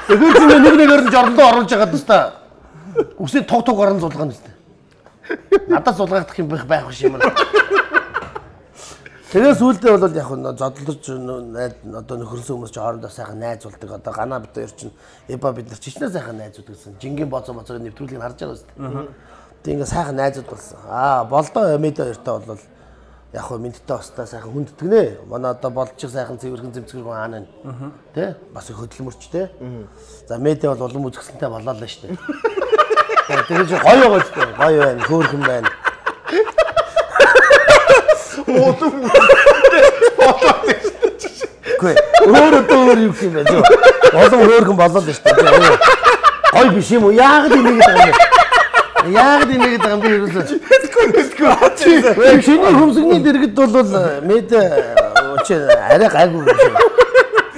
Тэгэхээр чи нэг нэгээр нь жорндоо оруулж байгаа тастаа үсээ туг туг орон зулгаана үстэй. Надад сулгахдах юм байх байх юм байна. Тэгээ сүүлдээ бол яг нь зодлож одоо нөхөрсөн хүмүүс ч хоорондоо сайхан найзуулдаг. Одоо ганаа бид хоёр чинь Эба бид нар чичнээ сайхан найзууд гэсэн. Жингийн боцоо боцоо нэвтрүүлгийг харж байгаа үстэй. Тэг ингээ сайхан найзууд болсон. Аа болдоо Эмэдэ хоёртой бол яг хөө мэдтэй остаа сайхан хүнддэг нэ. Манай одоо болчих сайхан цэвэрхэн зэмцгэр хаана нэ. Тэ? Бас хөдөлмөрч тэ. За Мэдэ бол улам үзэсгэлэнтэй болоо л штэ. Тэгээд гоё гоё штэ. Гоё байна, хөөрхөн байна. Мотон. Гүй. Өөр өөр юм юм байна. Улам хөөрхөн болоо л штэ. Гоё биш юм уу? Яагаад ингэ гэдэг юм бэ? Яг энэ нэг юм би ерөөсөө Тэггүй. Чиний хүмсгний дэргэд бол Мэдэ чи арай гайгүй юм шиг.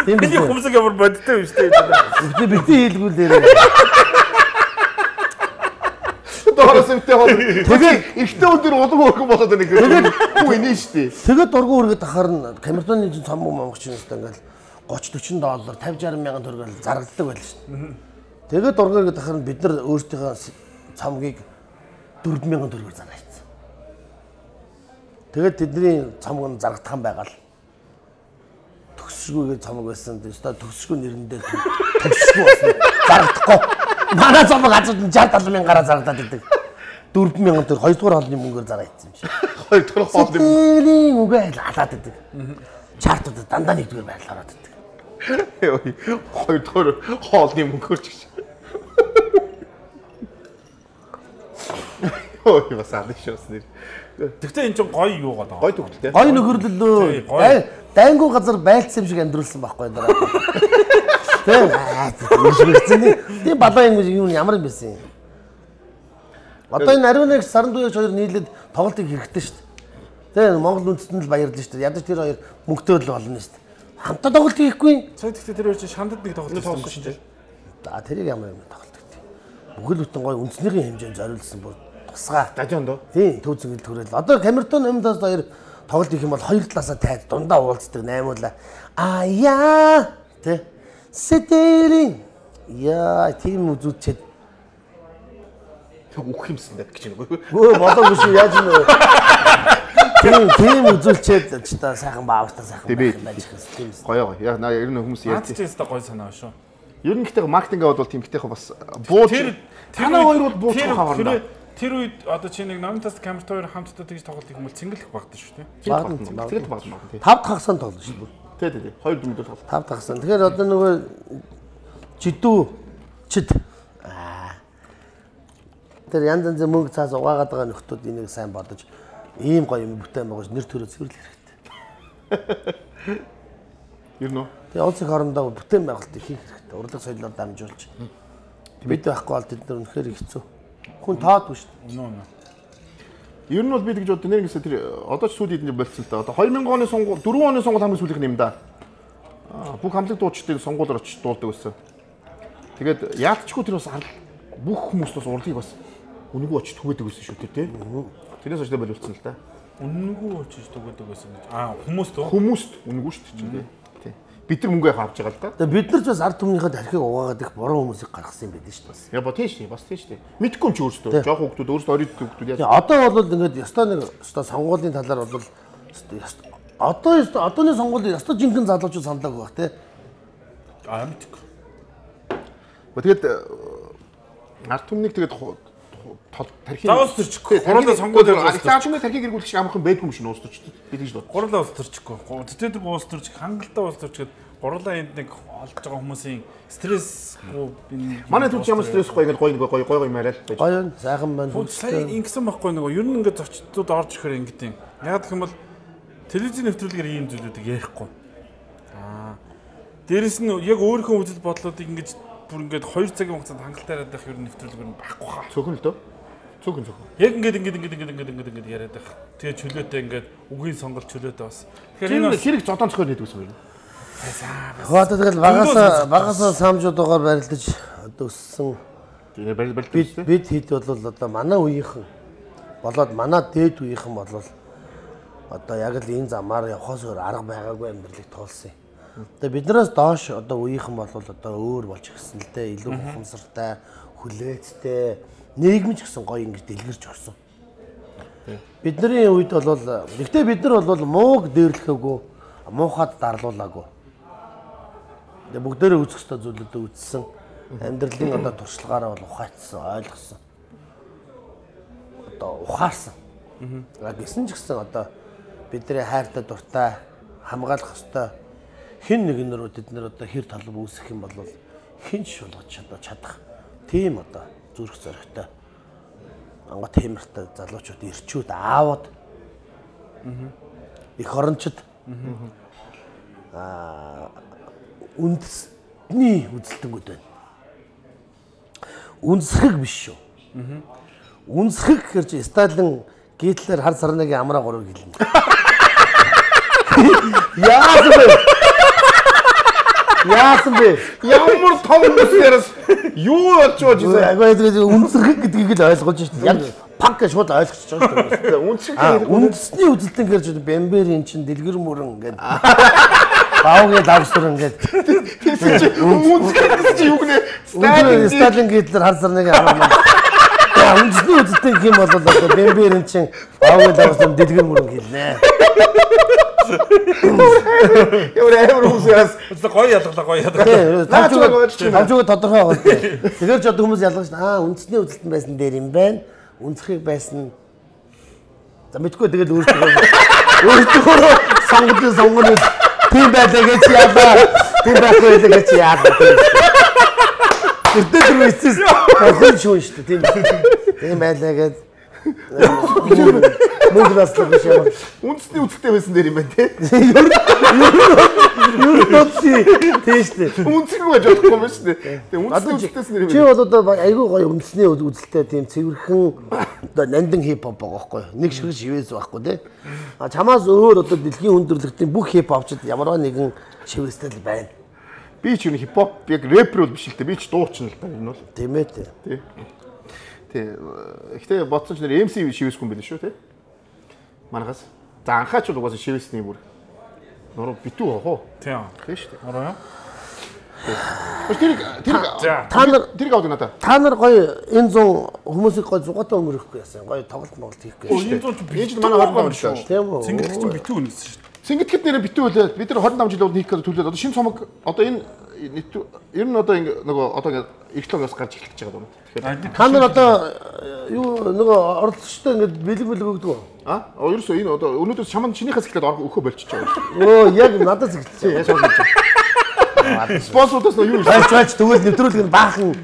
Тийм би хүмсэг ямар бодтой юм шүү дээ. Би бити хийлгүүл дээр. Доороос өвтэй хол. Тэгээд ихтэй өндөр улам хөргөн болоод байна гэхээр хүү инээ шүү дээ. Тэгээд дургуун үргээд ахаар нь Камертоны цам монгочч юмстай ингээл тридцать forty доллар пятьдесят sixty мянган төгрөг зарагддаг байлаа шүү дээ. Тэгээд дургуун үргээд ахаар нь бид нар өөрсдийнхөө цамгийг дөрвөн мянган төгрөгөөр заргаацсан. Тэгээд тэдний цамг нь зарагдах юм байгаа л. Төгсшгүйгээ цамг байсан. Тэстэ төгсшгүй нэрэндээ төгсшгүй болсон. Зарагдахгүй. Манай цамг газар нь sixty seventy мянгаараа зарагдаад идэг. дөрвөн мянган төгрөг хоёрдугаар хоолны мөнгөөр заргаацсан юм шиг. Хоёрдугаар хоолны мөнгөний үгээ халаад идэг. Чартууд дандаа нэгдүгээр байрлал ороод идэг. Хоёрдугаар хоолны мөнгөөр ч гэж. Ой бас аадах шүү нэр. Тэгтээ энэ ч гоё юу гэдэг. Гоё төгөлтэй. Гоё нөхөрлөлөө. Дайнгуу газар байлцсан юм шиг амьдруулсан байхгүй дараа. Тийм. Тийм балаа юм юу ямар юм бэ? Одоо энэ ариун нэг саран дууяг хоёр нийлээд тоглолтыг хэрэгтэй шүү дээ. Тийм Монгол үндэстэнд л баярлалаа шүү дээ. Ядаж тэр хоёр мөнгөтэй л болно шүү дээ. Хамтаа тоглолт хийхгүй. Цаа тэгтээ тэр хоёр чинь шандад нэг тоглолт хийсэн шүү дээ. За тэрийг ямар юм тоглолт гэдэг. Бүхэл бүтэн гоё үндснийхээ хэмжээнд зориулсан бүр тусгаа. Дажонд уу? Тийм төв зөнгөл төрөл. Одоо Камертон Эмдас хоёр тоглолт хийх юм бол хоёр талаасаа тайд дундаа уулздаг наймуула. Аа яа тэ сэтэрийн яа тийм үзүүчээд үхэх юмсан даа гэж нэг. Өө болоогүй шүү яаж юм бэ? Тийм тийм үзүүлчихэд ч та сайхан баавтаа сайхан байж хэвчээ. Гоё гоё. Яг ер нь хүмүүс ярьж байна. Наад гоё санаа шүү. Ер нь гэхдээ маркетингээ бол тимхтэйх бас бууж танаа хоёр бол бууж хаварна. Тэр үед одоо чи нэг Номинтас Камерт хоёр хамтдаа тэгж тоглолт их юм бол цэнгэлэх багтаа шүү дээ. Тэгээд багтана. Тав хагасан тоглоно шүү дээ. Тий, тий, тий. Хоёр дөрөв дөрөв тоглолт. Тав хагасан. Тэгэхээр одоо нөгөө жидүү чид аа тэр янз янзын мөнгө цаас угаагаад байгаа нөхдүүд энийг сайн бодож ийм гоё юм бүтээн байгаж нэр төрөө цэвэрлэх хэрэгтэй. Ер нь. Тэгээ улсын хоорондоо бүтээн байгуулалт хийх хэрэгтэй. Урлаг соёлоор дамжуулж. Бид байхгүй бол тэд нар үнэхээр хэцүү. Хүн таадгүй шүү дээ. Нөө нөө. Ер нь бол би тэгж боддог. Нэр гэсэн тэр одоо ч сүүл эдний болцсон та. Одоо две thousand оны сонгуул дөрвөн оны сонгуул хамгийн сүүлийнх юм да. Аа бүх хамтлаг дуучдын сонгуулиор очиж дуулдаг байсан. Тэгээд яалтчгүй тэр бас бүх хүмүүс бас урлагийг бас үнэгүй очиж түгээдэг байсан шүү дээ тий. Тэрээс очиж боловцсон л да. Үнэгүй очиж түгээдэг байсан гэж. Аа хүмүүст үү? Хүмүүст үнэгүй шүү дээ тий. Бид нар мөнгөө авч байгаа л да. Тэгээ бид нар ч бас ард түмнийхээ тархийг угаагаад их буруу хүмүүсийг гаргасан юм байдаг шүү дээ. Я ба тийш тий бас тийш тий. Мэдгүй юм чи өөрсдөө. Жохо хүмүүс өөрсдөө оройд хүмүүс яаж. Тэгээ одоо бол ингээд ёстой нэг ёстой сонгуулийн талаар бол одоо одооны сонгуулийн ёстой жинхэнэ залуучууд саналаг байх тий. Аа мэдгүй. Тэгээд ард түмнийг тэгээд тархийг заавал төрчихгүй. Гурлаа сонгуулиор аль тархийг эргүүлэх шиг амархан байдгүй юм шиг уус төрчихдөг. Би тэгж бод. Гурлаа уус төрчихгүй. Тэтэдэг уус төрчих, хангалттай уус төрчихэд гурлаа энд нэг олж байгаа хүмүүсийн стрессгүй би манай түвч ямар стрессгүй ингээд гоё гоё гоё гоё юм арай л байж. Гоё сайхан байна. Сая ингэсэн байхгүй нөгөө ер нь ингээд зочдод орж ирэхээр ингэдэм. Яг гэх юм бол телевизийн нэвтрүүлгээр ийм зүйлүүдийг ярихгүй. Аа. Дээрэс нь яг өөрийнхөө үзэл бодлоодыг ингээд бүр ингээд хоёр цагийн хугацаанд хангалттай яриад байх ер нь нэвтрүүлгээр нь байхгүй хаа. Цөөхөн л дөө. Цөөхөн цөөхөн. Яг ингээд ингээд ингээд ингээд ингээд ингээд ингээд яриад байх. Тэгээ чөлөөтэй ингээд үгийн сонголт чөлөөтэй бас. Тэгэхээр энэ хэрэг зодон цохоор нэдэг гэсэн юм. Хөөе тэгэл багасаа багасаа самжуудаагаар барилдаж одоо өссөн. Тэгээ барилдаж бид бид хэд бол одоо манай үеийнхэн болоод манай дээд үеийнхэн бол одоо яг л энэ замаар явхаас өөр арга байгаагүй амьдралыг туулсан. Тэгээ биднээс доош одоо үеийнхэн бол одоо өөр болж ирсэн л дээ. Илүү ухамсартай, хүлээцтэй, нийгэмч гэсэн гоё ингэж дэлгэрч өгсөн. Бидний үед бол гэхдээ бид нар бол мууг дээрлэхээгүй, муухад дарлуулаагүй. Тэгээ бүгдээрээ үүсэх ёстой зүйлүүдээ үзсэн. Амьдралын одоо туршлагаараа бол ухаацсан, ойлгосон. Одоо ухаарсан. Яг гэсэн ч гэсэн одоо бидний хайртай дуртай хамгаалах ёстой хэн нэгэн рүү тэд нар одоо хэр талб үүсэх юм бол хэн ч болгож чадах чадах тийм одоо зүрх зоригтой ангат темиртэй залуучууд ирчүүд аавууд их орончид аа үндэсний үзэлтэнгүүд байна. Үнсгэг биш шүү. Үнсгэг гэхэр чи Сталин Гитлер хар сарнагийн амраа гурав гэлнэ. Яасан бэ? Яасан бэ? Ямар том хүмүүсээс юу болж байгаа юм бэ? Агаа тэгээд үнсгэг гэдгийг л ойлгож шүү дээ. Яг панк гэж шууд ойлгочихж байгаа шүү дээ. Үнсгэг үндэсний үзэлтэн гэж бэмбэрийн чин дэлгэр мөрөн ингээд баавгийн давсар ингээд үнсгэг чи юу гэнэ? Сталин Сталин Гитлер хар сарнагийн амраа. Үндэсний үзэлтэн гэх юм бол одоо бэмбэрийн чин баавгийн давсар дэлгэр мөрөн хэлнэ. Ямар амар хүмүүсээс гоё ялгалаа гоё ялгалаа. Тавчгүй тодорхой байгаа. Тэгэхээр ч одоо хүмүүс ялгаж аа үндэсний үзэлтэн байсан дээр юм байна. Үнсхийг байсан. За мэдгүй тэгэл өөртөө өөртөө сонгодог сонгоно тийм байлаа гэж яалаа. Тийм байхгүй байлаа гэж яалаа. Тэрдээ тэр үсээс хөл шүүн шүү дээ тийм. Тийм байлаа гэж Мөнгөлөөслөг биш ямар. Үндэсний үзэлтэй байсан дээр юм байна те. Юу нь тийштэй. Үнцэг байж болохгүй юм шүү дээ. Тэгээ үндэсний үзэлтэйс нэр юм. Чи бол одоо айгүй гоё үндэсний үзэлтэй тийм цэвэрхэн одоо нандин хипхоп байгаа байхгүй юу? Нэг шиг шивээс байхгүй те. А чамаас өөр одоо дэлхийн хүндрэлтийн бүх хипхопчд ямарваа нэгэн шивээстэй л байна. Би ч юу хипхоп яг рэпер бол биш л дээ. Би ч дуучна л та энэ бол. Тийм ээ те. Тий. Тий. Ихтэй бодсон ч нэр эм си шивээсгүй юм байл шүү те. Манагаас. За анхаач бол угаасаа шивээсний бүр. Нуруу битүү хоо. Тийм. Тийм шүү дээ. Нуруу юу? Тэр тэр Та нар тэр гавд надаа. та нар гоё энэ зүүн хүмүүсийг гоё зугаатай өнгөрөхгүй яасан. Гоё тоглолт моголт хийхгүй Оо шүү энэ дээ. зүүн Энд чинь манай хорин давж шүү. Тийм үү? Цэнгэл чинь битүү үнэсэн шүү. Сингэтгэд нэрээ битүү үлээ. Бид нар хорин давж жилүүд хийх гэдэг төлөөд одоо шинэ цомог одоо энэ ер нь одоо ингэ нөгөө одоо ингэ эрт логоос гарч эхэлж байгаа юм. Тэгэхээр Та нар одоо юу нөгөө оролцогчтой ингээд бэлэг бэлэг өгдөг үү? а ерөөсөө энэ одоо өнөөдөр чамд чинийхээс эхлээд өхөө болчихж байгаа. Өө яг надад зэгцээ. Яа сонсож байна. Спонсорудаас юу вэ? Хайч хайч тэгвэл нэвтрүүлэг нь баахан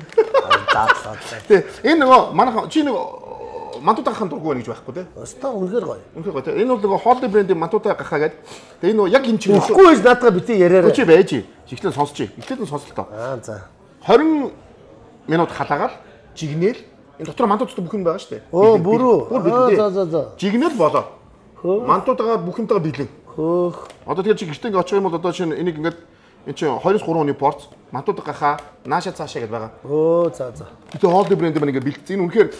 даадлаа. Тэ энэ нөгөө манайхан чи нөгөө мантуудахын дургу байна гэж байхгүй те. Өстө үнэхээр гоё. Үнэхээр гоё те. Энэ бол нөгөө Холли брендийн мантуудаа гахаа гэдэг. Тэгээ энэ нөгөө яг энэ чинь Үхгүй гэж наадгаа битээ яриараа. чи байж. Эхлээд сонсч. Эхлээд нь сонслоо. Аа за. хорин минут халаагаад жигнээл энэ дотор мантуудтай бүх юм байгаа шүү дээ. Оо бүрөө. Бүр Аа бэлдээ. за за за. Жигнээл болоо. Мантуудаа бүх юмтайгаа бэлэн. Хөөх. Одоо тэгээ чи гэртээ ингээ очих юм бол одоо чинь энийг ингээд энэ чинь хоёроос гурван оны порц мантуудаа гахаа нааша цаашаа гэдээ байгаа. Оо за за. Тэгээ Холли брэнд маань ингээ бэлдсэн. Энэ үнэхээр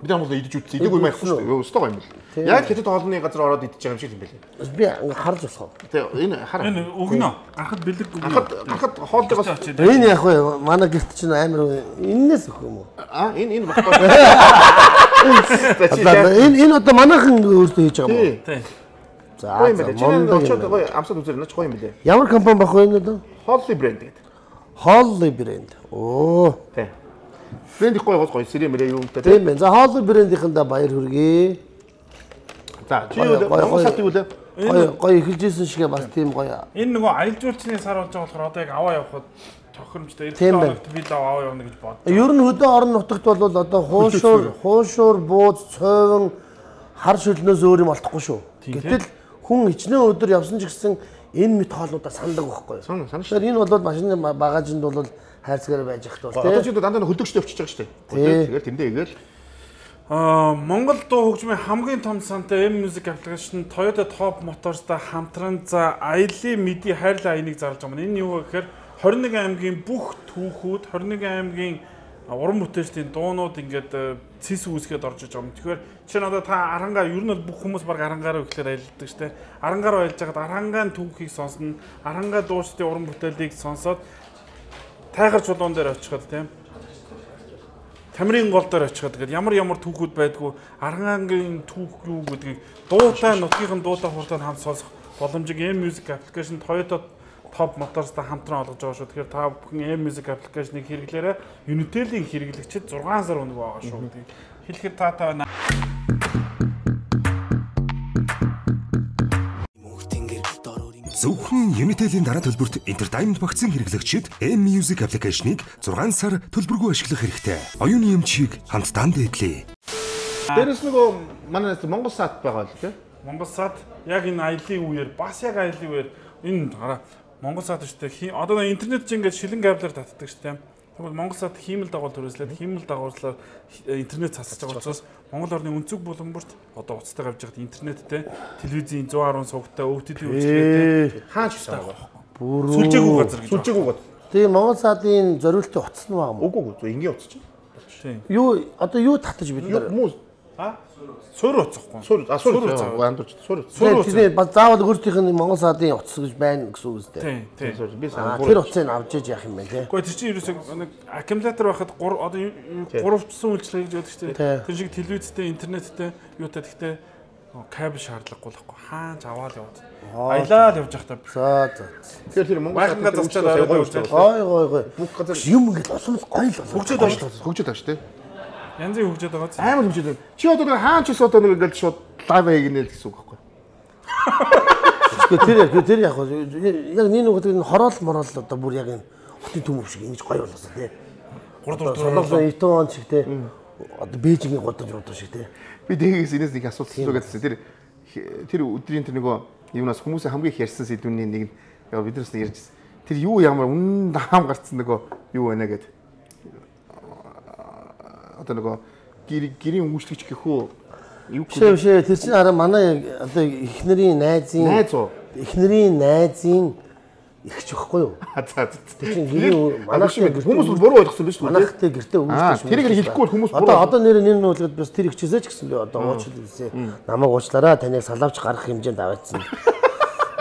бид нар бол идэж үтсэн. Идэг юм яахгүй шүү дээ. Өстой гоё юм бэл. Яг хэдэд хоолны газар ороод идэж байгаа юм шиг юм бэлээ. Би ингээ харж босгоо. Тэгээ энэ хараа. Энэ өгнө. Гарахад бэлэг өгнө. Гарахад гарахад хоолдоогоос Энэ яг вэ манай гэрт чинь амар энэс өгөх юм уу? а энэ энэ багтаа. Энэ энэ одоо манайхан өөртөө хийж байгаа юм уу? Тий. За Гоё юм за бэлээ. Чи энэ очоод мондог. гоё амсад үзэр наач гоё юм бэлээ. Ямар компани баг вэ энэ одоо? Холли брэнд гэдэг. Холли брэнд. Оо. Тий. Брэнд их гоё гол гоё сэрэ мэрэ юм та тий. Тийм байна. За Холли брэндийнхэндээ баяр хүргэе. За чи юу Монгол сатыг үлээ. Гоё гоё эхэлжсэн шигээ бас тийм гоё. Энэ нөгөө аялал жуулчны сар болж байгаа болохоор одоо яг аваа явахад тохиромжтой Тийм эрдэнэ байна. хоногт би л аваа явна гэж бод. Ер нь хөдөө орон нутагт бол одоо хуушуур, хуушуур, бууз, цойвон хар шөлнөөс өөр юм олдохгүй шүү. Гэтэл хүн хичнээн өдөр явсан ч гэсэн энэ мэт хоолнуудаа сандаг байхгүй юу? Сан санаж. Тэгэхээр энэ бол машины багажинд бол хайрцагаараа байж ах тул Одоо чи тий. дандаа хөдөгчтэй явчихж байгаа шүү дээ. Тий. Тэгээд тэндээ игээл Аа Монгол дуу хөгжмийн хамгийн том сантай M Music application Toyota Top Motors-тай хамтран за аялын мэди хайрлаа аяныг зарлж байгаа юм. Энэ юу вэ гэхээр двадцать и один аймгийн бүх түүхүүд двадцать и один аймгийн уран бүтээлчдийн дуунууд ингээд цэс үүсгээд орж иж байгаа юм. Тэгэхээр чи надад та арангаа ер нь бол бүх хүмүүс баг арангаараа ихлээр аялдаг штэ. Арангаараа аялж байгаад арангаан түүхийг сонсно. Арангаа дуучдын уран бүтээлийг сонсоод тайгар чулуун дээр очиход тийм Тамирын гол дээр очиход тэгээд ямар ямар түүхүүд байдгүй Арангаангийн түүх юу гэдгийг дуутай нутгийн дуутай хурдан хамт сонсох боломжийг M Music application Toyota Top Motors-тай хамтран олгож байгаа шүү. Тэгэхээр та бүхэн M Music application-ыг хэрэглээрэй. Unitel-ийн хэрэглэгчид сix сар өнгө байгаа шүү гэдгийг хэлэхэд та та Зөвхөн Unitel-ийн дараа төлбөрт Entertainment багцын хэрэглэгчид M Music application-ыг six сар төлбөргүй ашиглах хэрэгтэй. Оюуны эмчийг хамтдаа дээдлээ. дээрэс нөгөө манай Монгол сат байгаа л тий. Монгол сад яг энэ аялын үеэр бас яг аялын үеэр энэ хараа Монгол сад шүү дээ. Одоо интернет чинь ингээд шилэн кабелаар татдаг шүү дээ. Тэгвэл Монгол сад хиймэл дагуул төрөслээд хиймэл дагууллаар интернет цацж байгаа учраас Монгол орны өнцөг буланбарт одоо уцтай гавж байгаад интернеттэй телевизийн one ten сувгтай О Т Т үйлчилгээтэй Хаач байгаа. Бүрөө. сүлжээгүй газар гэж. Сүлжээгүй гот. Тийм Монгол садын зориултын утас нь байгаа юм. Үгүй үгүй ингээ утасч. Тийм. Юу одоо юу татаж бид нар Хүмүүс А? Сур уцахгүй. сур а сур Сур вандурч сур. Сур тийм бас заавал өөртөөх нь Монгол садын утас гэж байна гэсэн үг үстэй. Тийм, тийм. Сур би Аа сайн. тэр утсыг авч иж яах юм бэ те. Гэхдээ тэр чинь ерөөсөө нэг аккумулятор байхад гур одоо гуравчсан үйлчлэг гэж яддаг чинь. Тэр шиг телевизтэй, интернеттэй юутай гэхдээ кабель шаардлагагүй л байхгүй. Хаач аваад яваад. Аялаад явж явах та. За за. Тэгэхээр тэр Монгол Байхангаа засчаад гоё аваад үздэг. Гой гой гой. Бүх газар Юм ингээд усмал гоё л болоо. Хөгжөөд байгаа. хөгжөөд байгаа шүү дээ. Янзын хөгжөөд байгаа. Амар хөгжөөд байна. Чи одоо нэг хаач ус одоо нэг ингээд шууд лайв хийгнэ гэсэн үг байхгүй. Тэр яг тэр яг яг нэг нэг энэ хороол мороол одоо бүр яг энэ хотын төмөв шиг ингэж гоё болоосоо тий. гур дур Солонгосын итон он шиг тий. одоо Бээжингийн годож удаа шиг тий. Би дээгээс энэс нэг асуулт асуу гэсэн. Тэр тэр өдрийн тэр нөгөө юунаас хүмүүсийн хамгийн их ярьсан сэдвүүний нэг нь биднээс нэг ярьжсэн. Тэр юу ямар үнэн даам гарцсан нөгөө юу байна гэд. Одоо нөгөө гэрийн өмгөжлөгч гэхүү юу гэх вэ? Тэр чинь хараа манай одоо эхнэрийн найзын найз уу? Эхнэрийн найзын ихч байхгүй юу? За за. Тэр чинь гэрийн манайх хүмүүс буруу ойлгосон биз дээ. Манайхтай гэртээ өмгөжлөгч. Тэрийг хэлэхгүй хүмүүс буруу. Одоо одоо нэр нэр нь үлгээд бас тэр ихчээсээ ч гэсэн би одоо уучлал хэлсэн. Намайг уучлаарай. Таныг салавч гарах хэмжээнд аваадсан.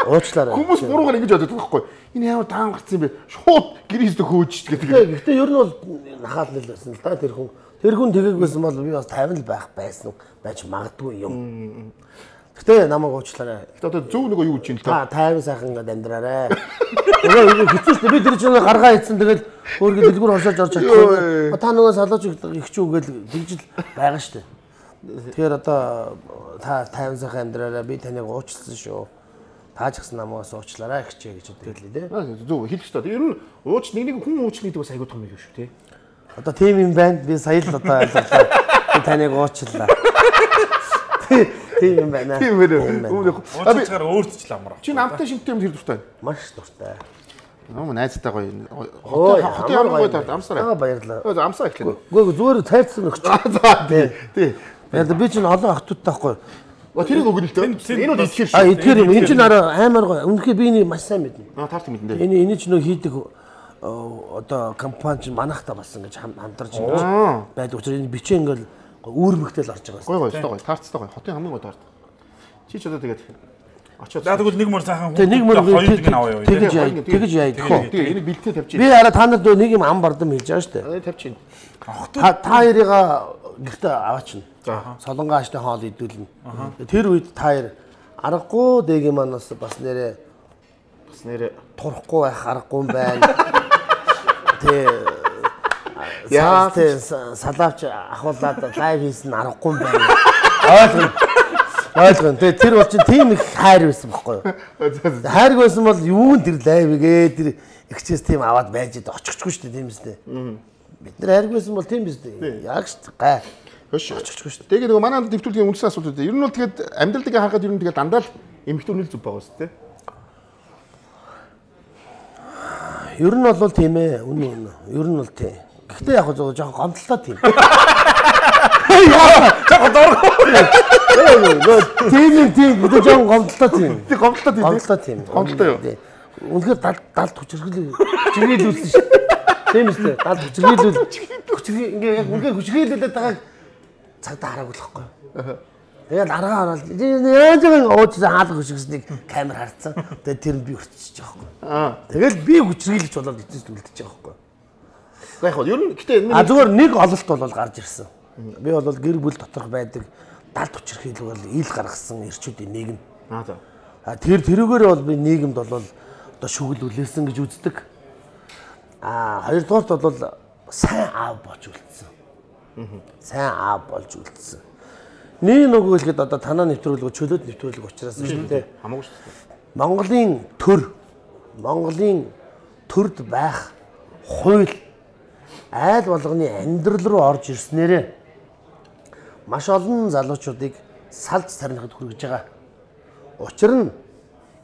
Уучлаарай. Хүмүүс буруугаар ингэж боддог байхгүй. Энэ ямар даам гарсан юм бэ? Шууд гэрээсээ хөөж гэдэг. Гэхдээ ер нь бол нахаал нэл байсан л да тэр хүн. Тэр хүн тэгээгүйсэн бол би бас тайван л байх байсан байж магадгүй юм. Гэтэ намайг уучлаарай. Гэтэ одоо зөв нөгөө юу гэж юм л та тайван сайхан ингээд амьдраарай. Нөгөө хэцүүс би тэр чинь гаргаа хийсэн тэгэл өөргө дэлгүүр хошоож орж чадахгүй. Та нөгөө салууч их ч үгээл тэгжил байгаа штэ. Тэгэхээр одоо та тайван сайхан амьдраарай. Би таныг уучлсан шүү. Та ч гэсэн намайгаас уучлаарай гэчээ гэж хэлээ дээ. Зөв хэлэх ёстой. Ер нь ууч нэг нэг хүн уучлах гэдэг бас аягүй том юм шүү тий. Одоо тийм юм байна. Би сая л одоо ойлголоо. Би таныг уучлаа. Тийм юм байна. Тийм байна. Уучлахаар өөртч л амар. Чи намтай шинтэй юм тэр дуртай. Маш дуртай. Нөө найзтай гоё. Хотын ямар гоё таард амсараа. Аа баярлалаа. Өө амсаа эхлэв. Үгүй зүгээр цайцсан өгч. За тий. Тий. Яг би чинь олон охтуудтай байхгүй. Ва тэрийг өгнө л дээ. Энэ бол итгэр шүү. А итгэр юм. Энэ чинь арай амар гоё. Үнэхээр би энийг маш сайн мэднэ. Аа таарт мэднэ дээ. Энэ энэ ч нөө хийдэг одоо компани чинь манайхтай болсон гэж хамтарч ингэж байдаг учраас энэ бичээ ингээл үүрмэгтэл орж байгаа. Гой гой өстой гой. Таарцтай гой. Хотын хамгийн гой таард. Чи ч одоо тэгээд очоод. За тэгвэл нэг мөр цаахан нэг мөр хоёрыг нь аваа юу. Тэгж яа. Тэгж яа. Тэгээ энийг бэлтээ тавьчих. Би арай та нарт нэг юм ам бардам хийж байгаа шүү дээ. Тавьчих. Та та хоёрыгаа гэртээ аваачна. Солонгоо ааштай хоол идүүлнэ. Тэр үед та хоёр аргагүй дэгийн манаас бас нэрээ бас нэрээ турахгүй байх аргагүй юм байна. Тэ яа тэ салавч ахуулаад лайв хийсэн аргагүй юм байна. Ойлгоно. Ойлгоно. Тэ тэр бол чинь тийм их хайр байсан байхгүй юу? Хайр байсан бол юу н тэр лайвгээ тэр ихчээс тийм аваад байж дээ очихгүй шүү дээ тийм үстэй. Бид нар хайр байсан бол тийм үстэй. Яг шүү гай. Хөш очихгүй шүү дээ. Тэгээд нөгөө манай дэвтүүлгийн үндсэн асуудал үү. Ер нь бол тэгээд амьдралыг харахад ер нь тэгээд дандаа л эмхтэн үнэл зүв байгаа шүү дээ. Ер нь бол тийм ээ. Үнэ үнэ. Ер нь бол тийм. Гэхдээ яг зөв жоохон гомдлоо тийм. Яа, жоохон дургу. Тийм тийм бид жоохон гомдлоо тийм. Тэг гомдлоо тийм. Гомдлоо тийм. Гомдлоо юу? Үнэхээр далд хүчрхэл хүчрхийлүүлсэн шүү. Тийм үстэй. Далд хүчрхийлүүл. Хүчрхий ингээ яг үнэхээр хүчрхийлүүлээд байгааг цагдаа хараагүй л байхгүй. Тэгээд аргаа хараад яаж нэг уучлаа хаалга хүчрхсэнийг камер харцсан. Тэгээд тэр нь би өрчиж байгаа байхгүй. Аа. Тэгэл би хүчрхийлж болоод эцэст үлдчихэж байгаа байхгүй. Яг хоо ер нь гэтээ а зүгээр нэг ололт бол гарч ирсэн. Би бол гэр бүл доторх байдаг далд хүчрхийлэг бол ил гаргасан эрчүүдийн нийгэм. Аа за. А тэр тэрүүгээр бол би нийгэмд бол одоо шүгэл үлээсэн гэж үздэг. А хоёрдугаарт бол сайн аав болж үлдсэн. Сайн аав болж үлдсэн. Нэг нөгөө хэлэхэд одоо танаа нэвтрүүлэг чөлөөт нэвтрүүлэг учраас шүү дээ. Хамаагүй шүү дээ. Монголын төр Монголын төрд байх хууль айл болгоны амьдрал руу орж ирснээрээ маш олон залуучуудыг салж сарнихад хүргэж байгаа. Учир нь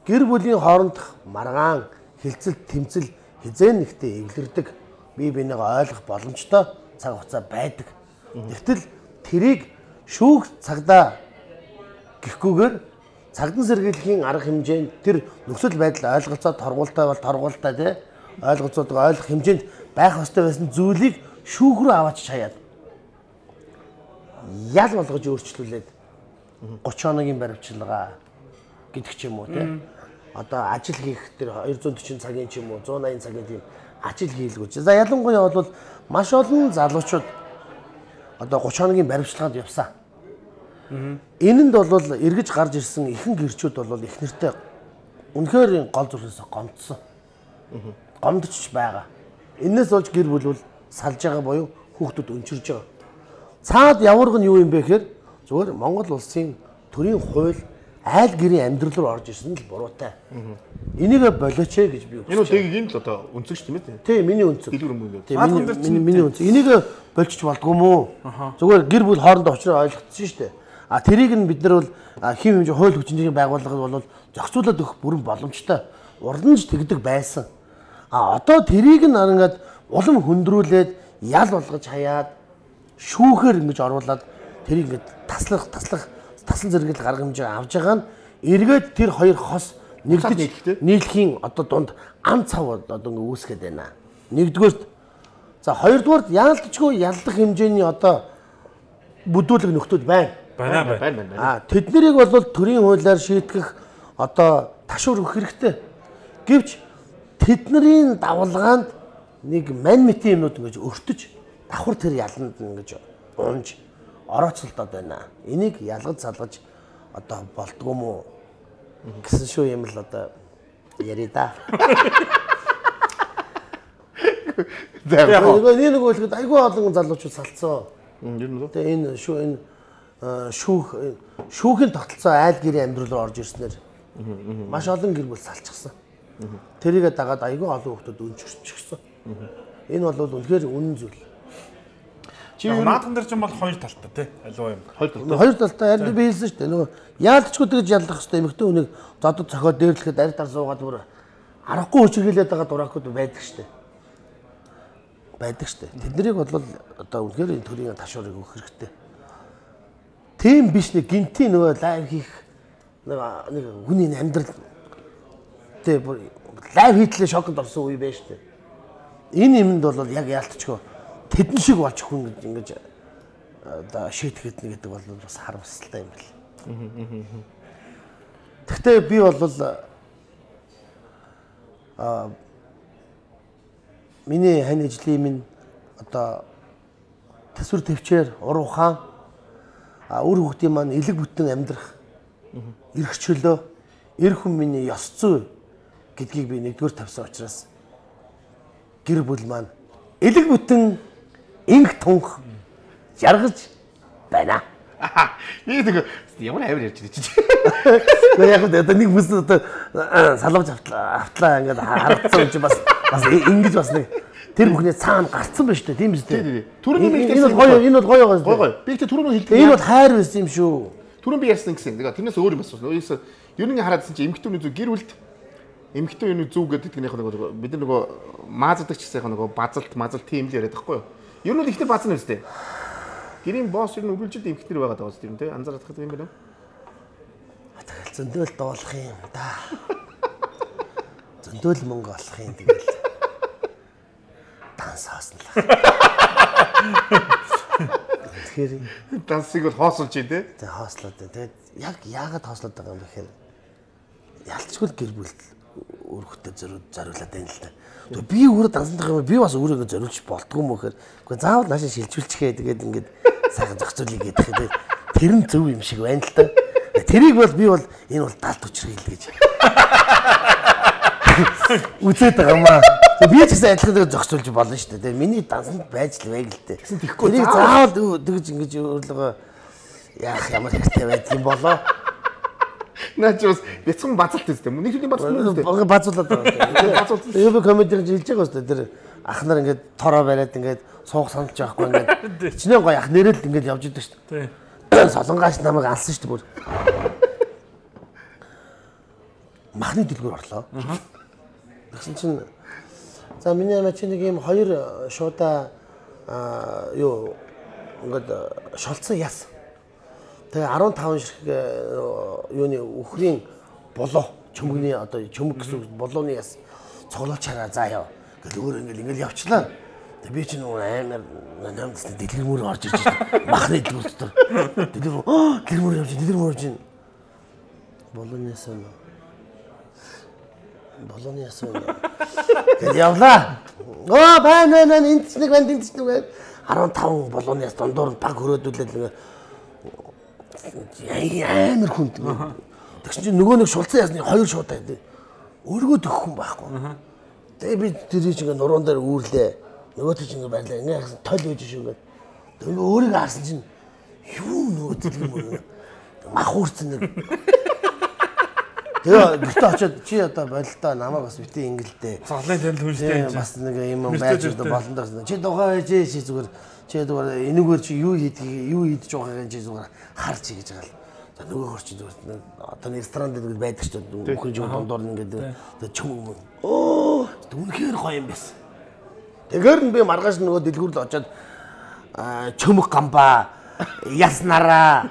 гэр бүлийн хоорондох маргаан, хилцэл, тэмцэл хизээ нэгтээ эвлэрдэг. Бие биенийг ойлгох боломжтой цаг хугацаа байдаг. Тэгтэл тэрийг шүүх цагдаа гэхгүйгээр цагдан сэргийлэхийн арга хэмжээнд тэр нөхцөл байдал ойлголцоо торгуултай бол торгуултай тий ойлголцоодыг ойлгох хэмжээнд байх ёстой байсан зүйлийг шүүх рүү аваач шаяад ял болгож өөрчлүүлээд гурван хоногийн баримтчилгаа гэдэг ч юм уу тий одоо ажил хийх тэр хоёр зуун дөрвөн цагийн ч юм уу зуун аян цагийн тийм ажил хийлгүүч. За ялангуяа бол маш олон залуучууд одоо гурван хоногийн баримтчилгаанд явсан. Энэнд бол эргэж гарч ирсэн ихэнх гэрчүүд бол их нэртэй үнэхээр гол зүрхээс гомдсон. Гомдчих байгаа. Энээс болж гэр бүл бол салж байгаа буюу хүүхдүүд өнчирж байгаа. Цаад яварга нь юу юм бэ гэхээр зүгээр Монгол улсын төрийн хууль айл гэрийн амьдрал руу орж ирсэн л буруутай. Энийг болооч ээ гэж би үгүйс. Энэ үдгийг энэ л одоо үнцэгч тийм ээ. Тий, миний үнцэг. Дэлгэр өмнө. Тий, миний миний үнцэг. Энийг болчих болдгоо мүү? Зүгээр гэр бүл хоорондоо очроо ойлгоцсон шүү дээ. А тэрийг нь бид нар бол хэм хэмжээ хууль хүчинжийн байгууллагад бол зохицуулаад өгөх бүрэн боломжтой. Урламж тэгдэг байсан. А одоо тэрийг нь ингээд улам хөндрүүлээд ял болгож хаяад шүүхээр ингэж оруулаад тэрийг ингээд таслах таслах тасан зэрэгэл гарга хэмжээ авж байгаа нь эргээд тэр хоёр хос нэгдэж нийлхийн одоо дунд ам цав одоо ингээ үүсгээд байна. Нэгдүгээрт за хоёрдугаарт яалтчгүй ялдах хэмжээний одоо бүдүүлэг нөхдүүд байна. Байна байна байна. А тэднийг бол төрийн хуулиар шийтгэх одоо ташуур өгөх хэрэгтэй. Гэвч тэдний давалгаанд нэг мань мэтийн юмнууд ингэж өртөж давхар тэр яланд ингэж унж орооцолдоод байна. Энийг ялгаж салгаж одоо болдгоо мó гэсэн шүү юм л одоо яри да. Яг нэг нэг үгэлэхэд айгүй олон залуучууд салцсан. Тэгээ энэ шүү энэ шүүх шүүхийн тогтолцоо айл гэрийн амьдрал руу орж ирснээр маш олон гэр бүл салчихсан. Тэрийгэ дагаад айгүй олон хүмүүс өнчөрчихсөн. Энэ бол үнэхээр үнэн зүйл. Чи наадхан дээр ч юм бол хоёр талтай тий. Аливаа юм. Хоёр талтай. Хоёр талтай харин би хэлсэн шүү дээ. Нөгөө яалтчгүй тэгж ялдах хэвээр эмэгтэй хүнийг зодод цохиод дээрлэхэд арь тар суугаад бүр аргагүй хүчрхийлээд байгаа дураакууд байдаг шүү дээ. Байдаг шүү дээ. Тэднийг бол одоо үнэхээр энэ төрийн ташуурыг өгөх хэрэгтэй. Тийм биш нэг гинтийн нөгөө лайв хийх нэг нэг хүний амьдрал тий бүр лайв хийтлээ шоконд орсон үе байж шүү дээ. Энэ юмд бол яг яалтчгүй тэдэн шиг болж хүн гэж ингэж одоо шийтгэхэд нэг гэдэг бол бас харамсалтай юм байна. Гэхдээ би бол а миний хань ажлын минь одоо төсвөр төвчээр уруу хаан а үр хүүхдийн маань элэг бүтэн амьдрах эрх чөлөө эр хүн миний ёс зүй гэдгийг би нэгдүгээр тавьсан учраас гэр бүл маань элэг бүтэн инх тунх жаргаж байна. Би тэг ямар авир ярьж байгаа чи. Гэхдээ яг одоо нэг бүс одоо салваж автлаа автлаа ингээд харагдсан юм чи бас бас ингэж бас нэг тэр бүхний цаана гарцсан байна шүү дээ тийм биз дээ. Түрүүний би энэ бол гоё энэ бол гоё гоё. Гоё гоё. Би тэг түрүүний хэлдэг. Энэ бол хайр байсан юм шүү. Түрүүн би ярьсан гэсэн. Тэгээ тэрнээс өөр юм асуусан. Өөрөөсөө ер нь хараадсан чи эмэгтэйний зүг гэр бүлд эмэгтэйний зүг гэдэг нэг нэг бид нар нөгөө мааздаг ч гэсэн нөгөө базалт мазалт тийм л яриад байхгүй юу? Ер нь ихтэй баасан юм зү. Гэрийн босс ер нь үргэлжлээд эмэгтэйр байгаад байгаа зү тийм анзаарах гэдэг юм байна уу? Тэгэл зөндөөл дуулах юм да. Зөндөөл мөнгө олох юм тэгэл. Данс хааснаа. Тэгэхээр дансыг бол хоослж дээ тий. Тэг хоослоод дээ. Тэгээд яг яагаад хоослоод байгаа юм бэ гэхээр ялцгүй гэр бүл өөрхөдөө зориулаад байна л да. Тэгээ би өөрөө дансах юм би бас өөрөө зориулж болдгоо мө гэхээр үгүй заавал наашаа шилжүүлчихээ тэгээд ингээд сайхан зохицуулъя гэдэг хэрэг тэр нь зөв юм шиг байна л да. Тэрийг бол би бол энэ бол далд учрал гэж үзээд байгаа юм аа. Би ч гэсэн адилхан зохицуулж болно шүү дээ. Миний дансанд байж л байг л дээ. Тэрийг заавал тэгж ингэж өөрлөгөө яах ямар хэрэгтэй байдаг юм болоо. Наач бас бяцхан базалт үстэй. Нэг төрлийн базалт юм үстэй. Базуулаад байгаа. Базуулт. Яг комедиг хэлж байгаа үстэй. Тэр ах нар ингээд тороо бариад ингээд суух саналж байхгүй ингээд чинээ гоё ах нэрэл ингээд явж идэг шүү дээ. Тий. Солонгоос намайг алсан шүү дээ бүр. Махны дэлгүүр орлоо. Аа. Тэгсэн чинь за миний амаа чи нэг юм хоёр шуудаа юу ингээд шолцсон яс. Тэгээ арван таван ширхэг юуны үхрийн болоо чөмгний одоо чөмг гэсэн болооны яс цоглооч хараа заа яа. Гэл өөр ингээл ингээл явчлаа. Тэгээ би чинь амар намдсны дэлгэр мөр орж ирж байна. Махны дэлгүүр дотор. Дэлгэр дэлгэр мөр явж дэлгэр мөр явж байна. Болооны яс нь болооны яс нь гэл явлаа. Оо байна байна энэ ч нэг байна энэ ч нэг байна. арван таван болооны яс дондор баг хөрөөдүүлээд ингээ амар хүнд. Тэгсэн чинь нөгөө нэг шулцсан ясны хоёр шуудаа гэдэг. Өргөө төгөх хүн байхгүй. Тэгээ би тэрийг чинь нуруунд дээр үүрлээ. Нөгөө чинь ингээ байлаа. Ингээ тол үйж шүү ингээ. Тэгээ өөрийг харсан чинь юу нөгөө дэлгэр мөр мах уурсан нэг Тэгээ гэртээ очиод чи одоо бололтой намайг бас битээ ингэлдээ. Онлайн танил хүнжтэй. Бас нэг юм байж одоо болон даа. Чи дугаа ээж чи зүгээр чи зүгээр энэгээр чи юу хийдгийг юу хийдэж байгаагаа чи зүгээр харж чи гэж байгаа л. За нөгөө хөр чи зүгээр одоо ресторан дээр байдаг ч үхэн жиг дондор ингээд одоо чөм. Оо үнэхээр гоё юм байсан. Тэгээр нь би маргааш нөгөө дэлгүүрл очиод чөмг гамбаа яснараа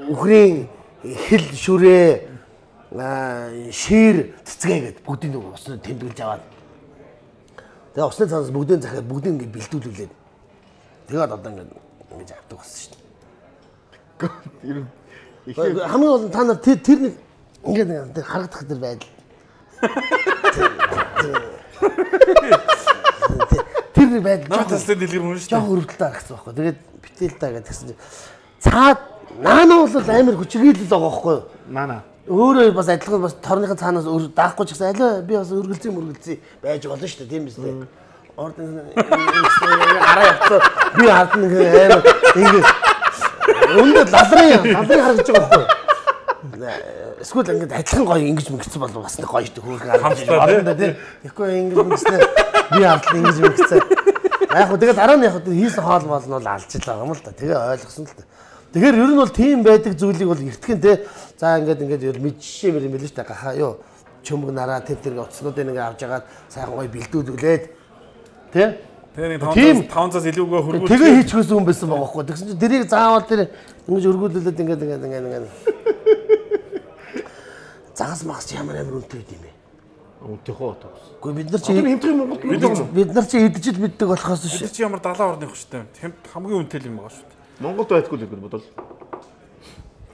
үхрийн хэл шүрээ шир цэцгээгээд бүгдийг нэг усны тэмдэглэж аваад тэгээ усны цаанаас бүгдийг захиад бүгдийг ингээд бэлдүүлүүлээд тэгээд одоо ингээд ингэж авдаг болсон шүү дээ. Хамгийн гол нь та нар тэр нэг ингээд харагдах тэр байдал. Тэр байдал наатастай дэлгэр мөн шүү дээ. Жоо хөрөвдөлтэй харагдсан байхгүй. Тэгээд битэл та гэж тэгсэн чинь цаад наана бол амар хүчрхийлэл байгаа байхгүй юу? Наана. Өөрөө бас адилхан бас торныхын цаанаас даахгүй ч гэсэн аль би бас өргөлцөө мөргөлцөө байж болно шүү дээ тийм биз дээ. Орд араа явцаа би хардна амар ингэ өндө лалрын лалрын харагдаж байгаа байхгүй юу? Эсвэл ингэж адилхан гоё ингэж мэгцсэн бол бас нэг гоё шүү дээ хөөрхөн харагдаж байна тийм. Тэгэхгүй ингэж мэгцсэн би хардна ингэж мэгцсэн. Яг хөө тэгээд дараа нь яг хөө хийсэн хоол мол нь бол алж байгаа юм л да. Тэгээ ойлгосон л да. Тэгэхээр ер нь бол тийм байдаг зүйлийг бол эртгэн те. За ингээд ингээд ер мэдчихээ юм л шүү дээ. Гахаа юу чөмг нараа тэр тэр утаснуудыг ингээд авч ягаад сайхан гоё бэлдүүлүүлээд те. Тэр тавцаас илүүгээ хөргүүл. Тэгээ хийчихсэн хүн байсан байгаа байхгүй. Тэгсэн чинь дэрийг заавал тэр ингэж өргүүлүүлээд ингээд ингээд ингээд ингээд загас магас ямар амар үнэтэй юм бэ? Үнэтэй хоо тоо. Гэхдээ бид нар чи хэмтрэх Монгол бид нар чи идэж л мэддэг болохоос шүү. Бид чи ямар далайн орны хөштэй юм. Хамгийн үнэтэй юм байгаа шүү дээ. Монголд байдгүй л гэдэг бодвол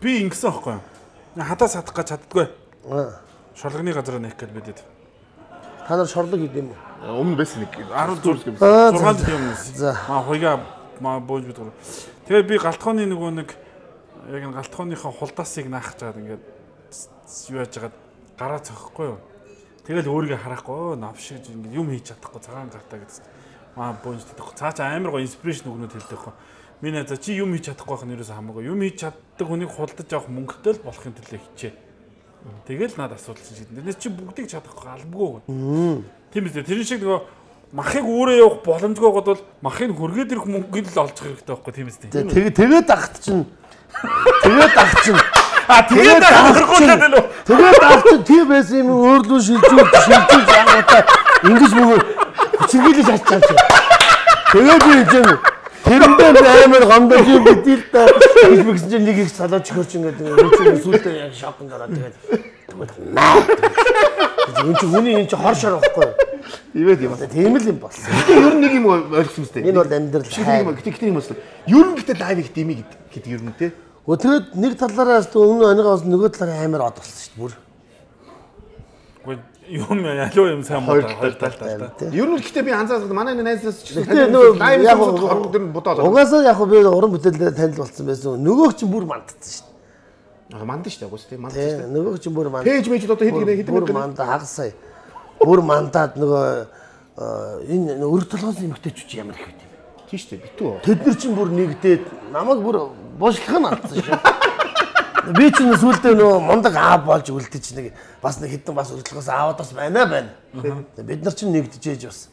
би ингэсэн байхгүй юу? Хадаас хатах гэж чаддгүй. Шорлогны газар нээх гэж бидэд. Та нар шорлог хийд юм уу? Өмнө байсан нэг арван зур зургаан жил юм. За. Маа хоёга маа бууж бид. Тэгээ би галтхооны нөгөө нэг яг н галтхооныхоо хулдаасыг наах чаад ингээд юу яаж хагаад гараа цохихгүй юу? Тэгэл өөрийгөө харахгүй навшиж ингээд юм хийж чадахгүй цагаан гартаа гэдэг. Маа бууж чадахгүй. Цаа чи амар гоё инспирэшн өгнөд хэлдэг байхгүй. Миний за чи юм хийж чадахгүй байх нь ерөөсөө хамаагүй. Юм хийж чаддаг хүнийг худалдаж авах мөнгөтэй л болохын төлөө хичээ. Тэгэл надад асуудал чинь. Тэрнээс чи бүгдийг чадахгүй албагүй. Тийм үү? Тэр шиг нөгөө махыг өөрөө явах боломжгүй гол махыг хөргөөд ирэх мөнгөнд л олж хэрэгтэй байхгүй тийм үү? Тэгээ тэгээд ахт чинь тэгээд ахт чинь а тэгээд хөргүүлээд л үү? Тэгээд ахт чинь тийм байсан юм өөрлөө шилжүүл шилжүүлж ангуудаа ингэж мөнгө хүчрхийлж ачаач. Тэгээд би юм тэрэндээ амар гомдож юм бидэл та гэж мэгсэн чинь нэг их салаад чөхөрч ингээд өөчөө сүлдээ яг шокнд ороод тэгээд энэ чинь хүний энэ чинь хор шор байхгүй. Ивэд юм. Тийм л юм болсон. Ер нь нэг юм ойлгосон мэт. Энэ бол амьдрал. Гэтэ гэтэ юм болсон. Ер нь гэтэ лайв их дими гэдэг ер нь те. Өтгөд нэг талаараас өмнө оногоос нөгөө талаараа амар од болсон шүү дээ бүр. Гэхдээ юм ялуу юм сайн муу хоёр талтай. Ер нь гэтээ би анзаарсан манай найзаас ч лайв яг хордор нь бодоод. Угаасаа яг би уран бүтээлээр танил болсон байсан. Нөгөөг чинь бүр мандсан шүү дээ. Аа мандсан шүү дээ. Угс тийм мандсан шүү дээ. Нөгөөг чинь бүр манд. Пэйж мэж одоо хэд гинэ хэд бүр манд хагасаа. Бүр мандаад нөгөө энэ өрг толгоос эмгтээч ямар их юм. Тийм шүү дээ. Битүү. Тэд нар чинь бүр нэгдээд намайг бүр буушлах нь алдсан шүү. Би ч сүулдэ нөө мундаг аа болж үлдэж нэг бас нэг хитэн бас өртлөхөөс аавад бас байна байна. Бид нар ч нэгдэжээж бас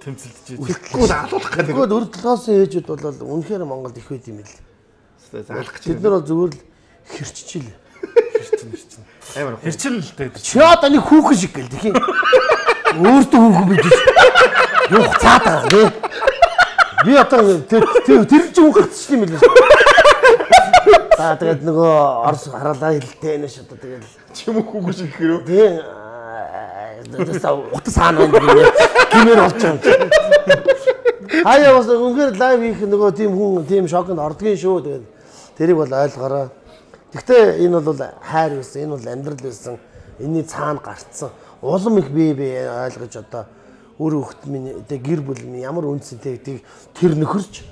тэмцэлдэж. Тэгэхгүй алуулах гэдэг. Тэгэхгүй өртлөхөөс ээжүүд бол үнэхээр Монголд их байд юм л. Заалах гэж. Бид нар бол зүгээр л хэрччихэл. Хэрчин хэрчин. Амар хэрчин л дээ. Чи одоо нэг хүүхэн шиг гэл тийм. Өөртөө хүүхэн бидэж. Юух цаад байгаа нэ. Би одоо тэр тэр чинь хүн гацчих юм билээ. Аа тэгээд нөгөө орс хараалаа хэлтэй нэ ш одоо тэгээд чим хүүхэн шиг гэрөө. Тийм. Дэсаа утас хаана байна гэмээр гэмээр болж байгаа. Хаяа бас үнээр лайв хийх нөгөө тийм хүн тийм шокнд ордгийн шүү тэгээд тэрийг бол ойлгоорой. Гэхдээ энэ бол хайр байсан, энэ бол амьдрал байсан. Энийний цаана гарцсан. Улам их бие бие ойлгож одоо өөр хөлт минь тэг гэр бүл минь ямар үнцэнтэй тийг тэр нөхөрч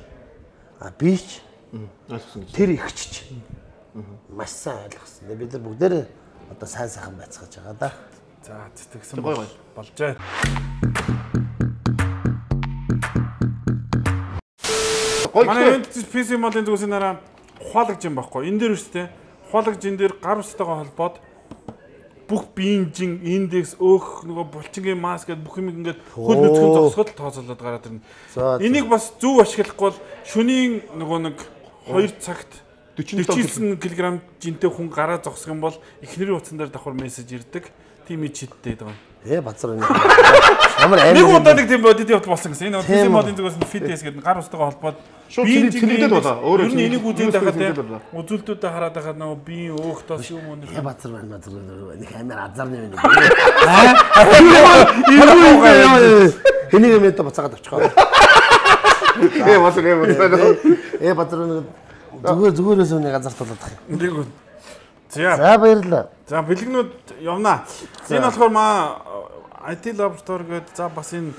а бич ойлгосон гэж. Тэр ихчч. Маш сайн ойлгосон. Бид нар бүгдээр одоо сайн сайхан байцгааж байгаа да. За тэгсэн болжээ. Манай пи си модын зүйлсийн дараа ухаалагч юм байхгүй. Энэ дээр үстэй ухаалагч энэ дээр гар устайгаа холбоод бүх биенжин индекс өөх нөгөө булчингийн маск гэдэг бүх юм ингээд хөл нүцгэн зогсоход тооцоолоод гараад ирнэ. Энийг бас зөв ашиглахгүй бол шөнийн нөгөө нэг хоёр цагт forty-nine кг жинтэй хүн гараа зогсох юм бол эхнэрийн утсан дээр давхар мессеж ирдэг. Тийм ичдтэй байгаа. Ээ бацар энэ. Ямар амар. Нэг удаа нэг тийм бодит явт болсон гэсэн. Энэ физик модын зүгээс нь фитнес гэдэг гар устгаа холбоод биеийн цэнэдэд болоо. Өөрөө нь энийг үзээд байхад үзүүлэлтүүдэд хараад байхад нөгөө биеийн өөх тос юм уу нэг. Ээ бацар байна бацар нэг амар азарны байна. Аа. Энийг юм ята бацаагаад авчихгаа. Ээ бацар ээ бацар. Ээ бацар зүгээр зүгээрээс үнийг газарт болоод тах. Нэг үү. За. За баярлалаа. За бэлгнүүд явнаа. Энэ болохоор маа ай ти Laboratory гэдэг за бас энэ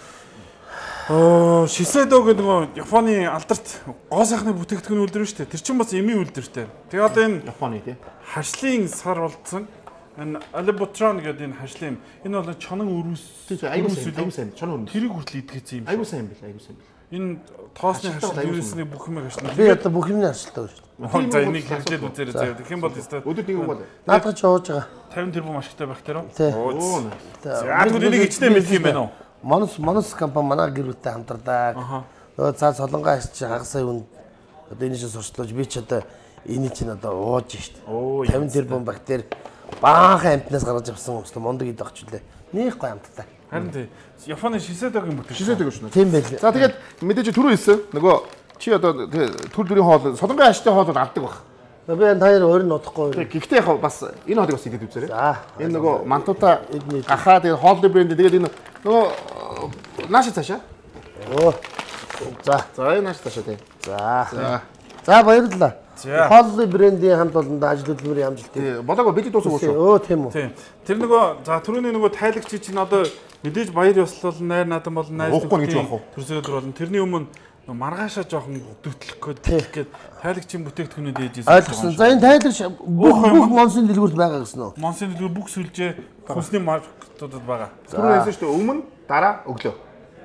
оо Shiseido гэдэг нөгөө Японы алдарт гоо сайхны бүтээгдэхүүн үйлдвэр шүү дээ. Тэр чинь бас эми үйлдвэртэй. Тэгээ одоо энэ Японы тий. Харшлын сар болцсон. Энэ Alibutron гэдэг энэ харшлын энэ бол чонон өрөөс айгуу сайн чонон өрөөс. Тэрийг хүртэл идэхээсэн юм. Айгуу сайн бил айгуу сайн бил. Энэ тоосны харшил юусны бүх юм ашиглана. Би одоо бүх юмны харшилтай байна шүү дээ. За энийг хэрэгжээд үзээрэй заяа. Тэгэх юм бол өстой өдөр нэг үг бол. Наадах ч ууж байгаа. fifty тэрбум ашигтай байх тэр үү? Оо. За энийг ичнэ мэдх юм байна уу? Монос монос компани манай гэр бүлтэй хамтардаг. Нөгөө цаа солонгоо ашиж хагасаа үн одоо энэ шиг сурчлуулж би ч одоо энийг чинь одоо ууж штт. fifty тэрбум бактери баахан амтнаас гаргаж авсан өстой мондөг идэх ч үлээ. Нэг гой амттай. Харин тий. Японы Shiseido-гийн бүтээгдэхүүн. Shiseido шүү. Тийм байл. За тэгээд мэдээж түрүү хэлсэн нөгөө чи одоо төр дөрийн хоол солонгын аштай хоол авдаг баг. Би энэ таяр өөр нь удахгүй. Гэхдээ яг бас энэ хоолыг бас идэв үзээрэй. За. Энэ нөгөө мантута гахаа тэгээд хоолны брэнд тэгээд энэ нөгөө нааш цаашаа. Оо. За. За энэ нааш цаашаа тий. За. За. За баярлалаа. За. Хоолны брендийн хамт олондоо ажил хөдөлмөрийн амжилт. Тий. Болоог бид дуусах уу? Өө тийм үү. Тийм. Тэр нөгөө за түрүүний нөгөө тайлагч чинь одоо мэдээж баяр ёслол найр надан бол найр төрсөөр болно. Тэрний өмнө маргаашаа жоохон дөтлөх гээд тайлагчийн бүтээгдэхүүнүүд ээжээс ойлгосон. За энэ тайлагч бүх бүх монсын дэлгүүрт байгаа гэсэн үү? Монсын дэлгүүр бүх сүлжээ хүнсний маркетуудад байгаа. Түрүү хэлсэн шүү дээ өмнө дараа өглөө.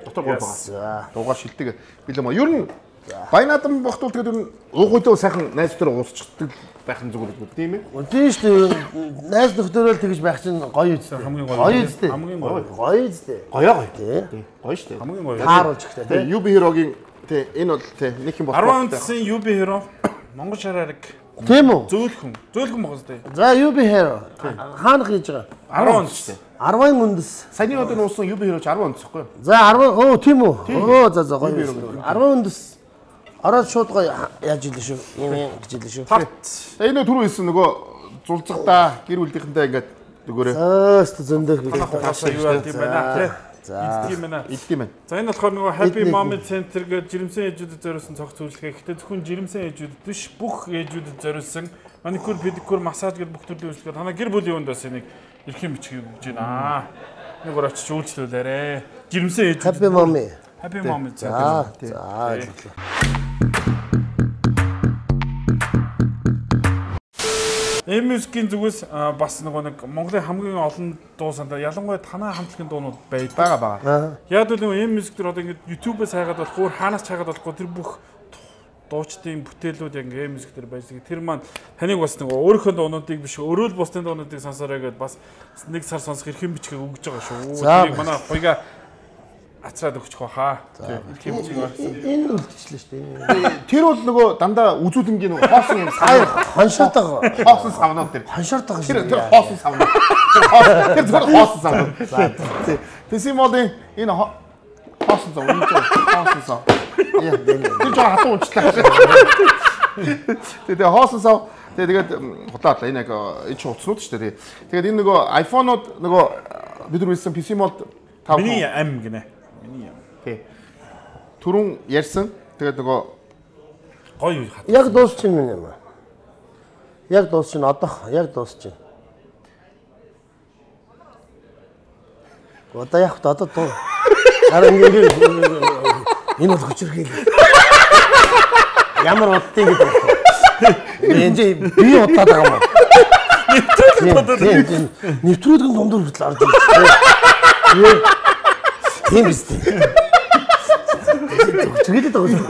Дотор гол байгаа. За. Дугаар шилдэг билээ маа. Ер нь Баянадан бохтуул тэгээд ер нь уугуйдөө сайхан найз дээр уусчихдаг байх нь зүгээр үү тийм ээ? Тийм шүү дээ. Найз нөхдөөрөө тэгж байх чинь гоё үстэй. Хамгийн гоё. Гоё үстэй. Хамгийн гоё. Гоё үстэй. Гоё гоё. Тий. Гоё шүү дээ. Хамгийн гоё. Тааруулж ихтэй тий. ю би Hero-гийн тий энэ бол тий нэг юм болох. ten он-сын ю би Hero Монгол шараарыг тийм үү? Зөөлхөн. Зөөлхөн байгаа зү. За ю би Hero хаана хийж байгаа? ten он шүү дээ. ten үндэс. Саяны одоо нуусан ю би Hero ten он гэхгүй юу? За ten оо тийм үү? Оо за за гоё. ten үндэс. Ороод шууд гоё яаж илээ шүү. Юм юм гэж илээ шүү. За энэ түрүү хэлсэн нөгөө зулцгадаа гэр бүлийнхэнтэй ингээд дөгөөрэй. Өөст зөндөх гэж таашаа юу яд юм байна тий. За идэх юм байна. Идэх юм байна. За энэ болохоор нөгөө Happy Mom Center гэдэг жирэмсэн ээжүүдэд зориулсан цогц үйлчлэгээ. Гэхдээ зөвхөн жирэмсэн ээжүүдэд биш бүх ээжүүдэд зориулсан маникюр, педикюр, массаж гэдэг бүх төрлийн үйлчлэгээ танаа гэр бүлийн хүнд бас энийг эрхэм бичгийг өгж байна. Нэг өөр очиж үйлчлүүлээрэ. Жирэмсэн ээжүүд. Happy Mom. Happy Mom Center. За за. M-Music-ийн зүгээс бас нөгөө нэг Монголын хамгийн олон дуу сандаа ялангуяа танаа хамтлагийн дуунууд байдаг. Бага бага. Яг л нөгөө M-Music төр одоо ингэ YouTube-ээс хайгаад болохгүй, хаанаас хайгаад болохгүй тэр бүх дуучдын бүтээлүүд яг M-Music төр байж. Тэр маань таныг бас нөгөө өөрийнхөө дуунуудыг биш өөрөө л бусдын дуунуудыг сонсоорой гэдээ бас нэг сар сонсох эрхэм бичгийг өгж байгаа шүү. Тэрийг манай хоёга ацраад өгчих واخа. Эрхэм бичиг гаргасан. Энэ үлдчихлээ шүү дээ. Тэр бол нөгөө дандаа үзүүлэнгийн нөгөө хоосон юм сая хоншоотойгоо хоосон савнууд тэр. Хоншоотойгоо Тэр тэр хоосон савнууд. Тэр зөвхөн хоосон савнууд. За тий. Тэсимолын энэ хоосон сав энэ хоосон сав. Яа тэр жоо хатан унчлаа. Тэгээ хоосон сав тэгээд хутлаадлаа энэ яг энэ ч утаснууд шүү дээ. Тэгээд энэ нөгөө iPhone-ууд нөгөө бид нар хэлсэн Тэсимолд миний ам гинэ. Миний ам. Тий. Түрүүн ярьсан. Тэгээд нөгөө гоё хат. Яг дуусчихна минь юм аа. Яг дуусчихна одоо яг дуусчихна. Одоо яг одоо дуу. Хараа ингэ энэ бол хүчрхийл. Ямар удтыг гэдэг. Энд би удаад байгаа юм. Нэвтрүүлэг нэвтрүүлэг нь дундуур хүртэл орж ирсэн. Тийм биз дээ. Чиглээд байгаа шүү.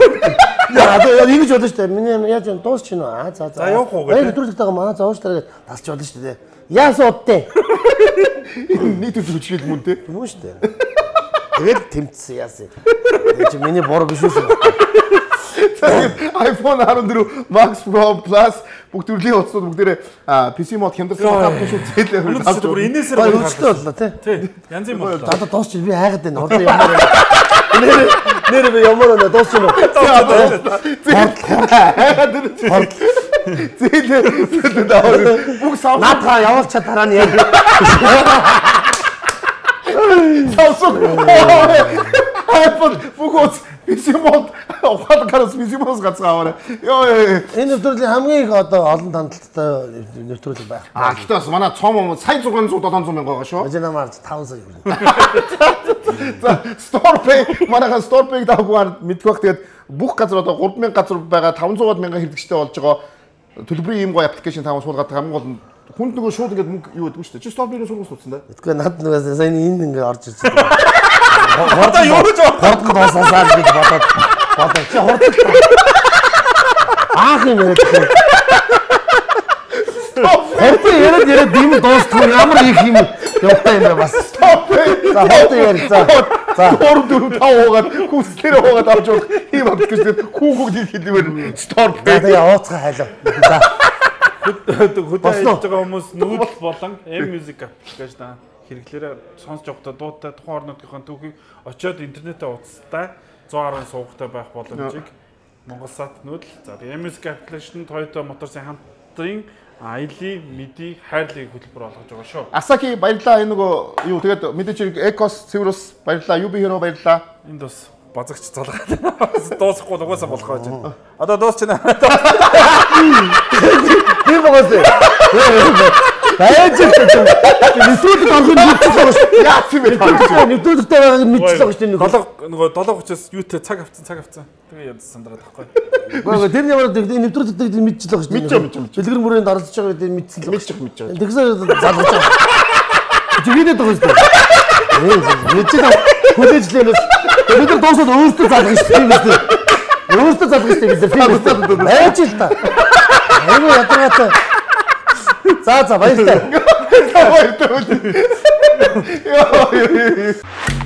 Яа, одоо ингэж болно шүү дээ. Миний яаж дуусч гинэ. Аа за за. За явах уу гэдэг. Нэвтрүүлэгтэйгээ манай за ууш дараа тасч болно шүү дээ. Яасан удтээ. Энэ нийт үйл хүчрэл мөн те. Мөн шүү дээ. Тэгээд тэмцсэн яасан. Энэ чи миний буруу биш үү? iPhone арван дөрөв Max Pro Plus бүгд төрлийн утасууд бүгдээрээ пи си мод хямдсан хавтаж үзээлээ хөрөж авч бүр энэсээр өөрчлөлтөө боллоо тий. Тий. Янз юм боллоо. Одоо дуусч би хайгаад байна. Одоо ямар нэр нэр би ямар нэ дуусч юм. Хайгаад байна. Зээлээ даавал бүх сав наадгаа явуулчаа дараа нь яг. Савсог. iPhone бүгд пи си мод ухаан карас пи си мод гацгааваа. Йоо энэ нэвтрүүлгийн хамгийн их одоо олон тандалттай нэвтрүүлэг байх. А гэхдээ бас манай цом сая зургаан зуун долоон зуун мянга байгаа шүү. Өжнө марж таван сая хүрнэ. За StorePay манайхан StorePay-г дагуугаар мэдэх бах тэгээд бүх газар одоо гурван мянга газар байгаа таван зуун мянган хэрэглэгчтэй болж байгаа төлбөрийн ийм гоё аппликейшн таван суулгаад хамгийн гол нь хүнд нөгөө шууд ингээд мөнгө юу гэдэг нь шүү дээ. Чи StorePay-ийг суулгаж утсан да. Тэгэхгүй над нөгөө сайн энэ ингээ орж ирж байгаа. Одоо юу гэж хурдан дуусаасаа гэж бодоод бодоо чи хурдан аах юм яриад байна. Хурдан яриад яриад дим дуустгүй ямар их юм явтай юм бэ бас. За хурдан ярь за. За дөрөв дөрөв тав хуугаад хүслээр хуугаад авч явах ийм аппликейшн хүүхүүд хэлмээр StorePay. Тэгээ ууцгаа хайлаа. За хөдөө хийж байгаа хүмүүс нүүдэл болон M-Music аппликейшн хэрэглээрээ сонсож явахдаа дуутай тухайн орнуудынхаа түүхийг очиод интернетээ утастай зуун гаруй суугтай байх боломжийг Монгол Сат нүүдэл. За M-Music аппликейшн Toyota Motors-ын хамтран Аили Midi хайрлыг хөтөлбөр олгож байгаа шүү. Асаки баярлалаа. Энэ нөгөө юу тэгээд мэдээч Ecos Severus баярлалаа. Юби Hero баярлалаа. Энд бас базагч залгаад дуусахгүй угаасаа болох байж байна. Одоо дуусчихна. тийм байгаас. Байж байгаа. Нэвтрүүлэг орохын мэдчихсэн шүү. Яац юм бэ? Нэвтрүүлэгтэй байгааг мэдчихсэн шүү дээ. Долоо нөгөө долоо учраас юутэй цаг авцсан цаг авцсан. Тэгээ ядсан сандраад тахгүй. Гоо тэр ямар нэвтрүүлэгтэй мэдчихсэн шүү дээ. Мэдчихсэн мэдчихсэн. Дэлгэр мөрөнд оролцож байгаа үед мэдсэн л Мэдчих мэдчих. тэгсэн залгаж байгаа. Чи видео тоглож байна. Мэдчихсэн хүлээжлэнээс бид нар дуусаад өөрсдөө залгаж шүү дээ. Өөрсдөө залгаж шүү дээ. Фильм байж л та. Айгу ятгаатай. За за баярлалаа. Баярлалаа. Йоо.